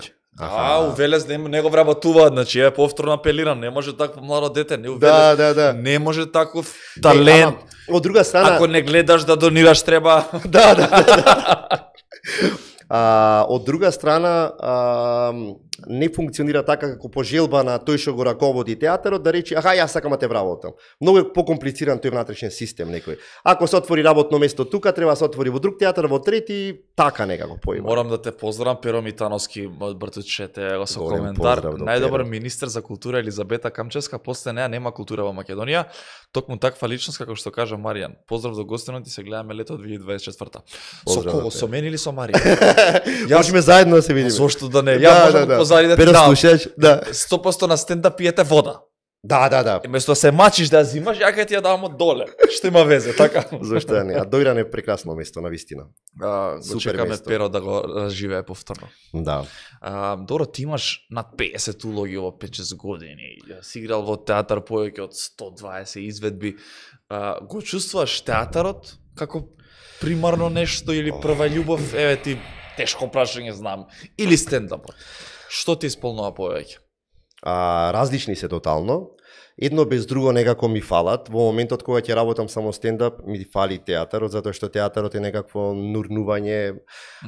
У Велес не го вработуваат, значи е повторно апелирам, не може такво младо дете, не у Велес. Да. Не може таков талент. Од друга страна, ако не гледаш да донираш треба. Да. Од друга страна, не функционира така како по желба на тој што го раководи театарот, да рече, аха, јас сакам да те вработам. Многу е покомплициран тој внатрешен систем некој. Ако се отвори работно место тука, треба да се отвори во друг театар, во трети, така некако поима. Морам да те поздравам, Перо Митановски, од Бртучете, со коментар. Најдобар министер за култура Елизабета Камчевска, после неа нема култура во Македонија. Токму таква личност, како што кажа Маријан. Поздрав до гостинот и се гледаме лето 2024. Со кого? Со мен или со Маријан? Можеме заедно да се видиме. Зошто да не? Ја можам да позади да ти дам. 100% на стендап пиете вода. Да. Место да се мачиш да зимаш, ја ќе ти ја дам од доле. Што има везе, така? Зошто не? А Дојран е прекрасно место, навистина. Го чекаме Перо да го разживее повторно. Да. Добро, ти имаш над 50 улоги во 5-6 години. Си играл во театар повеќе од 120 изведби. Го чувствуваш театарот како примарно нешто или прва љубов? Еве ти тешко прашање знам. Или стендапот? Што ти исполнува повеќе? Различни се тотално. едно без друго некако ми фалат. Во моментот кога ќе работам само стендап, ми фали театарот, затоа што театарот е некакво нурнување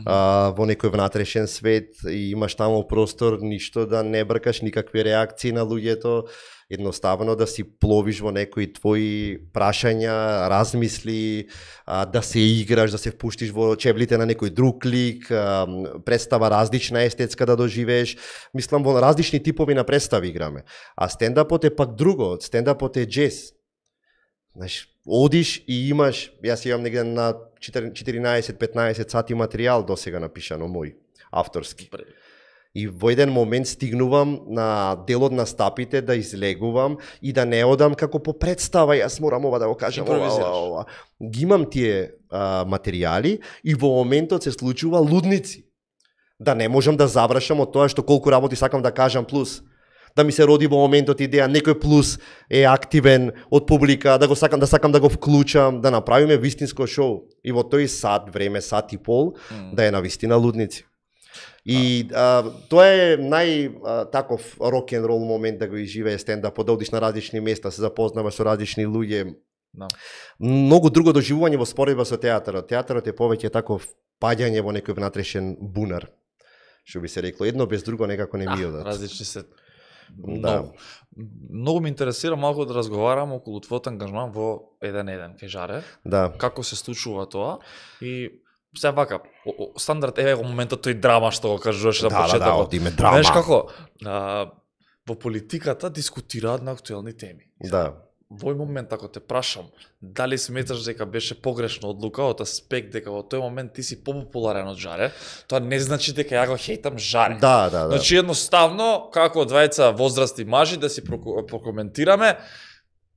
во некој внатрешен свет и имаш таму простор ништо да не бркаш, никакви реакции на луѓето, едноставно да си пловиш во некои твои прашања, размисли, да се играш, да се впуштиш во чевлите на некој друг лик, представа различна естетска да доживееш. Мислам, во различни типови на представи играме. А стендапот е пак друго, стендапот е джез. Знаеш, одиш и имаш, јас имам негде на 14-15 сати материјал досега напишано мој, авторски. И во еден момент стигнувам на делот на стапите да излегувам и да не одам како по представа, јас морам ова да го кажам, ова. Ги имам тие материјали и во моментот се случува лудници. Да не можам да завршам од тоа што колку работи сакам да кажам плюс. Да ми се роди во моментот идеја, некој плюс е активен од публика, да сакам да го вклучам, да направиме вистинско шоу. И во тој сат време, сат и пол, да е на вистина лудници. И тоа е таков рок-н-рол момент да го изживее стендап, да одиш на различни места, се запознаваш со различни луѓе. Да. Многу друго доживување во споредба со театарот. Театарот е повеќе таков паѓање во некој внатрешен бунар, што би се рекло. Едно без друго некако не ми одат. Различни се. Да. Многу ме интересира малку да разговарам околу твојот ангажман во 1-1 кај Жаре. Да. Како се случува тоа и се вака, стандард еве во моментот тој драма што го кажуваш на почетокот. Да, одиме драма. Знаеш како, во политиката дискутираат на актуелни теми. Да. Во овој момент, ако те прашам, дали сметаш дека беше погрешна одлука од аспект дека во тој момент ти си попопуларен од Жаре, тоа не значи дека ја го хейтам Жаре. Да. Значи едноставно, како двајца возрасти мажи, да си прокоментираме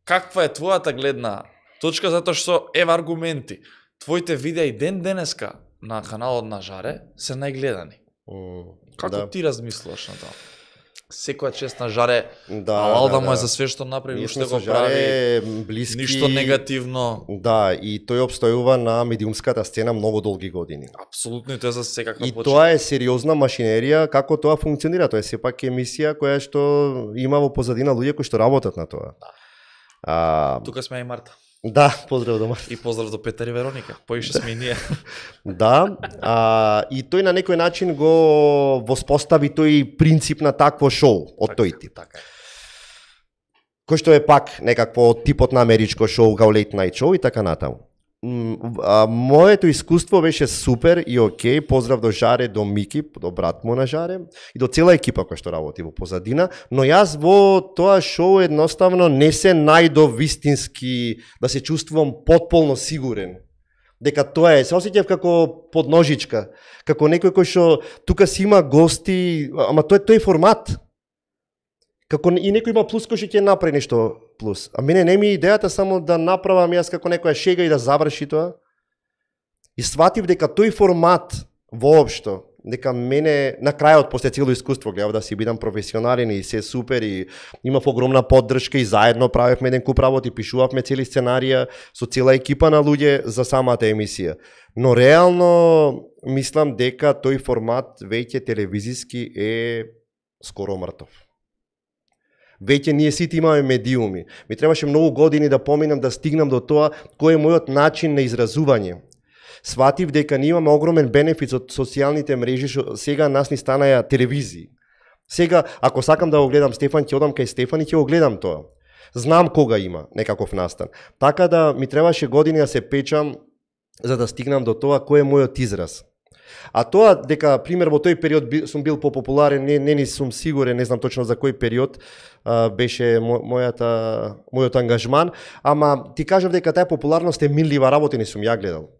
каква е твојата гледна точка, затоа што ева аргументи. Твоите видеа и ден-денеска на каналот на Жаре се најгледани. Како ти размислуваш на тоа? Секоја чест на Жаре, алал да му е за све што направи, уште го прави, блиски, ништо негативно. Да, и тој обстојува на медиумската сцена многу долги години. Апсолутно, и тоа за секаква почет. И тоа е сериозна машинерија, како тоа функционира, тоа е сепак емисија која што има во позадина луѓе кои што работат на тоа. Да. Тука сме и Марта. Да, поздрав до Марта. И поздрав до Петар и Вероника, поише сме и ние. Да, и тој на некој начин го воспостави тој принцип на такво шоу од тој тип. Така е. Кој што е пак некакво типот на америчко шоу, као Late Night Show и така натаму. Моето искуство беше супер и окей, поздрав до Жаре, до Мики, до брат му на Жаре и до цела екипа која што работи во позадина, но јас во тоа шоу едноставно не се најдов вистински да се чувствувам потполно сигурен дека тоа е, се осеќав како подножичка, како некој кој што тука си има гости, ама тој формат. Како и некој има плюс кој што ќе направи нешто плюс. А мене не ми е идејата само да направам јас како некоја шега и да заврши тоа. И сватив дека тој формат воопшто, дека мене на крајот после цело искуство гледав да си бидам професионален и се супер и имав огромна поддршка и заедно правевме еден куп работи, пишувавме цели сценарија со цела екипа на луѓе за самата емисија. Но реално мислам дека тој формат веќе телевизиски е скоро мртов. Веќе ние сите имаме медиуми. Ми требаше многу години да поминам да стигнам до тоа кој е мојот начин на изразување. Сватив дека ние имаме огромен бенефит од социјалните мрежи, што сега нас ни станаја телевизии. Сега, ако сакам да го гледам Стефан, ќе одам кај Стефан и ќе го гледам тоа. Знам кога има некаков настан. Така да ми требаше години да се печам за да стигнам до тоа кој е мојот израз. А тоа дека, пример, во тој период сум бил попопуларен, не сум сигурен, не знам точно за кој период беше мојот ангажман, ама ти кажав дека таа популарност е минлива работа, не сум ја гледал.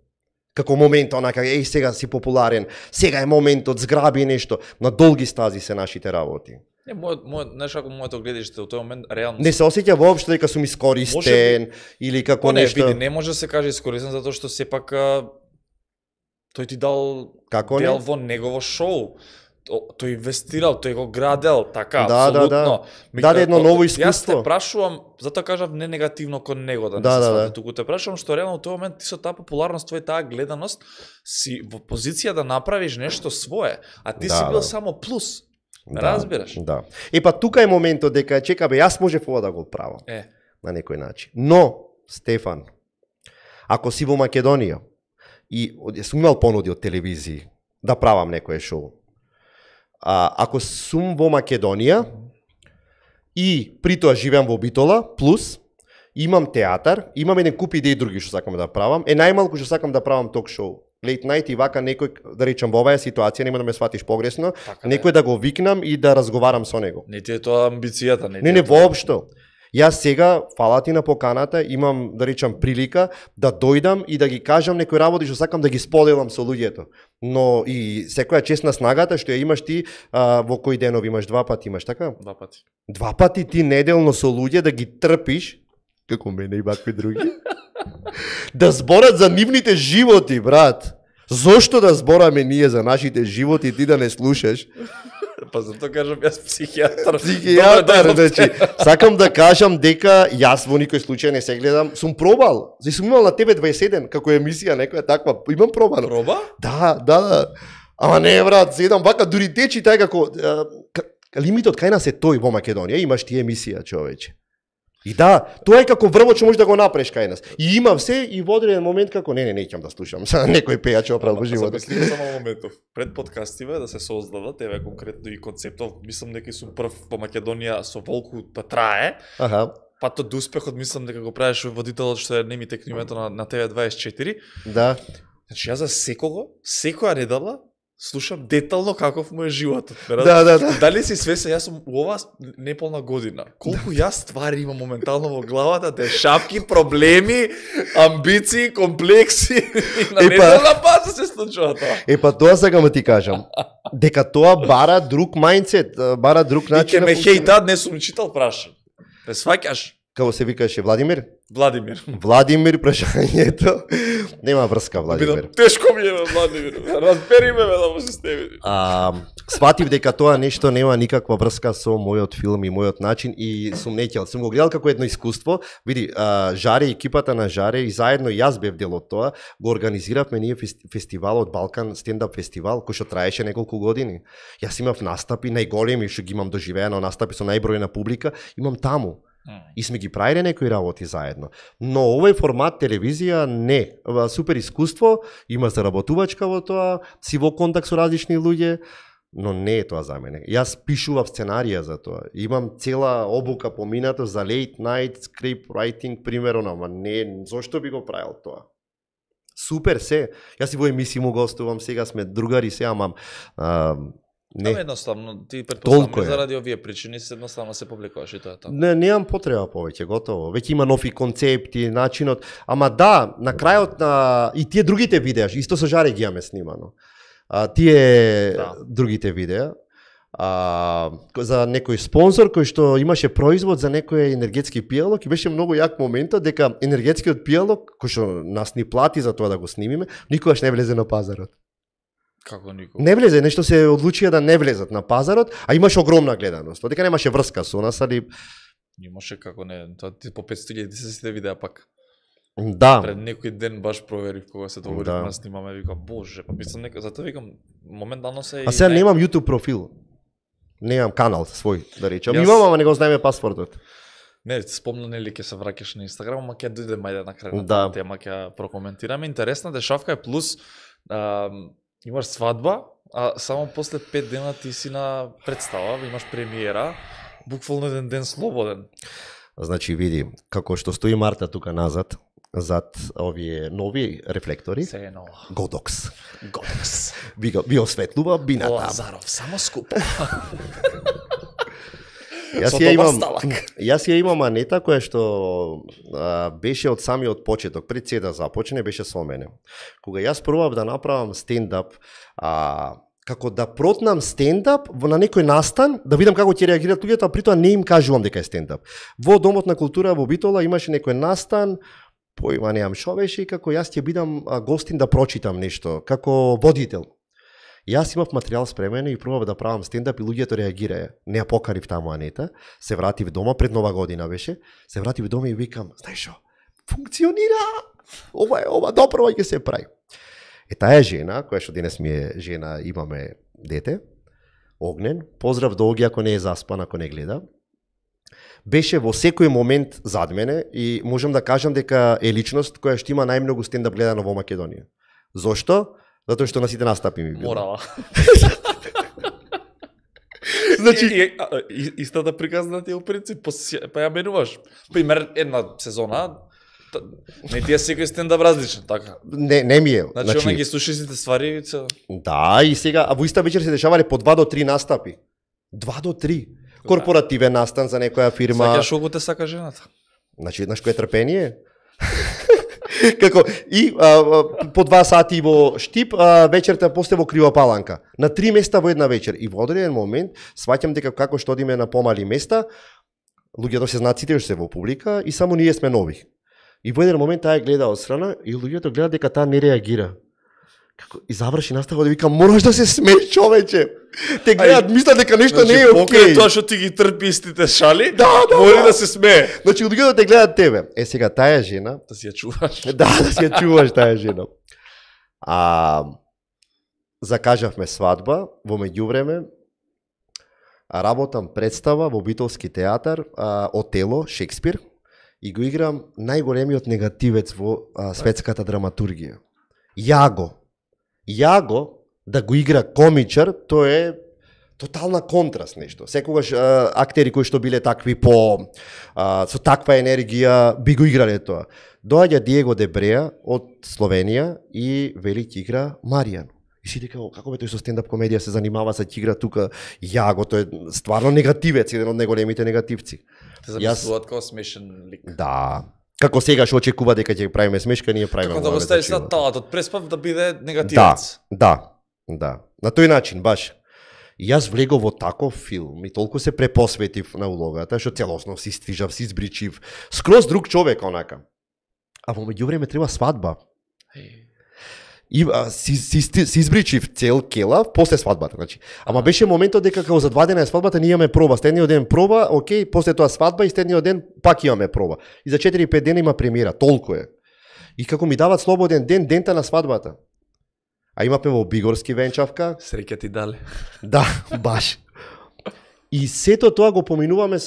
Како момент, онака, сега си популарен, сега е моментот, зграби нешто, на долги стази се нашите работи. Не, знаеш како моето гледиште, во тој момент реално не се осеќа воопшто дека сум искористен или како нешто. Не, не може да се каже искористен затоа што сепак тој ти дал дел во негово шоу. Тој инвестирал, тој го градел, така, апсолутно. Даде едно ново искуство. Јас те прашувам, затоа кажав не негативно кон него, да не се свати, туку те прашувам што реално во тој момент ти со таа популарност, твоја таа гледаност, си во позиција да направиш нешто свое, а ти си бил само плюс. Разбираш? Да. Па тука е моментот дека чека бе, јас можев ова да го правам. На некој начин. Но, Стефан, ако си во Македонија и сум имал понуди од телевизии да правам некое шоу. Ако сум во Македонија и при тоа живеам во Битола, плюс имам театар, имам еден куп идеи други што сакам да правам, најмалку што сакам да правам ток шоу. Late night и вака некој, да речам, во оваа ситуација, нема да ме сватиш погресно, некој да го викнам и да разговарам со него. Не ти е тоа амбицијата, Не, воопшто. Јас сега, фала ти на поканата, имам, да речам, прилика да дојдам и да ги кажам некои работи што сакам да ги споделам со луѓето. Но и секоја чест на снагата што ја имаш ти, во кои денови имаш 2 пати, имаш така? 2 пати. 2 пати ти неделно со луѓе да ги трпиш, како мене и вакви други, да зборат за нивните животи, брат. Зошто да збораме ние за нашите животи, ти да не слушаш? Па затоа кажам јас психијатар. Психијатар, значи, сакам да кажам дека јас во никој случај не се гледам, сум пробал. Зашто сум имал на тебе 21 како емисија некоја таква, имам пробано. Проба? Да. Ама не, брат, седам вака дури течи тај како лимитот кај нас е тој во Македонија, имаш ти емисија, човече. И да, тоа е како врвот што можеш да го направиш кај нас. И имам се и во одреден момент како не ќе да слушам са некој пејач оправ во животот. Мислим само моментов. Пред подкастиве да се создадат, еве конкретно и концептов, мислам дека сум прв во Македонија со волку па трае. Аха. Па тоа до успехот мислам дека го правиш водителот што е не ми текне името на TV24. Да. Значи јас за секоја недела слушам детално каков му е животот. Да. Дали си свесен, јас сум у ова неполна година. Колку јас ствари имам моментално во главата, те шапки, проблеми, амбиции, комплекси. На неделна база се случува тоа. Па тоа сакам да ти кажам. Дека тоа бара друг мајндсет, бара друг начин. И ке ме хејтат, не сум читал прашање. Ме сваќаш? Како се викаше Владимир? Владимир прашањето. Нема врска, Владимир. Бидам тешко ми е Владимир. Разбери ме да му се стеви. Сватив дека тоа нешто нема никаква врска со мојот филм и мојот начин и сум неќел. Сум го гледал како едно искуство. Види, Жаре, екипата на Жаре и заедно јас бев дел од тоа, го организиравме ние фестивалот Балкан стендап фестивал кој што траеше неколку години. Јас имав настапи најголеми што ги имам доживеано, настапи со најбројна публика, имам таму. И сме ги правиле некои работи заедно. Но овој формат телевизија не. Супер искуство, има заработувачка во тоа, си во контакт со различни луѓе, но не е тоа за мене. Јас пишував сценарија за тоа. Имам цела обука поминато за late night script writing, примерно, ама не, зошто би го правил тоа? Супер се. Јас и во емисија му гостувам, сега сме другари се, ама не. Едноставно, ти претпоставам заради овие причини едноставно се публикуваш и тоа така. Не, немам потреба повеќе, готово. Веќе има нови концепти, начинот. Ама да, на крајот на и тие другите видеа, исто со Жаре ги имаме снимано. Тие другите видеа за некој спонзор кој што имаше производ за некој енергетски пијалок и беше многу јак моментот дека енергетскиот пијалок кој што нас ни плати за тоа да го снимиме, никогаш не влезе на пазарот. Како никога? Не влезе, нешто се одлучија да не влезат на пазарот, а имаше огромна гледаност. Дека немаше врска со нас, али имаше како не, тоа ти по 500.000 се сите видеа пак. Да. Пред некој ден баш проверив кога се договоривме да снимаме, викам боже, па мислам нека, затоа викам моментално се. А сега немам YouTube профил. Немам канал свој, да речам. Имам, ама не го знаеме паспортот. Не, спомна нели ќе се враќаш на Инстаграм, ама ќе дојдеме ајде на крај на тема, ќе прокоментираме. Интересна дешавка е плюс имаш свадба, а само после 5 дена ти си на представа, имаш премиера, буквално еден ден слободен. Значи види, како што стои Марта тука назад, зад овие нови рефлектори. Се е ново. Годокс. Би осветлува бината. Лазаров, само скупо. Јас ја имам Анета која што беше од самиот почеток, пред се да започне, беше со мене. Кога јас пробав да направам стендап, како да протнам стендап на некој настан, да видам како ќе реагираат луѓето, а притоа не им кажувам дека е стендап. Во Домот на култура во Битола имаше некој настан, поима неам шо беше, и како јас ќе бидам гостин да прочитам нешто, како водител. Јас имав материјал спремен и пробав да правам стендап и луѓето реагираа. Не ја покарив таму Анета, се вратив дома, пред Нова година беше, се вратив дома и викам, знаеш шо, функционира, ова добро ќе се прави. Таа жена, која што денес ми е жена, имаме дете, Огнен, поздрав до Оги ако не е заспан, ако не гледа. Беше во секој момент зад мене и можам да кажам дека е личност која што има најмногу стендап гледано во Македонија. Зошто? Затоа што на сите настапи ми било. Морала. Значи, истата приказна ти е у принцип, па ја менуваш. Пример, една сезона, не ти е секој стендап различен, така. не ми е. Значи, она ги слушаш сите ствари. Да, и сега, а во иста вечер се дешавале по 2 до 3 настапи. 2 до 3. Корпоративен настан за некоја фирма. Сакаш колку те сака жената. Значи, знаеш кој е трпение? Како и по 2 сати во Штип, вечерта после во Кривопаланка. На 3 места во една вечер. И во одреден момент сваќам дека како што одиме на помали места, луѓето се знаат сите што се во публика и само ние сме нови. И во еден момент таа гледа од страна и луѓето гледаат дека таа не реагира. Како и заврши настава да викам мораш да се смееш човече. Те гледаат мислат дека нешто не е окей. Покрај тоа што ти ги трпи истите шали, да, мори да се смее. Значи луѓето те гледаат тебе. Сега таа жена, да си ја чуваш. Да си ја чуваш таа жена. Закажавме свадба, во меѓувреме работам представа во Битолски театар, Отело, Шекспир, и го играм најголемиот негативец во светската драматургија. Јаго да го игра комичар, тоа е тотална контраст нешто. Секогаш актери кои што биле такви со таква енергија би го играле тоа. Доаѓа Диего Дебреа од Словенија и вели ќе игра Маријан. И си дека како бе тој со стендап комедија се занимава со ќе игра тука Јаго, тој е стварно негативец, еден од најголемите негативци. Те замислуваат како смешен лик. Да. Како сега што очекува дека ќе правиме смешка, ние правиме. Како да го ставиш на талатот преспав да биде негативец. Да. На тој начин баш. И јас влегов во таков филм и толку се препосветив на улогата, што целосно си ствижав, си избричив. Скроз друг човек онака. А во меѓувреме треба свадба. И си избричив цел келав после свадбата, значи. Ама беше моментот дека како за 2 дена е свадбата, ние имаме проба. Следниот ден проба, окей, после тоа свадба и следниот ден пак имаме проба. И за 4-5 дена има премиера, толку е. И како ми дават слободен ден, дента на свадбата. А имаме во Бигорски венчавка. Среќа ти дале. Да, баш. И сето тоа го поминуваме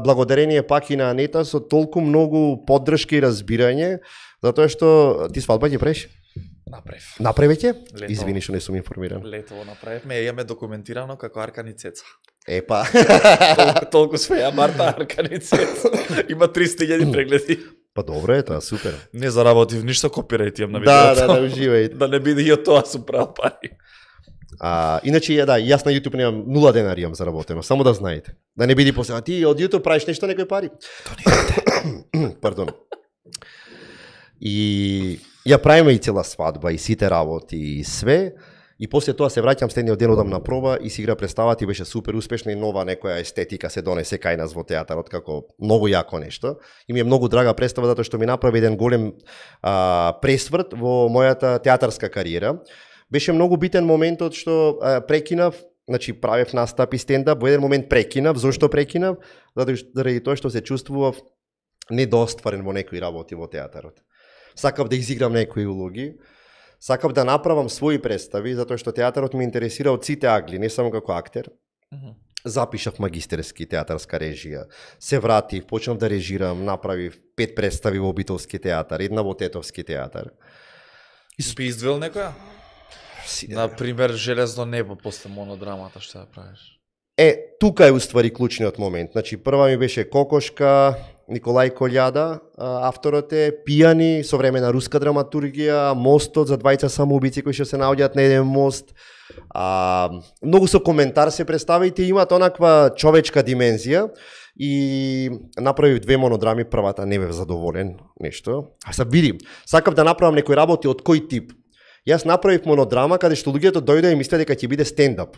благодарение пак и на Анета со толку многу поддршка и разбирање, затоа што ти свадба ќе правиш? Направи ќе? Извини што не сум информиран. Летово направивме, имаме документирано како Аркани Цеца. Епа. Толку све ја Марта Аркани Цеца. Има 300.000 прегледи. Па добро е тоа, супер. Не заработив ништо, копирајт имам на видеото. Да, уживај. Да не биде и од тоа сум правил пари. Иначе јас на YouTube немам 0 денари имам заработено, само да знаете. Да не биде после, ти од YouTube правиш нешто некои пари. Пардон. И ја правиме и цела свадба и сите работи и све. И после тоа се враќам следниот ден одам на проба и си игра представата и беше супер успешна и нова некоја естетика се донесе кај нас во театарот како многу јако нешто. И ми е многу драга представа затоа што ми направи еден голем пресврт во мојата театарска кариера. Беше многу битен моментот што прекинав, значи правев настап и стендап, во еден момент прекинав. Зошто прекинав? Заради тоа што се чувствував недостварен во некои работи во театарот. Сакав да изиграм некои улоги, сакав да направам своји представи, затоа што театарот ме интересира од сите агли, не само како актер. Запишав магистерски театарска режија, се вратив, почнав да режирам, направив 5 представи во Битолски театар, една во Тетовски театар. Би издвел некоја? Например, Железно небо после монодрамата, што ја правиш? Тука е уствари клучниот момент. Значи, прва ми беше Кокошка, Николај Колјада, авторот е, Пијани, современа руска драматургија, Мостот за двајца самоубици кои што се наоѓаат на еден мост. Многу со коментар се представите, имаат онаква човечка димензија и направив 2 монодрами, првата не бев задоволен нешто. Видим, сакав да направам некои работи од кој тип. Јас направив монодрама каде што луѓето дојдоа и мислеа дека ќе биде стендап.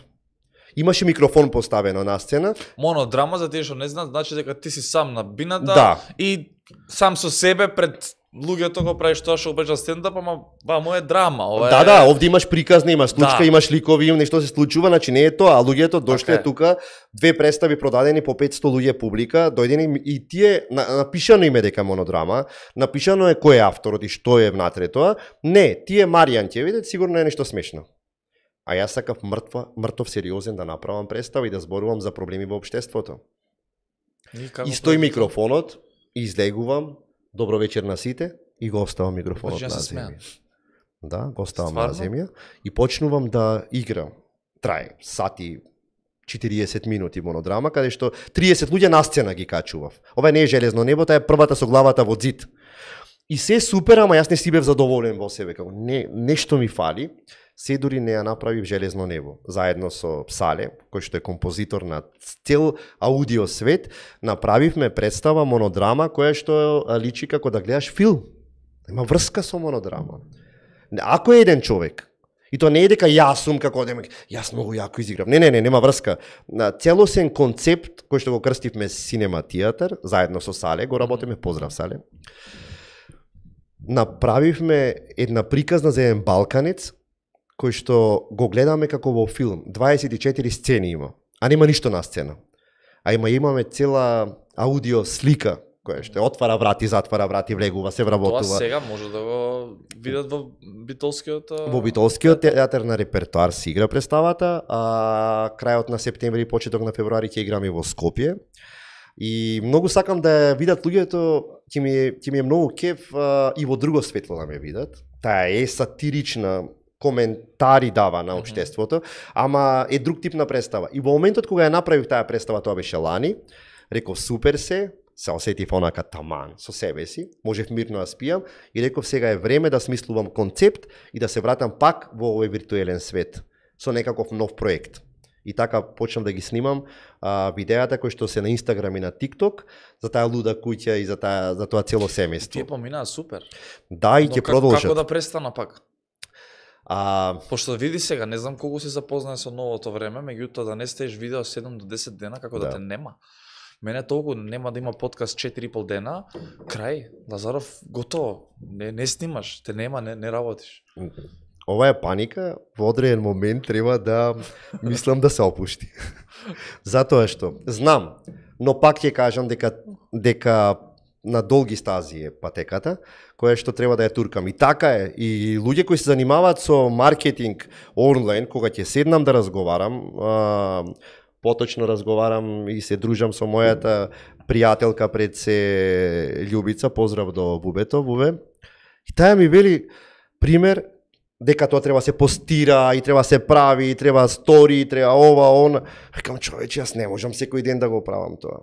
Имаше микрофон поставено на сцена. Монодрама, за тие што не знаат, значи дека ти си сам на бината и сам со себе пред луѓето го правиш тоа што го правиш стендап, ама вамо е драма. Да, овде имаш приказна, имаш случка, имаш ликови, нешто се случува, значи не е тоа, а луѓето дошле тука, 2 представи продадени по 500 луѓе публика, дојдени и тие напишано име дека монодрама, напишано е кој е авторот и што е внатре тоа. Не, тие Маријан ќе видат, сигурно е нешто смешно. А јас сакав мртов сериозен да направам представа и да зборувам за проблеми во општеството. И стои микрофонот, излегувам, добро вечер на сите, и го оставам микрофонот на земја. Да, го оставам на земја и почнувам да играм. Трае сати, 40 минути монодрама, каде што 30 луѓе на сцена ги качував. Ова не е железно небо, таа е првата со главата во зид. И се супер, ама јас не си бев задоволен во себе, како нешто ми фали. Се дури не ја направив Железно небо, заедно со Сале, кој што е композитор на цел аудио свет, направивме представа монодрама која што личи како да гледаш филм. Има врска со монодрама. Ако е еден човек, и то не е дека јас сум како јас многу јако изиграв. Не, нема врска. Целосен концепт кој што го крстивме Синема театар, заедно со Сале, го работиме, поздрав Сале. Направивме една приказна за еден балканец, кој што го гледаме како во филм. 24 сцени има, а нема ништо на сцена. А имаме цела аудио слика, која што отвара врати, затвара врати, влегува, се вработува. Тоа сега може да го видат во Битолскиот... Во Битолскиот театар на репертоар се игра представата, а крајот на септември и почеток на февруари ќе играме во Скопје. И многу сакам да ја видат луѓето, ќе ми е многу кеф и во друго светло да ме видат. Таа е сатирична, коментари дава на општеството, ама е друг тип на представа. И во моментот кога ја направив таа представа, тоа беше лани, реков супер се осетив онака таман со себе си, можев мирно да спијам и реков сега е време да смислувам концепт и да се вратам пак во овој виртуелен свет со некаков нов проект. И така почнам да ги снимам видеата кои што се на Инстаграм и на ТикТок за таа луда куќа и за тоа цело семејство. Тие поминаа супер. Да, и ќе продолжат. Како да престана пак? Пошто види сега, не знам колку си запознаен со новото време, меѓутоа да не стееш видео 7 до 10 дена, како да те нема. Мене толку нема да има подкаст 4,5 дена, крај, Лазаров, готово, не снимаш, те нема, не работиш. Ова е паника, во одреден момент треба да мислам да се опушти. Затоа што знам, но пак ќе кажам дека на долги стази е патеката, која што треба да ја туркам. И така е, и луѓе кои се занимаваат со маркетинг онлайн, кога ќе седнам да разговарам, поточно разговарам и се дружам со мојата пријателка пред се Љубица, поздрав до Бубето, Бубе. И таа ми вели пример дека тоа треба се постира и треба се прави, и треба стори, и треба ова, она. Рекам, човече, јас не можам секој ден да го правам тоа.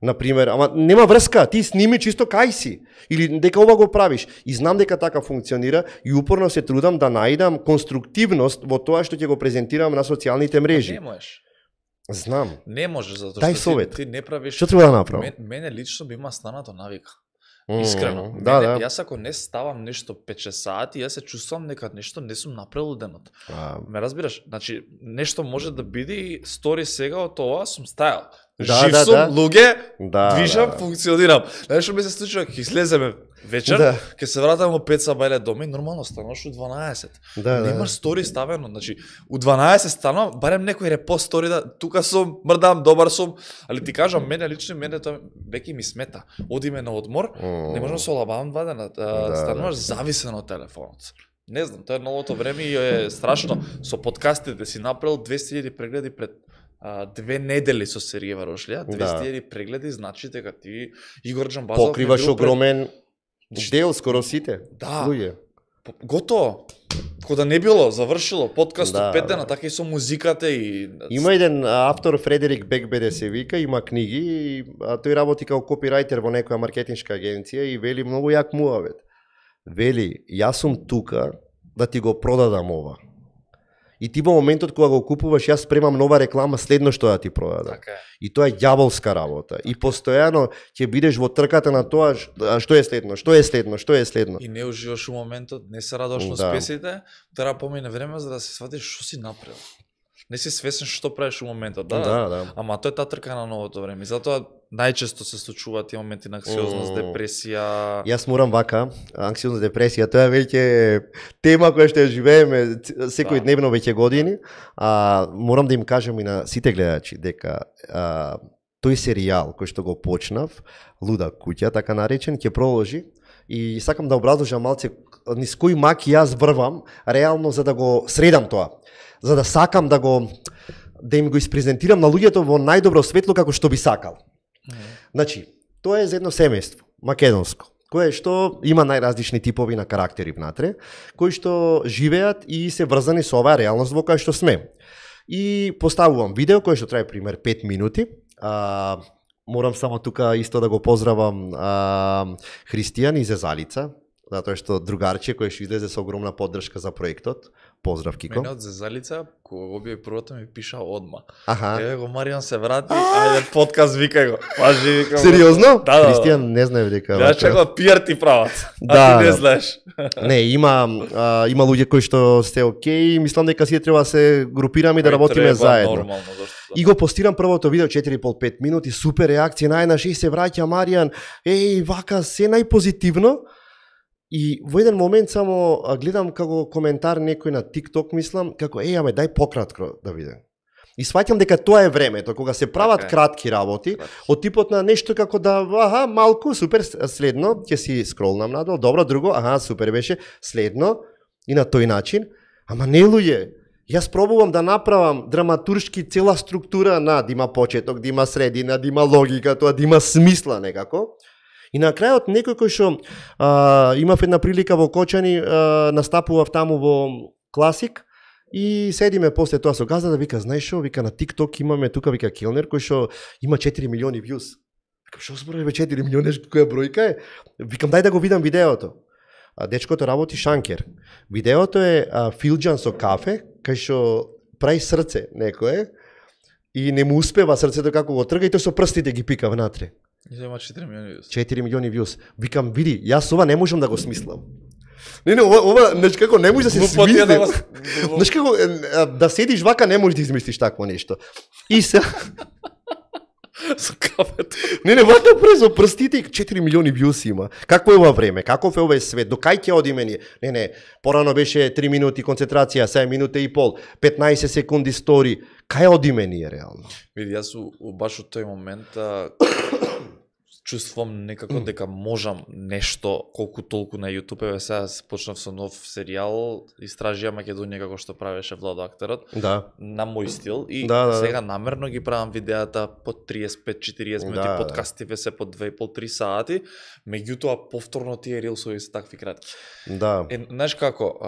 Например, ама нема врска, ти сними чисто кај си, или дека ова го правиш. И знам дека така функционира и упорно се трудам да најдам конструктивност во тоа што ќе го презентирам на социјалните мрежи. Не можеш. Знам. Не можеш, затоа што ти не правиш... Што треба да направам? Мене лично би има станато навика. Искрено. Да. Јас ако не ставам нешто 5-6 сати, јас се чувствувам дека нешто не сум направил денот. Ме разбираш? Значи, нешто може да биде стори сега од тоа, сум стајал. Жив сум, луѓе, движам, функционирам. Знаеш што ми се случува, ќе излеземе вечер, ќе се вратам во 5 сабајле дома и нормално стануваш у 12. Немаш стори ставено, значи у 12 станувам, барем некој репост стори да тука сум, мрдам, добар сум, али ти кажам, мене лично тоа веќе ми смета. Одиме на одмор, не можам да се олабавам 2 дена, стануваш зависен од телефонот. Не знам, тоа е новото време и е страшно. Со подкастите си направил 200.000 прегледи пред 2 недели со Сергеј Варошлија, 200.000 прегледи, значи дека ти Игор Джамбазов покриваш огромен дел, скоро сите луѓе. Готово. Кога не било, завршило, подкастот 5 дена, така и со музиката и... Има еден автор, Фредерик Бекбеде се вика, има книги, и тој работи како копирајтер во некоја маркетиншка агенција и вели многу јак муавет. Вели, јас сум тука да ти го продадам ова. И ти во моментот кога го купуваш, јас спремам нова реклама следно што да ти продадам. Така. И тоа е ѓаволска работа. И постојано ќе бидеш во трката на тоа што е следно. И не уживаш у моментот, не се радуваш на успесите, треба помине време за да се сватиш што си направил. Не си свесен што правиш у моментот, да. Ама тоа е таа трка на новото време. Затоа најчесто се случуваат тие моменти на анксиозност, депресија. Јас морам вака, анксиозност, депресија, тоа веќе тема која што ја живееме секојдневно веќе години. Морам да им кажам и на сите гледачи дека тој серијал кој што го почнав, Луда куќа, така наречен, ќе продолжи. И сакам да образложам малце низ кои маки јас врвам, реално за да го средам тоа. За да сакам да им го испрезентирам на луѓето во најдобро светло како што би сакал. Значи, тоа е за едно семејство, македонско, кое што има најразлични типови на карактери внатре, кои што живеат и се врзани со оваа реалност во која што сме. И поставувам видео кој што трае пример 5 минути. Морам само тука исто да го поздравам Христијан и Зезалица, затоа што другарче кој што излезе со огромна поддршка за проектот. Поздрав, Кико. Мене од Зезалица, кога го објави првото ми пиша одма. Аха. Еве го Маријан се врати, ајде подкаст викај го. Пажи викам. Сериозно? Да. Христијан не знае дека. Ја чекам пиар ти прават. Да, ти не да. знаеш. Не, има луѓе кои што сте окей, мислам дека сите треба да се групираме и да работиме заедно. Нормално, зашто да. И го постирам првото видео 4,5 минути, супер реакција, најнаш и се враќа Маријан, вака се најпозитивно. И во еден момент само гледам како коментар некој на TikTok, мислам, како аме дај пократко да видам. И сваќам дека тоа е времето кога се прават кратки работи, од типот на нешто како да малку супер следно, ќе си скролнам надол, добро, друго, супер беше, следно и на тој начин. Ама не луѓе, јас пробувам да направам драматуршки цела структура да има почеток, да има средина, да има логика, тоа да има смисла некако. И на крајот некој кој што имав една прилика во Кочани, настапував таму во Класик и седиме после тоа со газда да вика, знаеш шо, вика на TikTok имаме тука вика келнер кој што има 4 милиони views. Викам што зборуваме 4 милиони, која бројка е? Викам дај да го видам видеото. Дечкото работи шанкер. Видеото е филџан со кафе, кај што прави срце некое и не му успева срцето како го трга и тој со прстите ги пика внатре. И има 4 милиони views. 4 милиони views. Викам, види, јас ова не можам да го смислам. Не, ова, знаеш како, не можеш да се смисли. Знаеш како, да седиш вака, не можеш да измислиш такво нешто. И се... Со кафето. Не, вака презо прстите, 4 милиони views има. Какво е ова време? Каков е овој свет? До кај ќе одиме ние? Не, порано беше 3 минути концентрација, 7 минута и пол, 15 секунди стори. Кај одиме ние реално? Види, јас баш од тој момент чувствувам некако дека можам нешто колку толку на YouTube. Еве сега почнав со нов серијал, истражија Македонија како што правеше Владо актерот. Да. На мој стил и Да. сега намерно ги правам видеата по 35-40 минути, подкастиве се по 2,5-3 сати, меѓутоа повторно тие рилсови се такви кратки. Да. Знаеш како,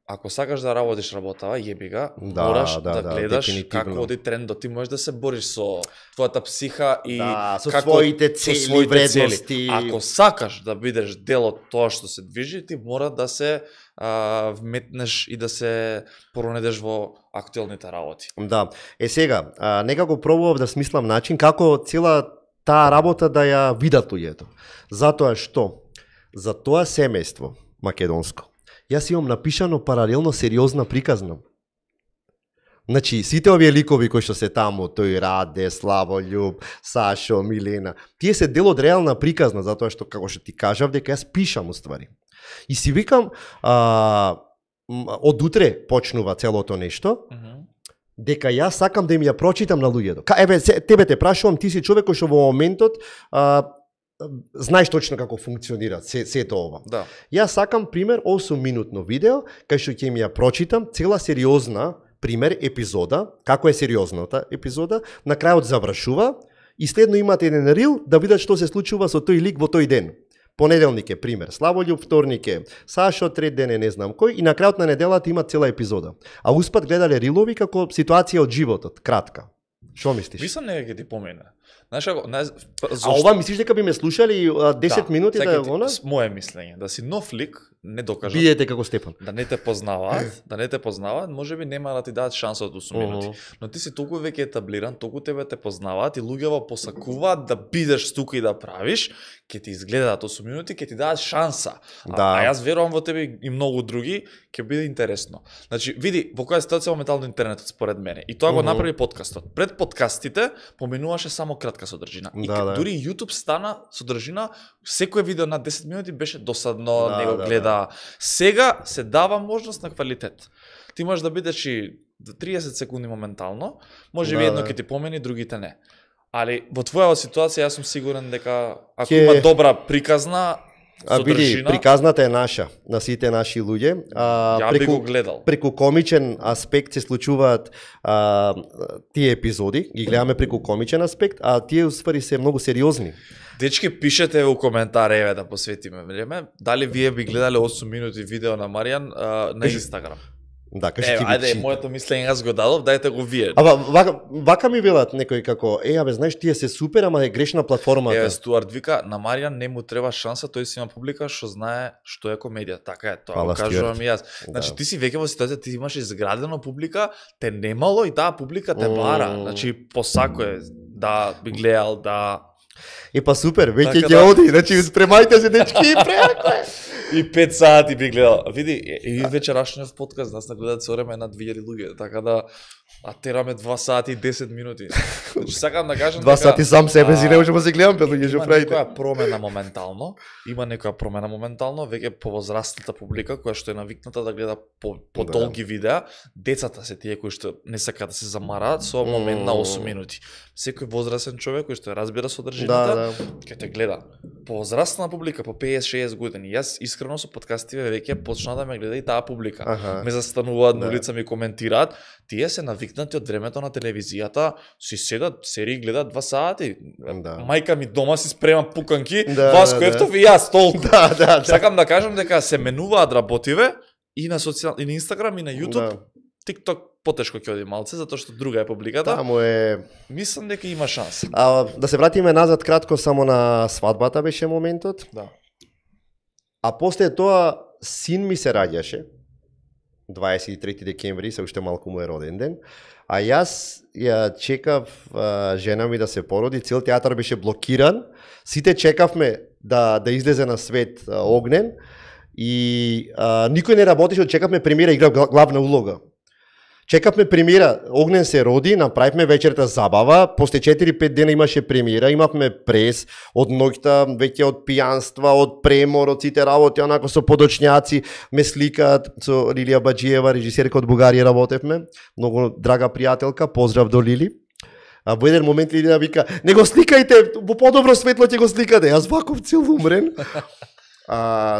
ако сакаш да работиш работава, јебига, мораш да гледаш како оди трендот. Ти можеш да се бориш со твојата психа и со своите цели, вредности. Ако сакаш да бидеш дел од тоа што се движи, ти мора да се вметнеш и да се поронедеш во актуелните работи. Да. Сега, некако пробував да смислам начин како цела таа работа да ја видат луѓето. Затоа што за тоа семејство македонско јас имам напишано паралелно сериозна приказна. Значи, сите овие ликови кои што се таму, тој Раде, Славољуб, Сашо, Милена, тие се дел од реална приказна, затоа што, како што ти кажав, дека јас пишам уствари. И си викам, од утре почнува целото нешто, дека јас сакам да им ја прочитам на луѓето. Еве, тебе те прашувам, ти си човек кој што во моментот знаеш точно како функционира сето ова. Да. Јас сакам, пример, 8-минутно видео, кај што ќе им ја прочитам цела сериозна, пример, епизода, како е сериозната епизода, на крајот завршува и следно имате еден рил да видат што се случува со тој лик во тој ден. Понеделник е пример Славољуб, вторник е Сашо, трет ден е не знам кој и на крајот на неделата има цела епизода. А успат гледале рилови како ситуација од животот, кратка. Што мислиш? Мислам нека ќе ти помине. Знаеш како, а ова мислиш дека би ме слушали 10 минути да го на? Моје мислење, да си нов лик, не докажа. Бидете како Стефан. Да не те познаваат, можеби нема да ти дадат шанса од 8 минути. Но ти си толку веќе етаблиран, толку тебе те познаваат и луѓето посакуваат да бидеш тука и да правиш, ќе ти изгледаат 8 минути, ќе ти дадат шанса. А јас верувам во тебе и многу други, ќе биде интересно. Значи, види, во која ситуација моментално интернетот според мене. И тоа го направи подкастот. Пред подкастите поминуваше само кратка содржина. И дури YouTube стана содржина, секое видео на 10 минути беше досадно, не го гледа. Сега се дава можност на квалитет. Ти можеш да бидеш и 30 секунди моментално, може би едно ќе ти помени, другите не. Али во твоја ситуација јас сум сигурен дека ако има добра приказна, Види, приказната е наша, на сите наши луѓе. Ја би го гледал. Преку комичен аспект се случуваат тие епизоди, ги гледаме преку комичен аспект, а тие уствари се многу сериозни. Дечки, пишете во коментари, еве да посветиме време, дали вие би гледале 8 минути видео на Маријан на Инстаграм? Да, кажи ти. Ајде, моето мислење аз го дадов, дајте го вие. Вака ми велат некој како, знаеш, тие се супер, ама е грешна платформата. Стуарт вика, на Маријан не му треба шанса, тој си има публика што знае што е комедија. Така е, тоа го кажувам и јас. Значи, ти си веќе во ситуација, ти имаш изградено публика, те немало и таа публика те бара. Значи, посакое да би гледал, да... Па супер, веќе ќе оди, значи спремајте се дечки и преако е. И 5 сати би гледал. Види, и вечерашниот подкаст нас нагледаат со време на 2000 луѓе, така да тераме 2 сати и 10 минути. Значи сакам да кажам 2 сати сам себе си не можеме да се гледам пет луѓе што правите. Има некоја промена моментално, веќе повозрастната публика која што е навикната да гледа по долги видеа, децата се тие кои што не сакаат да се замараат со момент на 8 минути. Секој возрастен човек кој што разбира содржината, ќе те гледа. Повозрастна публика по 50-60 години. Јас искрено со подкастиве веќе почна да ме гледа и таа публика. Ме застануваат на улица, ми коментираат. Тие се навикнати од времето на телевизијата, си седат, серии гледаат 2 сати. Мајка ми дома си спрема пуканки, Васко Ефтов и јас толку. Сакам да кажам дека се менуваат работиве и на и на Инстаграм и на Јутуб. TikTok потешко ќе оди малце, затоа што друга е публиката. Таму е... Мислам дека има шанса. Да се вратиме назад кратко, само на свадбата беше моментот. Да. А после тоа син ми се раѓаше. 23 декември, се уште малку му е роден ден. А јас ја чекав жена ми да се породи, цел театар беше блокиран. Сите чекавме да излезе на свет Огнен и никој не работеше, чекавме премиера, играв главна улога. Чекавме премиера, Огнен се роди, направивме вечерта забава, после 4-5 дена имаше премиера, имавме прес од ноќта, веќе од пијанства, од премор, од сите работи, онако со подочњаци, ме сликаат со Лилија Баџиева, режисерка од Бугарија работевме, многу драга пријателка, поздрав до Лили. А во еден момент Лилија вика, не го сликајте, во подобро светло ќе го сликате, јас ваков цел умрен.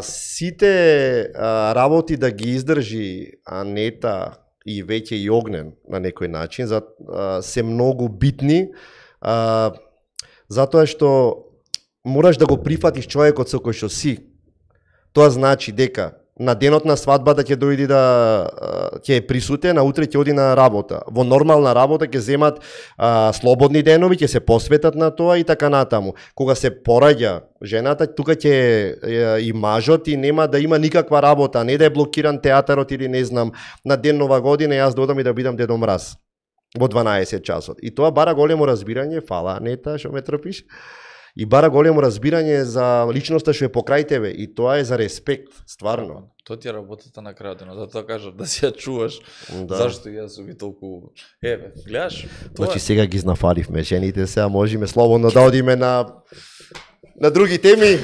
Сите работи да ги издржи Анета и веќе и Огнен на некој начин, се многу битни, затоа што мораш да го прифатиш човекот со кој што си. Тоа значи дека на денот на свадбата ќе дојди ќе е присутен, а утре ќе оди на работа. Во нормална работа ќе земат слободни денови, ќе се посветат на тоа и така натаму. Кога се пораѓа жената, тука ќе и мажот и нема да има никаква работа, не да е блокиран театарот или не знам, на ден Нова година јас додам и да бидам Дедо Мраз во 12 часот. И тоа бара големо разбирање, фала Анета што ме трпиш. И бара големо разбирање за личноста што е покрај тебе и тоа е за респект, стварно. Тоа ти е работата на крајот, но затоа кажав да си ја чуваш. Зашто јас сум и толку гледаш? Значи сега ги знафаливме жените, сега можеме слободно да одиме на други теми.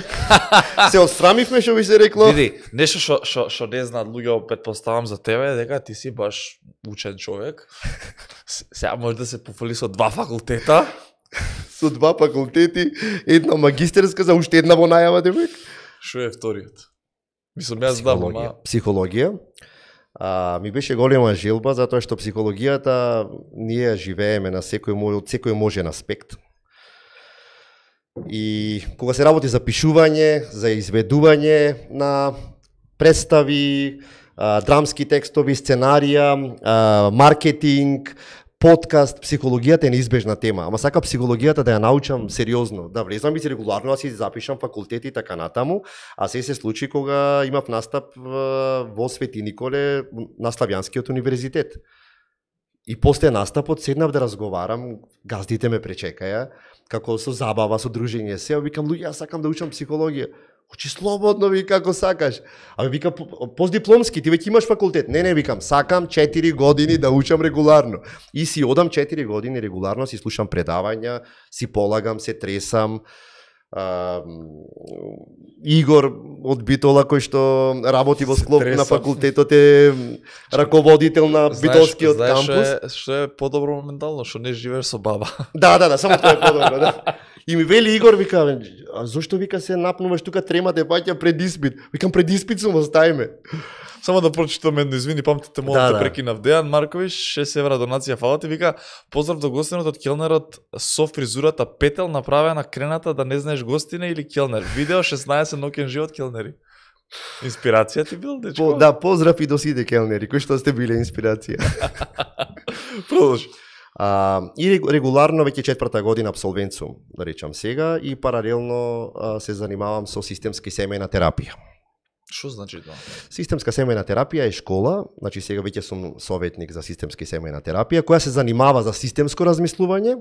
Се отстрамивме, што би се рекло. Види, нешто што не знаат луѓе, претпоставам за тебе, дека ти си баш учен човек. Сега може да се пофали со 2 факултета. Со 2 факултети, една магистерска, за уште една во најава, демек. Што е вториот? Мислам, јас знам, Психологија. Ми беше голема желба, затоа што психологијата ние живееме на секој можен аспект. И кога се работи за пишување, за изведување на представи, драмски текстови, сценарија, маркетинг, подкаст, психологијата е неизбежна тема, ама сака психологијата да ја научам сериозно, да влезам и регуларно да си запишам факултети и така натаму, а се случи кога имав настап во Свети Николе на Славјанскиот универзитет. И после настапот седнав да разговарам, газдите ме пречекаја, како со забава, со дружење се, викам, луѓе, јас сакам да учам психологија. Учи слободно, ви како сакаш. А вика, постдипломски, ти веќе имаш факултет. Не, викам, сакам 4 години да учам регуларно. И си одам 4 години регуларно, си слушам предавања, си полагам, се тресам. Игор од Битола, кој што работи во склоп на факултетот, е раководител на Битолскиот кампус. Знаеш што е подобро моментално, што не живееш со баба. Да, само тоа е подобро, да. И ми вели Игор, вика, а зошто вика се напнуваш тука тремате паќа пред испит? Викам пред испит сум, оставиме. Само да прочитам едно, извини, памтите, мога да прекинав. Дејан Маркович, 6 евра донација, фала ти, вика, поздрав до гостинот од келнерот со фризурата петел направена крената да не знаеш гостина или келнер. Видео 16 ноќен живот келнери. Инспирација ти бил, дечко? Да, поздрав и до сите келнери, кои што сте биле инспирација. Продолжи. И регуларно веќе 4-та година абсолвент сум, да речам сега, и паралелно се занимавам со системска семејна терапија. Што значи тоа? Системска семејна терапија е школа, значи сега веќе сум советник за системска семејна терапија, која се занимава за системско размислување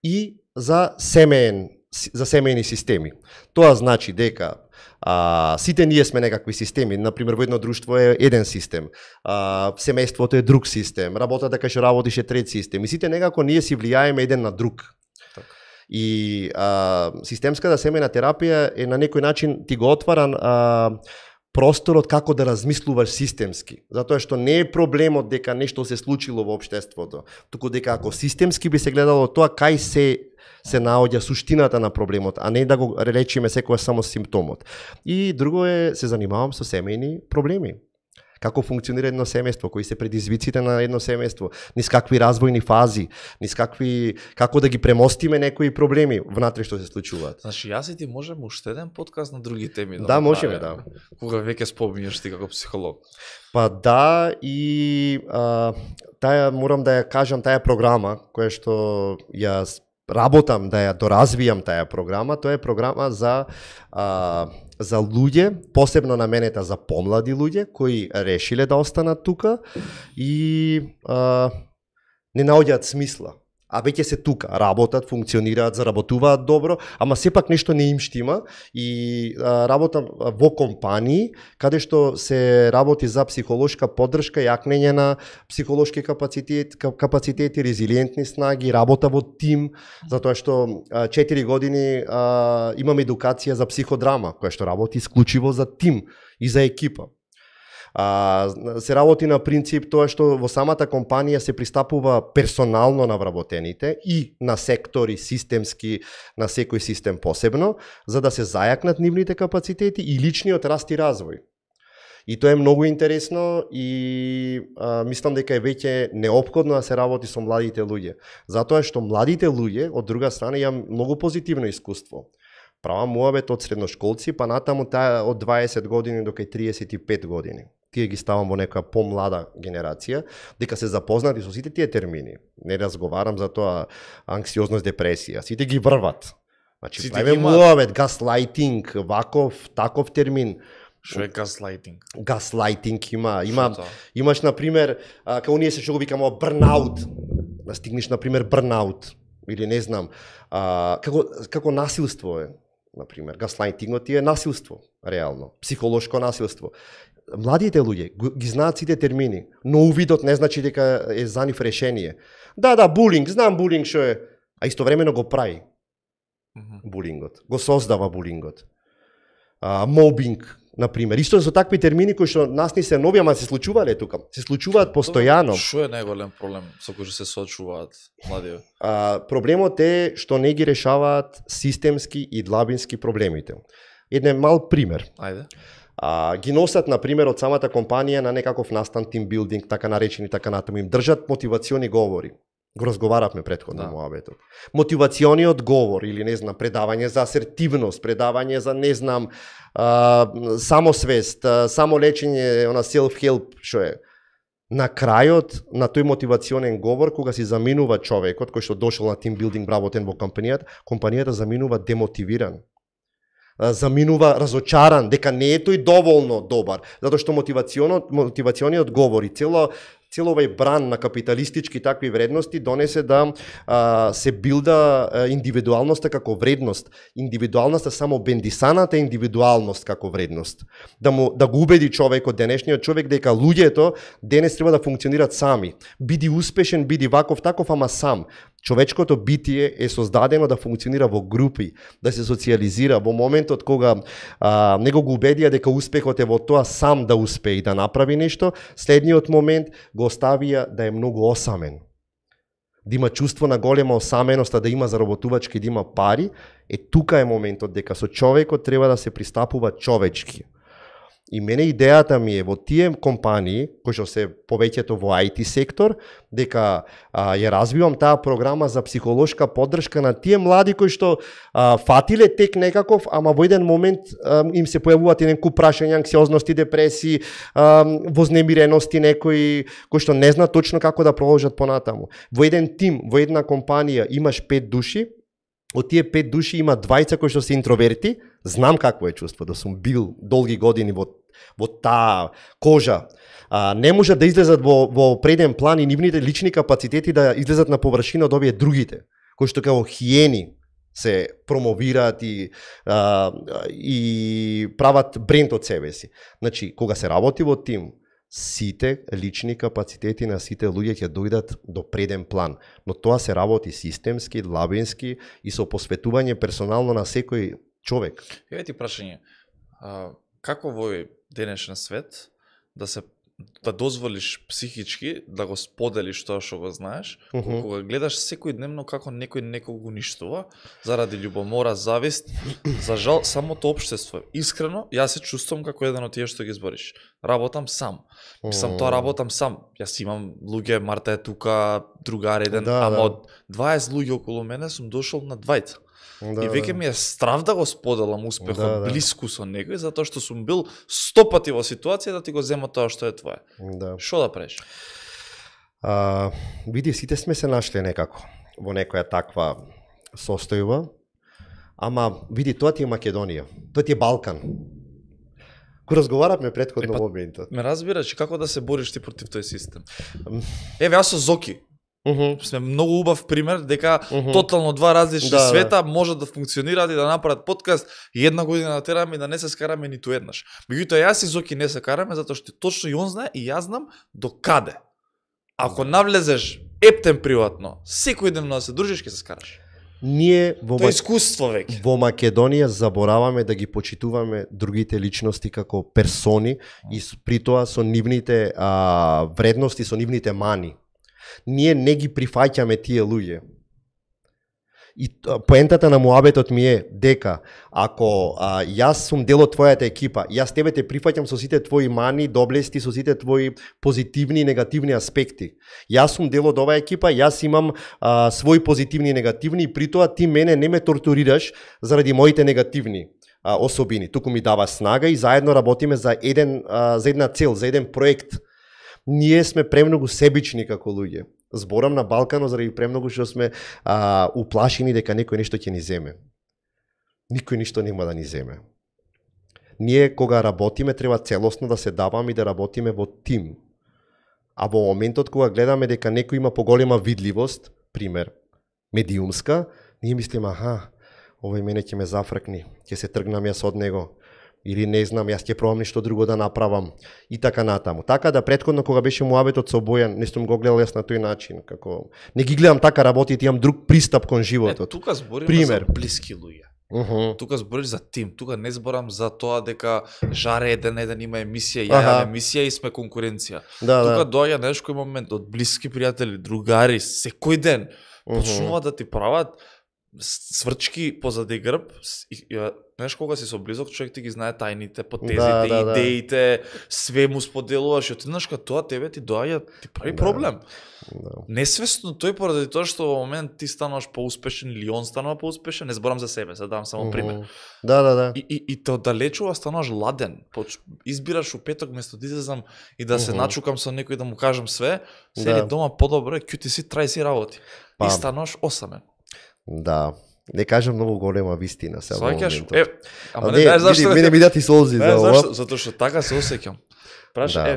и за семејни системи. Тоа значи дека сите ние сме некакви системи, например во едно друштво е еден систем, семејството е друг систем, работата кај што работиш е трет систем, и сите некако ние си влијаеме еден на друг. Так. И системската семејна терапија е на некој начин ти го отвара просторот како да размислуваш системски, затоа што не е проблемот дека нешто се случило во општеството, туку дека ако системски би се гледало тоа кај се наоѓа суштината на проблемот, а не да го речиме секогаш само симптомот. И друго е, се занимавам со семејни проблеми. Како функционира едно семејство, кои се предизвиците на едно семејство, низ какви развојни фази, низ какви, како да ги премостиме некои проблеми внатре што се случуваат. Значи, јас и ти можеме уште еден подкаст на други теми да можеме, да. Кога веќе спомниш ти како психолог. Па да, и таа морам да ја кажам, таа програма која што јас работам да ја доразвијам таа програма, тоа е програма за луѓе, посебно наменета за помлади луѓе кои решиле да останат тука и не наоѓаат смисла. А веќе се тука, работат, функционираат, заработуваат добро, ама сепак нешто не им штима и работам во компании каде што се работи за психолошка поддршка, јакнење на психолошки капацитети, резилиентни снаги, работа во тим, затоа што 4 години имам едукација за психодрама, која што работи исклучиво за тим и за екипа. Се работи на принцип тоа што во самата компанија се пристапува персонално на вработените и на сектори системски, на секој систем посебно, за да се зајакнат нивните капацитети и личниот раст и развој. И тоа е многу интересно и мислам дека е веќе неопходно да се работи со младите луѓе, затоа што младите луѓе од друга страна имам многу позитивно искуство. Правам муабет од средношколци, па натаму таа од 20 години до кај 35 години. Тие ги ставам во некоја помлада генерација, дека се запознати со сите тие термини. Не разговарам за тоа анксиозност, депресија. Сите ги врват. Значи, правиме муабет, гаслайтинг, ваков, таков термин. Што е гаслайтинг? Гаслайтинг имаш, например, како ние се што го викамо брнаут. Да стигнеш, например, брнаут. Или не знам, како насилство е, например, гаслайтингот е насилство, реално, психолошко насилство. Младите луѓе ги знаат сите термини, но увидот не значи дека е за нив решение. Да, булинг, знам булинг што е, а истовремено го прави булингот, го создава булингот. Мобинг, например, исто со такви термини кои што нас не се нови, ама се случувале тука, се случуваат постојано. Што е најголем проблем со кој што се соочуваат младите? Проблемот е што не ги решаваат системски и длабински проблемите. Еден мал пример. Ајде. Ги носат, например, од самата компанија на некаков настан, тимбилдинг, така наречени, така натаму, им држат мотивациони говори. Го разговаравме претходно муабетот. Мотивациониот говор или не знам предавање за асертивност, предавање за не знам самосвест, самолечење, она self-help што е. На крајот на тој мотивационен говор, кога си заминува човекот кој што дошол на тимбилдинг работен во компанијата заминува демотивиран. Заминува разочаран дека не е тој доволно добар, затоа што мотивациониот говор и цел овај бран на капиталистички такви вредности донесе да се билда индивидуалноста како вредност, индивидуалноста само бендисаната индивидуалност како вредност. Да го убеди човекот, денешниот човек, дека луѓето денес треба да функционираат сами. Биди успешен, биди ваков таков, ама сам. Човечкото битие е создадено да функционира во групи, да се социализира. Во моментот кога него го убедија дека успехот е во тоа сам да успее и да направи нешто, следниот момент го оставија да е многу осамен. да има чувство на голема осаменост, да има заработувачки, да има пари, тука е моментот дека со човекот треба да се пристапува човечки. И мене идејата ми е во тие компании, кои што се повеќето во IT сектор, дека ја развивам таа програма за психолошка поддршка на тие млади кои што фатиле тек некаков, ама во еден момент им се појавуваат еден куп прашања, анксиозности, депресии, вознемирености, некои кои што не знаат точно како да продолжат понатаму. Во еден тим, во една компанија имаш 5 души, од тие 5 души има 2 кои што се интроверти, знам какво е чувство, да сум бил долги години во таа кожа. Не може да излезат во преден план и нивните лични капацитети да излезат на површина од овие другите, кои што како хиени се промовираат и прават бренд од себе си. Значи, кога се работи во тим, сите лични капацитети на сите луѓе ќе дојдат до преден план, но тоа се работи системски, длабински и со посветување персонално на секој човек. Еве ти прашање, како во денешен свет да дозволиш психички да го споделиш тоа што го знаеш, кога гледаш секојдневно како некој некого уништува заради љубомора, завист, за жал самото општество. Искрено, јас се чувствувам како еден од тие што ги збориш. Работам сам. Мислам, тоа работам сам. Јас имам луѓе, Марта е тука, другар еден, ама од 20 луѓе околу мене сум дошол на 20. И веќе ми е страв да го споделам успехот блиску со некој, затоа што сум бил 100 пати во ситуација да ти го зема тоа што е твое. Шо да правиш? Види, сите сме се нашли некако во некоја таква состојба, ама види, тоа ти е Македонија, тоа ти е Балкан. Кога разговаравме претходно моментот. Ме разбираш како да се бориш ти против тој систем. Еве, јас со Зоки сме многу убав пример дека тотално два различни света можат да функционираат и да направат подкаст и една година да тераме и да не се скараме ниту еднаш. Меѓутоа јас и Зоки не се караме затоа што точно и он знае и јас знам до каде. Ако навлезеш ептен приватно, секојдневно да се дружиш ќе се скараш. Ние тоа искуство веќе. Во Македонија забораваме да ги почитуваме другите личности како персони и при тоа со нивните вредности, со нивните мани. Ние не ги прифаќаме тие луѓе. И поентата на муабетот ми е дека ако јас сум дел од твојата екипа, јас тебе те прифаќам со сите твои мани, доблести, со сите твои позитивни и негативни аспекти. Јас сум дел од оваа екипа, јас имам свои позитивни и негативни и при тоа ти мене не ме тортурираш заради моите негативни особини. Туку ми дава снага и заедно работиме за една цел, за еден проект. Ние сме премногу себични како луѓе. Зборам на Балкано заради премногу што сме уплашени дека некој нешто ќе ни земе. Никој ништо нема да ни земе. Ние кога работиме треба целосно да се даваме и да работиме во тим. А во моментот кога гледаме дека некој има поголема видливост, пример, медиумска, ние мислиме, овој мене ќе ме зафркни, ќе се тргнам јас од него. Или не знам, јас ќе пробам нешто друго да направам и така натаму. Така да претходно кога беше муабетот со Бојан, не сум го гледал јас на тој начин, како не ги гледам така работите, имам друг пристап кон животот. Тука збориме за блиски луѓе. Тука збориш за тим, тука не зборам за тоа дека жаре еден има емисија, ја имам емисија и сме конкуренција. Тука доаѓа некој момент од блиски пријатели, другари, секој ден почнуваат да ти прават сврчки позади грб. Знаеш, кога си со близок човек ти ги знае тајните, потезите, идеите, све му споделуваш и отиднаш кај тоа тебе ти доаѓа, ти прави проблем. Несвесно тој поради тоа што во момент ти стануваш поуспешен или он станува поуспешен, не зборам за себе, се давам само пример. И те оддалечува, стануваш ладен. Избираш у петок место да излезам и да се начукам со некој да му кажам све, седи дома подобро, кјути си, трај си работи. И стануваш осамен. Да. Не кажам многу голема вистина се во моментот. Ама не знаеш зашто? Мене ми дати солзи за ова. Затоа што така се осеќам.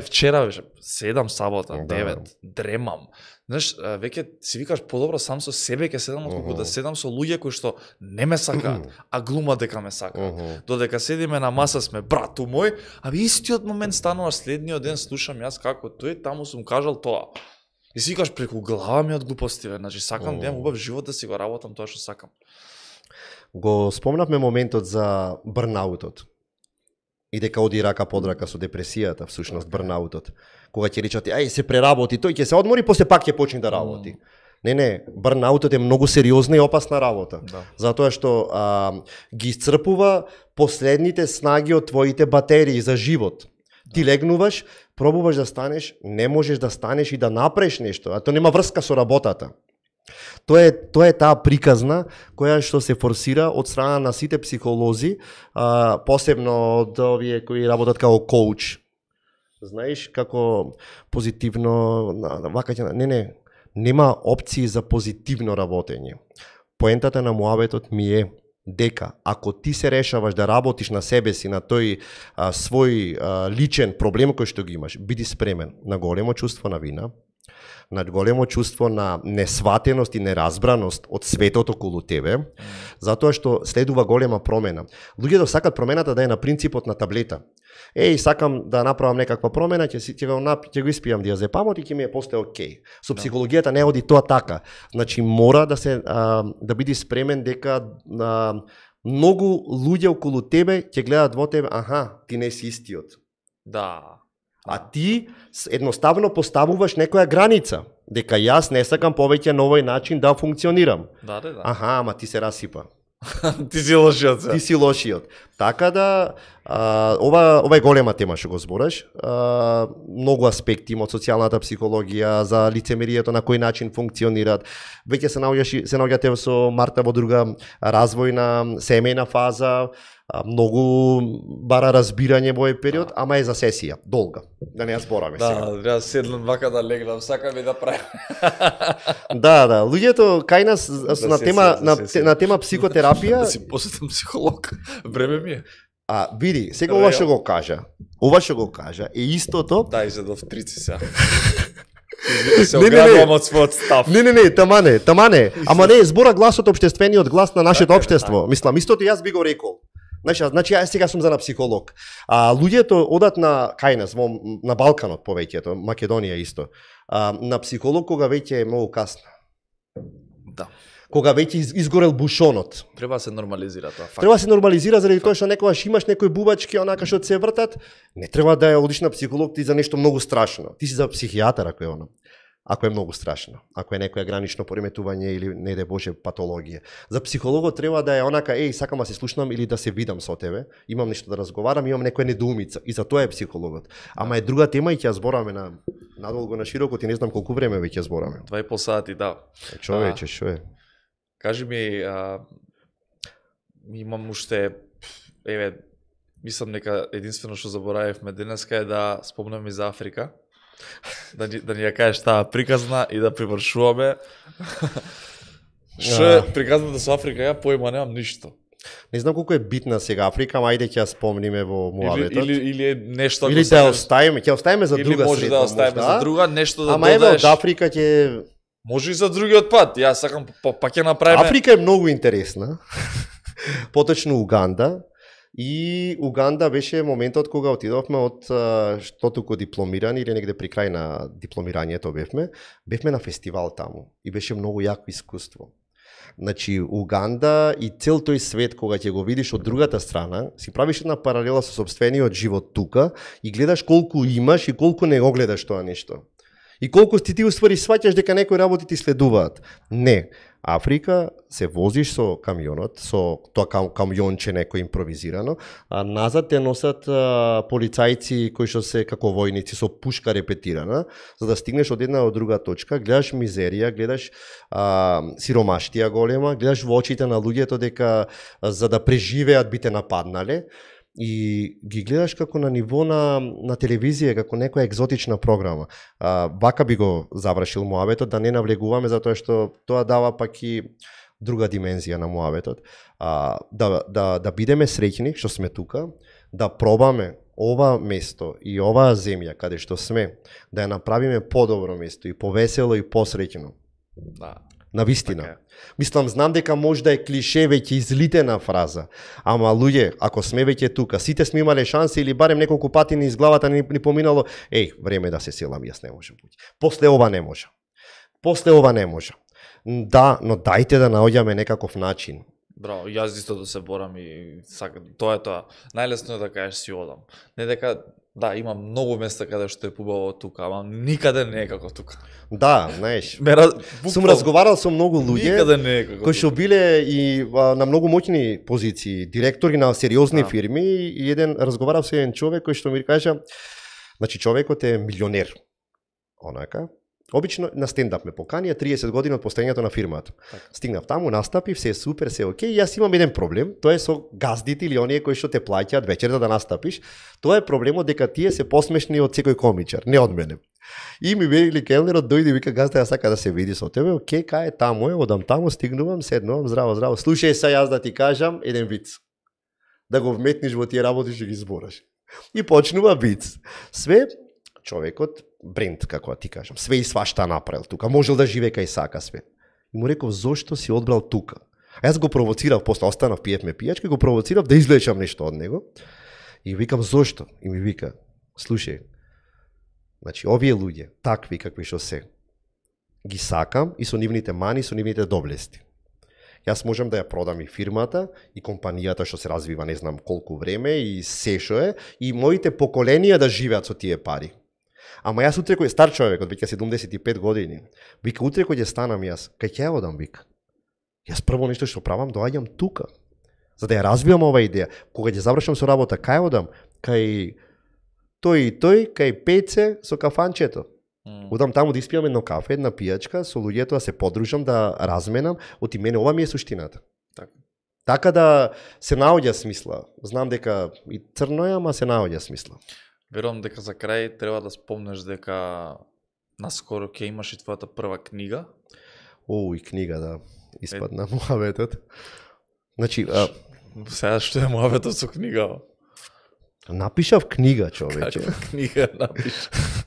Вчера беше 7 сабота, 9, дремам. Знаеш, веќе си викаш подобро сам со себе ќе седам отколку да седам со луѓе кои што не ме сакаат, а глумат дека ме сакаат. Додека седиме на маса сме брату мој, а истиот момент стануваш следниот ден слушам јас како тој таму сум кажал тоа. И си викаш преку глава ми од глупости, значи сакам да имам убав живот да си го работам тоа што сакам. Го спомнавме моментот за брнаутот. И дека оди рака под рака со депресијата, всушност брнаутот. Кога ќе речат, ај се преработи, тој ќе се одмори, после пак ќе почне да работи. Не, бърнаутот е многу сериозна и опасна работа. Да. Затоа што ги исцрпува последните снаги од твоите батерии за живот. Ти легнуваш, пробуваш да станеш, не можеш да станеш и да направиш нешто, а тоа нема врска со работата. Тоа е таа приказна која што се форсира од страна на сите психолози, посебно од овие кои работат како коуч. Знаеш, како позитивно, нема опции за позитивно работење. Поентата на муабетот ми е дека ако ти се решаваш да работиш на себе си, на тој свој личен проблем кој што ги имаш, биди спремен на големо чувство на вина, на големо чувство на несватеност и неразбраност од светот околу тебе, затоа што следува голема промена. Луѓето сакат промената да е на принципот на таблета. Сакам да направам некаква промена, ќе го испијам диазепамот и ќе ми е после окей. Со психологијата не оди тоа така. Значи мора да биде спремен дека многу луѓе околу тебе ќе гледат во тебе, ти не си истиот. Да. А ти едноставно поставуваш некоја граница, дека јас не сакам повеќе на овој начин да функционирам. Да. Ама ти се расипа. Ти си лошиот. Ти си лошиот. Така да, ова е голема тема што го збораш. Многу аспекти има од социјалната психологија, за лицемерието, на кој начин функционираат. Веќе се наоѓате со Марта во друга развојна, семејна фаза, многу бара разбирање во овој период, ама е за сесија, долга. Да не ја збораме сега. Да, треба седнам вака да легнам, сакам и да правам. Да, луѓето кај нас на тема психотерапија. Да си посетам психолог. Време ми е. Види, сега ова што го кажа, е истото. Да, изедов трици сега. Се оградувам од својот став. Не, тамане. Ама не, збора гласот општествениот глас на нашето општество. Мислам, истото јас би го рекол. Значи, јас сега сум за на психолог. Луѓето одат кај нас, на Балканот повеќето, Македонија исто, на психолог кога веќе е многу касно. Да. Кога веќе изгорел бушонот. Треба да се нормализира тоа факт. Треба да се нормализира заради тоа што некогаш имаш некои бубачки онака што се вртат, не треба да ја одиш на психолог ти за нешто многу страшно. Ти си за психијатар ако е оно. Ако е многу страшно, ако е некоја гранично пореметување или не де Боже патологија. За психологот треба да е онака, сакам да се слушнам или да се видам со тебе, имам нешто да разговарам, имам некоја недоумица и за тоа е психологот. Ама е друга тема и ќе ја збораме надолго на широко, ти не знам колку време веќе збораме. 2,5 сати, да. Човече, што е? Кажи ми, имам уште, мислам нека единствено што заборавивме денеска е да спомнеме за Африка. Да ни ја кажеш таа приказна и да привршуваме. Што е приказната со Африка, ја поима немам ништо. Не знам колку е битна сега Африка, ама ајде ќе ја спомниме во муабетот. Или е нешто... Или да оставиме, ќе оставиме за друга среда. Или може да оставиме за друга, нешто да ама додаеш. Ама еве од Африка ќе... Може и за другиот пат, јас сакам па ќе направиме... Африка е многу интересна, поточно Уганда, и Уганда беше моментот кога отидовме од што туку дипломирани или негде при крај на дипломирањето бевме на фестивал таму и беше многу јако искуство. Значи Уганда и цел тој свет кога ќе го видиш од другата страна, си правиш една паралела со сопствениот живот тука и гледаш колку имаш и колку не го гледаш тоа нешто. И колку ти уствари сваќаш дека некои работи ти следуваат. Не. Африка се возиш со камионот, со тоа камионче некој импровизирано, а назад те носат полицајци кои што се како војници со пушка репетирана, за да стигнеш од една до друга точка, гледаш мизерија, гледаш сиромаштија голема, гледаш во очите на луѓето дека за да преживеат би те нападнале, и ги гледаш како на ниво на телевизија, како некоја екзотична програма. Вака би го завршил муабетот, да не навлегуваме, затоа што тоа дава пак и друга димензија на муабетот. Да бидеме среќни што сме тука, да пробаме ова место и оваа земја каде што сме, да ја направиме подобро место и повесело и посреќно. Да. Навистина. Okay. Мислам, знам дека може да е клише веќе излитена фраза, ама луѓе, ако сме веќе тука, сите сме имале шанси или барем неколку пати низ главата ни поминало, време да се селам, јас не можам. После ова не може. Да, но дајте да наоѓаме некаков начин. Браво, јас исто да се борам и сакам. Тоа е тоа. Најлесно е да кажеш си одам. Не дека Да, има многу места каде што е побаво тука, ама никаде не е како тука. Да, знаеш. Буквално, Сум разговарал со многу луѓе никаде не е како кои што тука. биле и на многу моќни позиции, директори на сериозни фирми, и еден разговарав со еден човек кој што ми кажа, значи човекот е милионер. Онака. Обично на стендап ме поканија 30 години од постоењето на фирмата. Стигнав таму, настапив, се е супер, се е окей, и јас имам еден проблем, тоа е со газдите или оние кои што те плаќаат вечерта да настапиш. Тоа е проблемот дека тие се посмешни од секој комичар, не од мене. И ми вели келнерот дојде и вика, газда, ја сака да се види со тебе, окей, кај е таму е, одам таму, стигнувам, седнувам, здраво, здраво. Слушај се, јас да ти кажам еден виц. Да го вметниш во тие работи што ги збораш. И почнува виц. Све човекот бренд, како ти кажам, све и свашта направил тука, можел да живее кај сака све. И му реков, зошто си одбрал тука? А јас го провоцирав, после останав, пиевме пијачка, го провоцирав да извлечам нешто од него. И викам, зошто? И ми вика, слушај, значи, овие луѓе, такви какви што се, ги сакам и со нивните мани, со нивните доблести. Јас можам да ја продам и фирмата, и компанијата што се развива не знам колку време, и се што е, и моите поколенија да живеат со тие пари. Ама јас утре кој е стар човек, од веќе 75 години, вика, утре кој ќе станам јас, кај ќе ја одам, вика. Јас прво нешто што правам, доаѓам тука, за да ја развивам ова идеја. Кога ќе завршам со работа, кај одам? Кај тој и тој, кај Пеце со кафанчето. Одам таму да испијам едно кафе, една пијачка, со луѓето да се подружам, да разменам, оти мене ова ми е суштината. Така да се наоѓа смисла. Знам дека и црно е, ама се наоѓа смисла. Верувам дека за крај треба да спомнеш дека наскоро ќе имаш и твојата прва книга. И книга, да. Испадна муаветот. Значи, сега што е муаветот со книга? Напишав книга, човече. Книга напишав.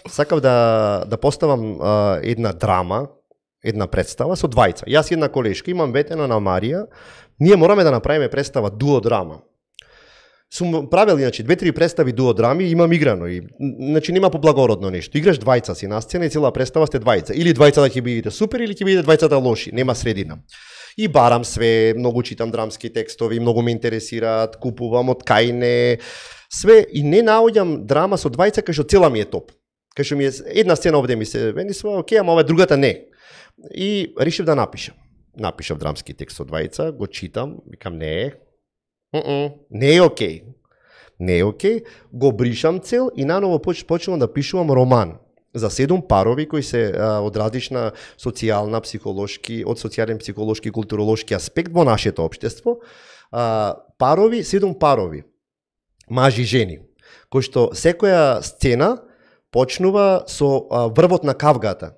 Сакав да поставам една драма, една представа со двајца. Јас и една колешка, имам ветено на Марија, ние мораме да направиме представа дуодрама. Сум правил, иначе, 2-3 представи дуодрами, имам играно и, значи, нема поблагородно нешто. Играш двајца си на сцена и цела представа сте двајца. Или двајца да ќе бидете супер, или ќе бидете двајцата лоши, нема средина. И барам све, многу читам драмски текстови, многу ме интересираат, купувам од кај не, све, и не наоѓам драма со двајца кај што цела ми е топ. Кај што ми е една сцена овде ми се венисува, окей, ама ова другата не. И решив да напишам. Напишав драмски текст со двајца, го читам, викам не е окей. Не е окей, го бришам цел и наново почнувам да пишувам роман за 7 парови кои се од различна социјална, психолошки, од социјален, психолошки, културолошки аспект во нашето општество. Парови, 7 парови, мажи и жени, кои што секоја сцена почнува со врвот на кавгата.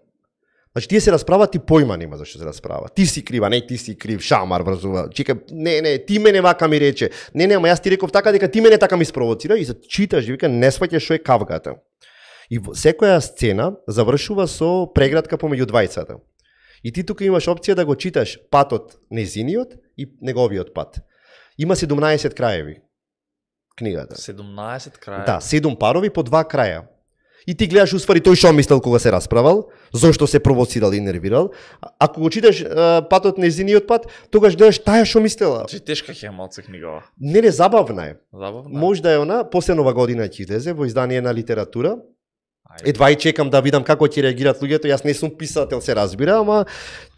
Значи, тие се расправат и појма нема зашто се расправат. Ти си крива, не, ти си крив, шамар врзува. Чека, не, ти мене вака ми рече. Не, ама јас ти реков така дека ти мене така ми спровоцира и за читаш, вика, не сваќаш што е кавгата. И секоја сцена завршува со преградка помеѓу двајцата. И ти тука имаш опција да го читаш патот незиниот и неговиот пат. Има 17 краеви книгата. 17 краеви? Да, 7 парови по 2 краја. И ти гледаш уствари тој што мислел кога се расправал, зошто се провоцирал и нервирал. Ако го читаш патот незиниот пат, тогаш гледаш таја што мислела. Че тешка ќе малце книгава. Не, забавна е. Забавна. Може да е она, после нова година ќе излезе во издание на литература. Едва и чекам да видам како ќе реагираат луѓето. Јас не сум писател, се разбира, ама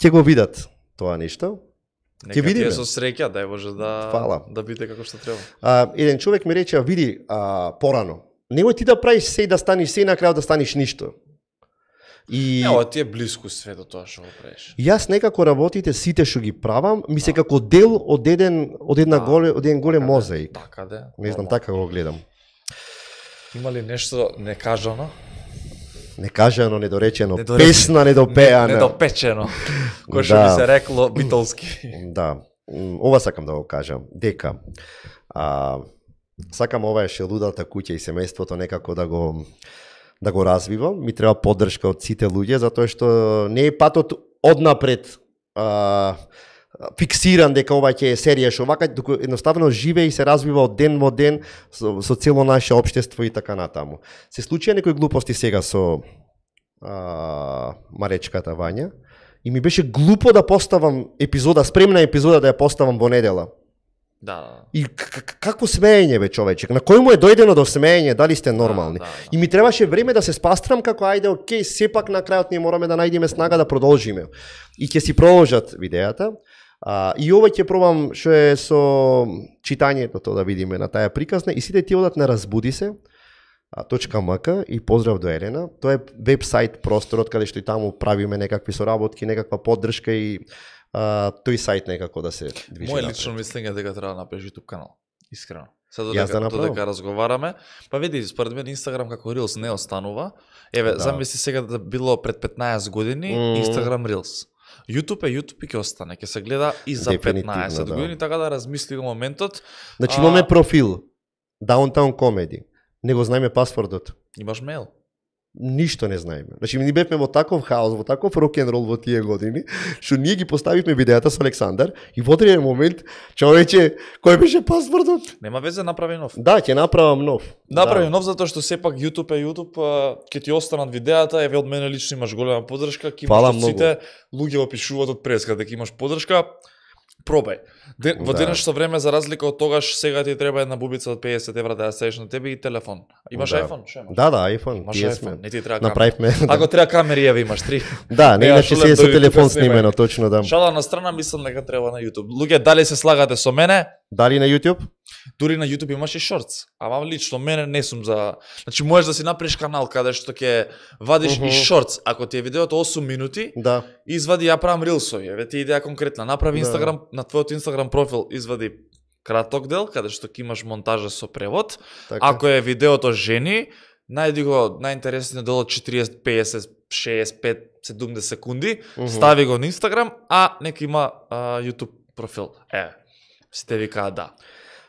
ќе го видат тоа нешто. Ќе видиме. Нека ти е со среќа, дај Боже да биде како што треба. Еден човек ми рече, види порано. Немој ти да правиш се и да станеш се и на крајот да станеш ништо. И ова ти е блиску све до тоа што го правиш. Јас некако работите сите што ги правам, ми се како дел од еден голем мозаик. Така да. Не знам, така го гледам. Има ли нешто некажано? Некажано, недоречено, песна недопеана. Недопечено. Кој што би се рекло битолски. Да. Ова сакам да го кажам, дека сакам оваа шелудата куќа и семејството некако да го развивам. Ми треба поддршка од сите луѓе, затоа што не е патот однапред фиксиран дека ова ќе е серија што вака, туку едноставно живее и се развива од ден во ден со цело наше општество и така натаму. Се случија некои глупости сега со Маречката Вања и ми беше глупо да поставам епизода, спремна епизода да ја поставам во недела. Да. И какво смеење бе човечек? На кој му е дојдено до смеење? Дали сте нормални? Да. И ми требаше време да се спастрам како ајде, окей, сепак на крајот ние мораме да најдеме снага да продолжиме. И ќе си продолжат видеата. И ова ќе пробам што е со читањето тоа да видиме на таа приказна и сите ти одат на Разбуди се .mk и поздрав до Елена. Тоа е веб-сайт просторот каде што и таму правиме некакви соработки, некаква поддршка и тој сајт некако да се движи. Моje лично мислење е дека треба да направиш YouTube канал. Искрено. Сега да додека разговараме, па види, според мен Instagram како Reels не останува. Еве, замисли сега да било пред 15 години Instagram Reels. YouTube и ќе остане, ќе се гледа и за 15 години, така да размисли го моментот. Значи имаме профил Downtown Comedy. Не го знаеме пасвордот. Имаш мејл? Ништо не знаеме. Значи ние бевме во таков хаос, во таков рок-н-рол во тие години, што ние ги поставивме видеата со Александар и во одреден момент човече, кој беше пасвордот? Нема везе, направи нов. Да, ќе направам нов. Направи нов затоа што сепак YouTube ќе ти останат видеата, еве од мене лично имаш голема поддршка, ќе имаш сите луѓе опишуваат од преска дека имаш поддршка. Пробај. Во денешно време, за разлика од тогаш, сега ти треба една бубица од 50 евра да ја седиш на тебе и телефон. Имаш iPhone? Шо имаш? Да, iPhone. Имаш iPhone, не ти треба направивме. Ако треба камери, еве имаш 3. Да, не иначе се со телефон снимено, точно да. Шала на страна, мислам дека треба на YouTube. Луѓе, дали се слагате со мене? Дали на YouTube? Дури на YouTube имаш и шортс. Ама лично мене не сум за... Значи можеш да си направиш канал каде што ќе вадиш и шортс. Ако ти е видеото 8 минути, извади ја правам рилсови. Еве ти идеја конкретна. Направи Instagram на твојот Instagram профил, извади краток дел каде што ќе имаш монтажа со превод. Така. Ако е видеото жени, најди го најинтересниот дел од 40, 50, 65, 70 секунди, стави го на Instagram, а нека има YouTube профил. Сите викаат да.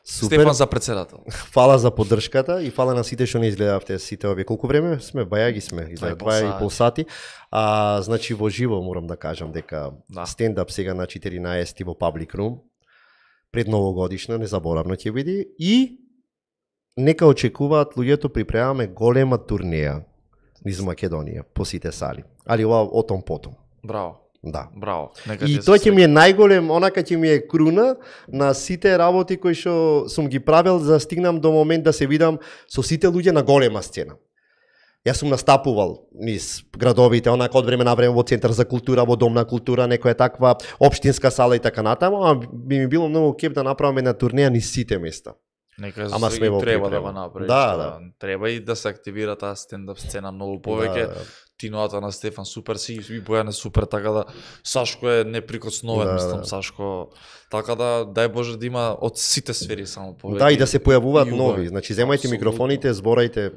Супер. Стефан за председател. Фала за поддршката и фала на сите што не изгледавте сите овие. Колку време сме? Бајаги сме. 2,5 сати. Значи во живо морам да кажам дека стендап сега на 14 во Public Room. Пред новогодишна, незаборавно ќе биде. И нека очекуваат луѓето, припремаме голема турнеја низ Македонија по сите сали. Али ова отом потом. Браво. Да. Браво. И тоа ќе ми е најголем, онака ќе ми е круна на сите работи кои што сум ги правил за да стигнам до момент да се видам со сите луѓе на голема сцена. Јас сум настапувал низ градовите, онака од време на време во Центар за култура, во Дом на култура, некоја таква општинска сала и така натаму, а би ми било многу кеп да направиме на турнеја низ сите места. Ама сме во треба да го направиш. Да. Треба и да се активира таа стендап сцена многу повеќе. Тиноата на Стефан супер си и Бојане супер, така да Сашко е неприкосновен, мислам Сашко. Така да дај Боже да има од сите сфери само повеќе. Да, и да се појавуваат нови. Значи земајте микрофоните, зборајте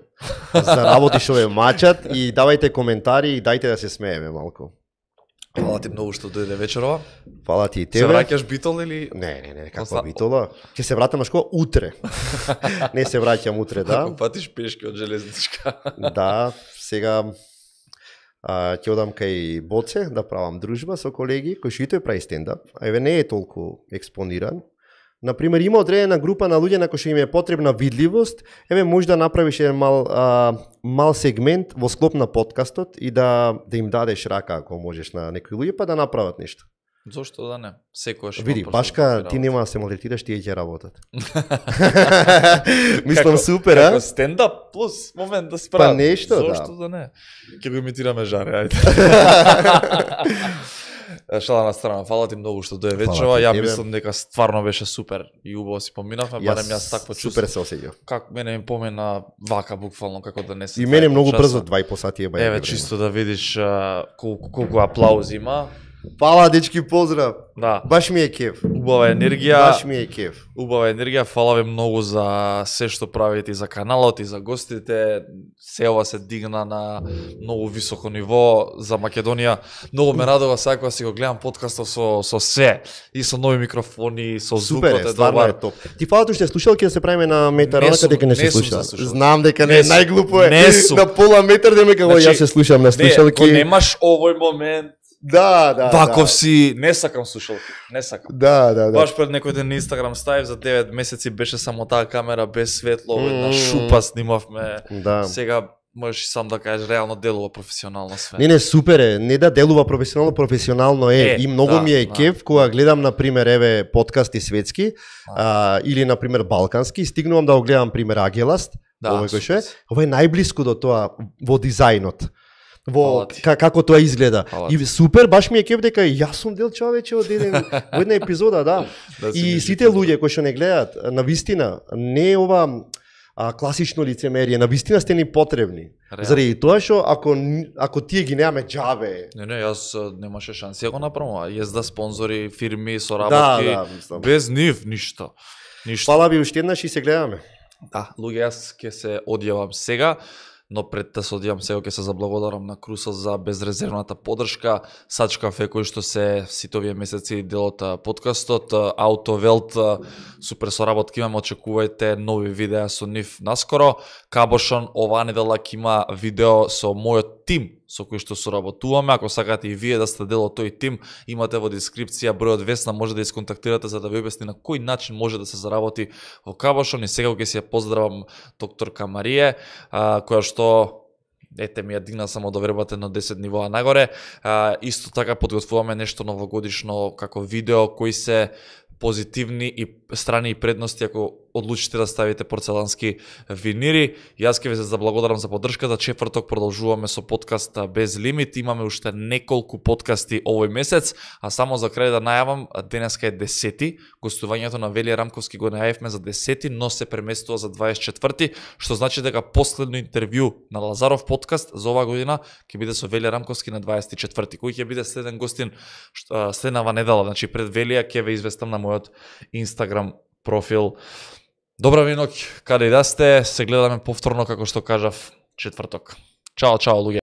за работи што ве мачат и давајте коментари и дајте да се смееме малку. Фала ти многу што дојде вечерова. Фала ти и тебе. Се враќаш битол или? Не, каква битола? Ќе се вратам на школа утре. Не се враќам утре, да. Ако патиш пешки од железничка. Да, сега ќе одам кај Боце да правам дружба со колеги кои што и тој прави стендап. Еве не е толку експониран. Например, има одредена група на луѓе на кои што им е потребна видливост, еве може да направиш еден мал сегмент во склоп на подкастот и да им дадеш рака ако можеш на некои луѓе па да направат нешто. Зошто да не? Секојаш. Види, башка ти нема да се малтретираш, тие ќе работат. Мислам супер, а? Како стендап плюс момент да справат. Па нешто, да. Зошто да не? Ќе го имитираме Жаре, ајде. Шала на страна, фала ти многу што дојде вечерова. Ја мислам дека стварно беше супер и убаво си поминавме, барем јас такво чувство. Супер се осеќав. Как мене ми помена вака буквално како да не се. И мене многу брзо 2,5 сати е бајаги. Еве чисто да видиш колку аплаузи има. Фала, дечки, поздрав. Да. Баш ми е кеф. Убава енергија. Баш ми е кеф. Убава енергија. Фала ви многу за се што правите и за каналот и за гостите. Се ова се дигна на многу високо ниво за Македонија. Многу ме радува сега кога си го гледам подкастот со се и со нови микрофони, со звукот е добар. Е топ. Ти фалато што слушал ќе се правиме на метар, онака дека не се слуша. Знам дека не е најглупо е. На пола метар дека го јас се слушам на слушалки. Не, немаш овој момент. Да. Ваков си, не сакам слушалки, не сакам. Да. Баш пред некој ден на Инстаграм ставив за 9 месеци беше само таа камера без светло, една шупа снимавме. Да. Сега можеш и сам да кажеш, реално делува професионално све. Не, супер е. Не да делува професионално е. И многу ми е кеф кога гледам, например, еве, подкасти светски, или, например, балкански, стигнувам да го гледам, пример, Агеласт, овој кој ше, ова е најблиску до тоа во дизајнот. Како тоа изгледа. И супер, баш ми е кеф дека јас сум дел човече од во една епизода, да. И сите луѓе кои што не гледаат, навистина, не е ова класично лицемерие, навистина сте ни потребни. Заради тоа што ако тие ги немаме џабе. Не, јас немаше шанси да го направам. Језда, спонзори, фирми, соработки, без нив ништо. Фала ви уште еднаш и се гледаме. Да, луѓе, јас ќе се одјавам сега, но пред да се одјавам сега ќе се заблагодарам на Крусо за безрезервната поддршка, Сач Кафе кој што се сите овие месеци дел од подкастот, Аутовелт, супер соработки имаме, очекувајте нови видеа со нив наскоро. Кабошон оваа недела ќе има видео со мојот тим со кој што соработуваме. Ако сакате и вие да сте дел од тој тим, имате во дескрипција бројот Весна, може да исконтактирате за да ви објасни на кој начин може да се заработи во Кабошон. И сега ќе се поздравам докторка Марија, која што ете ми ја дигна само до вербата на 10 нивоа нагоре. Исто така подготвуваме нешто новогодишно како видео кои се позитивни и страни и предности ако одлучите да ставите порцелански винири. Јас ќе ви се заблагодарам за поддршката. Четврток продолжуваме со подкаст Без лимит. Имаме уште неколку подкасти овој месец, а само за крај да најавам, денеска е 10-ти, гостувањето на Велија Рамковски го најавивме за 10-ти, но се преместува за 24-ти, што значи дека последно интервју на Лазаров подкаст за оваа година ќе биде со Велија Рамковски на 24-ти, кој ќе биде следен гостин следнава недела, значи пред Велија ќе ве известам на мојот Инстаграм профил. Добра ви ноќ, каде и да сте, се гледаме повторно, како што кажав, четврток. Чао, луѓе.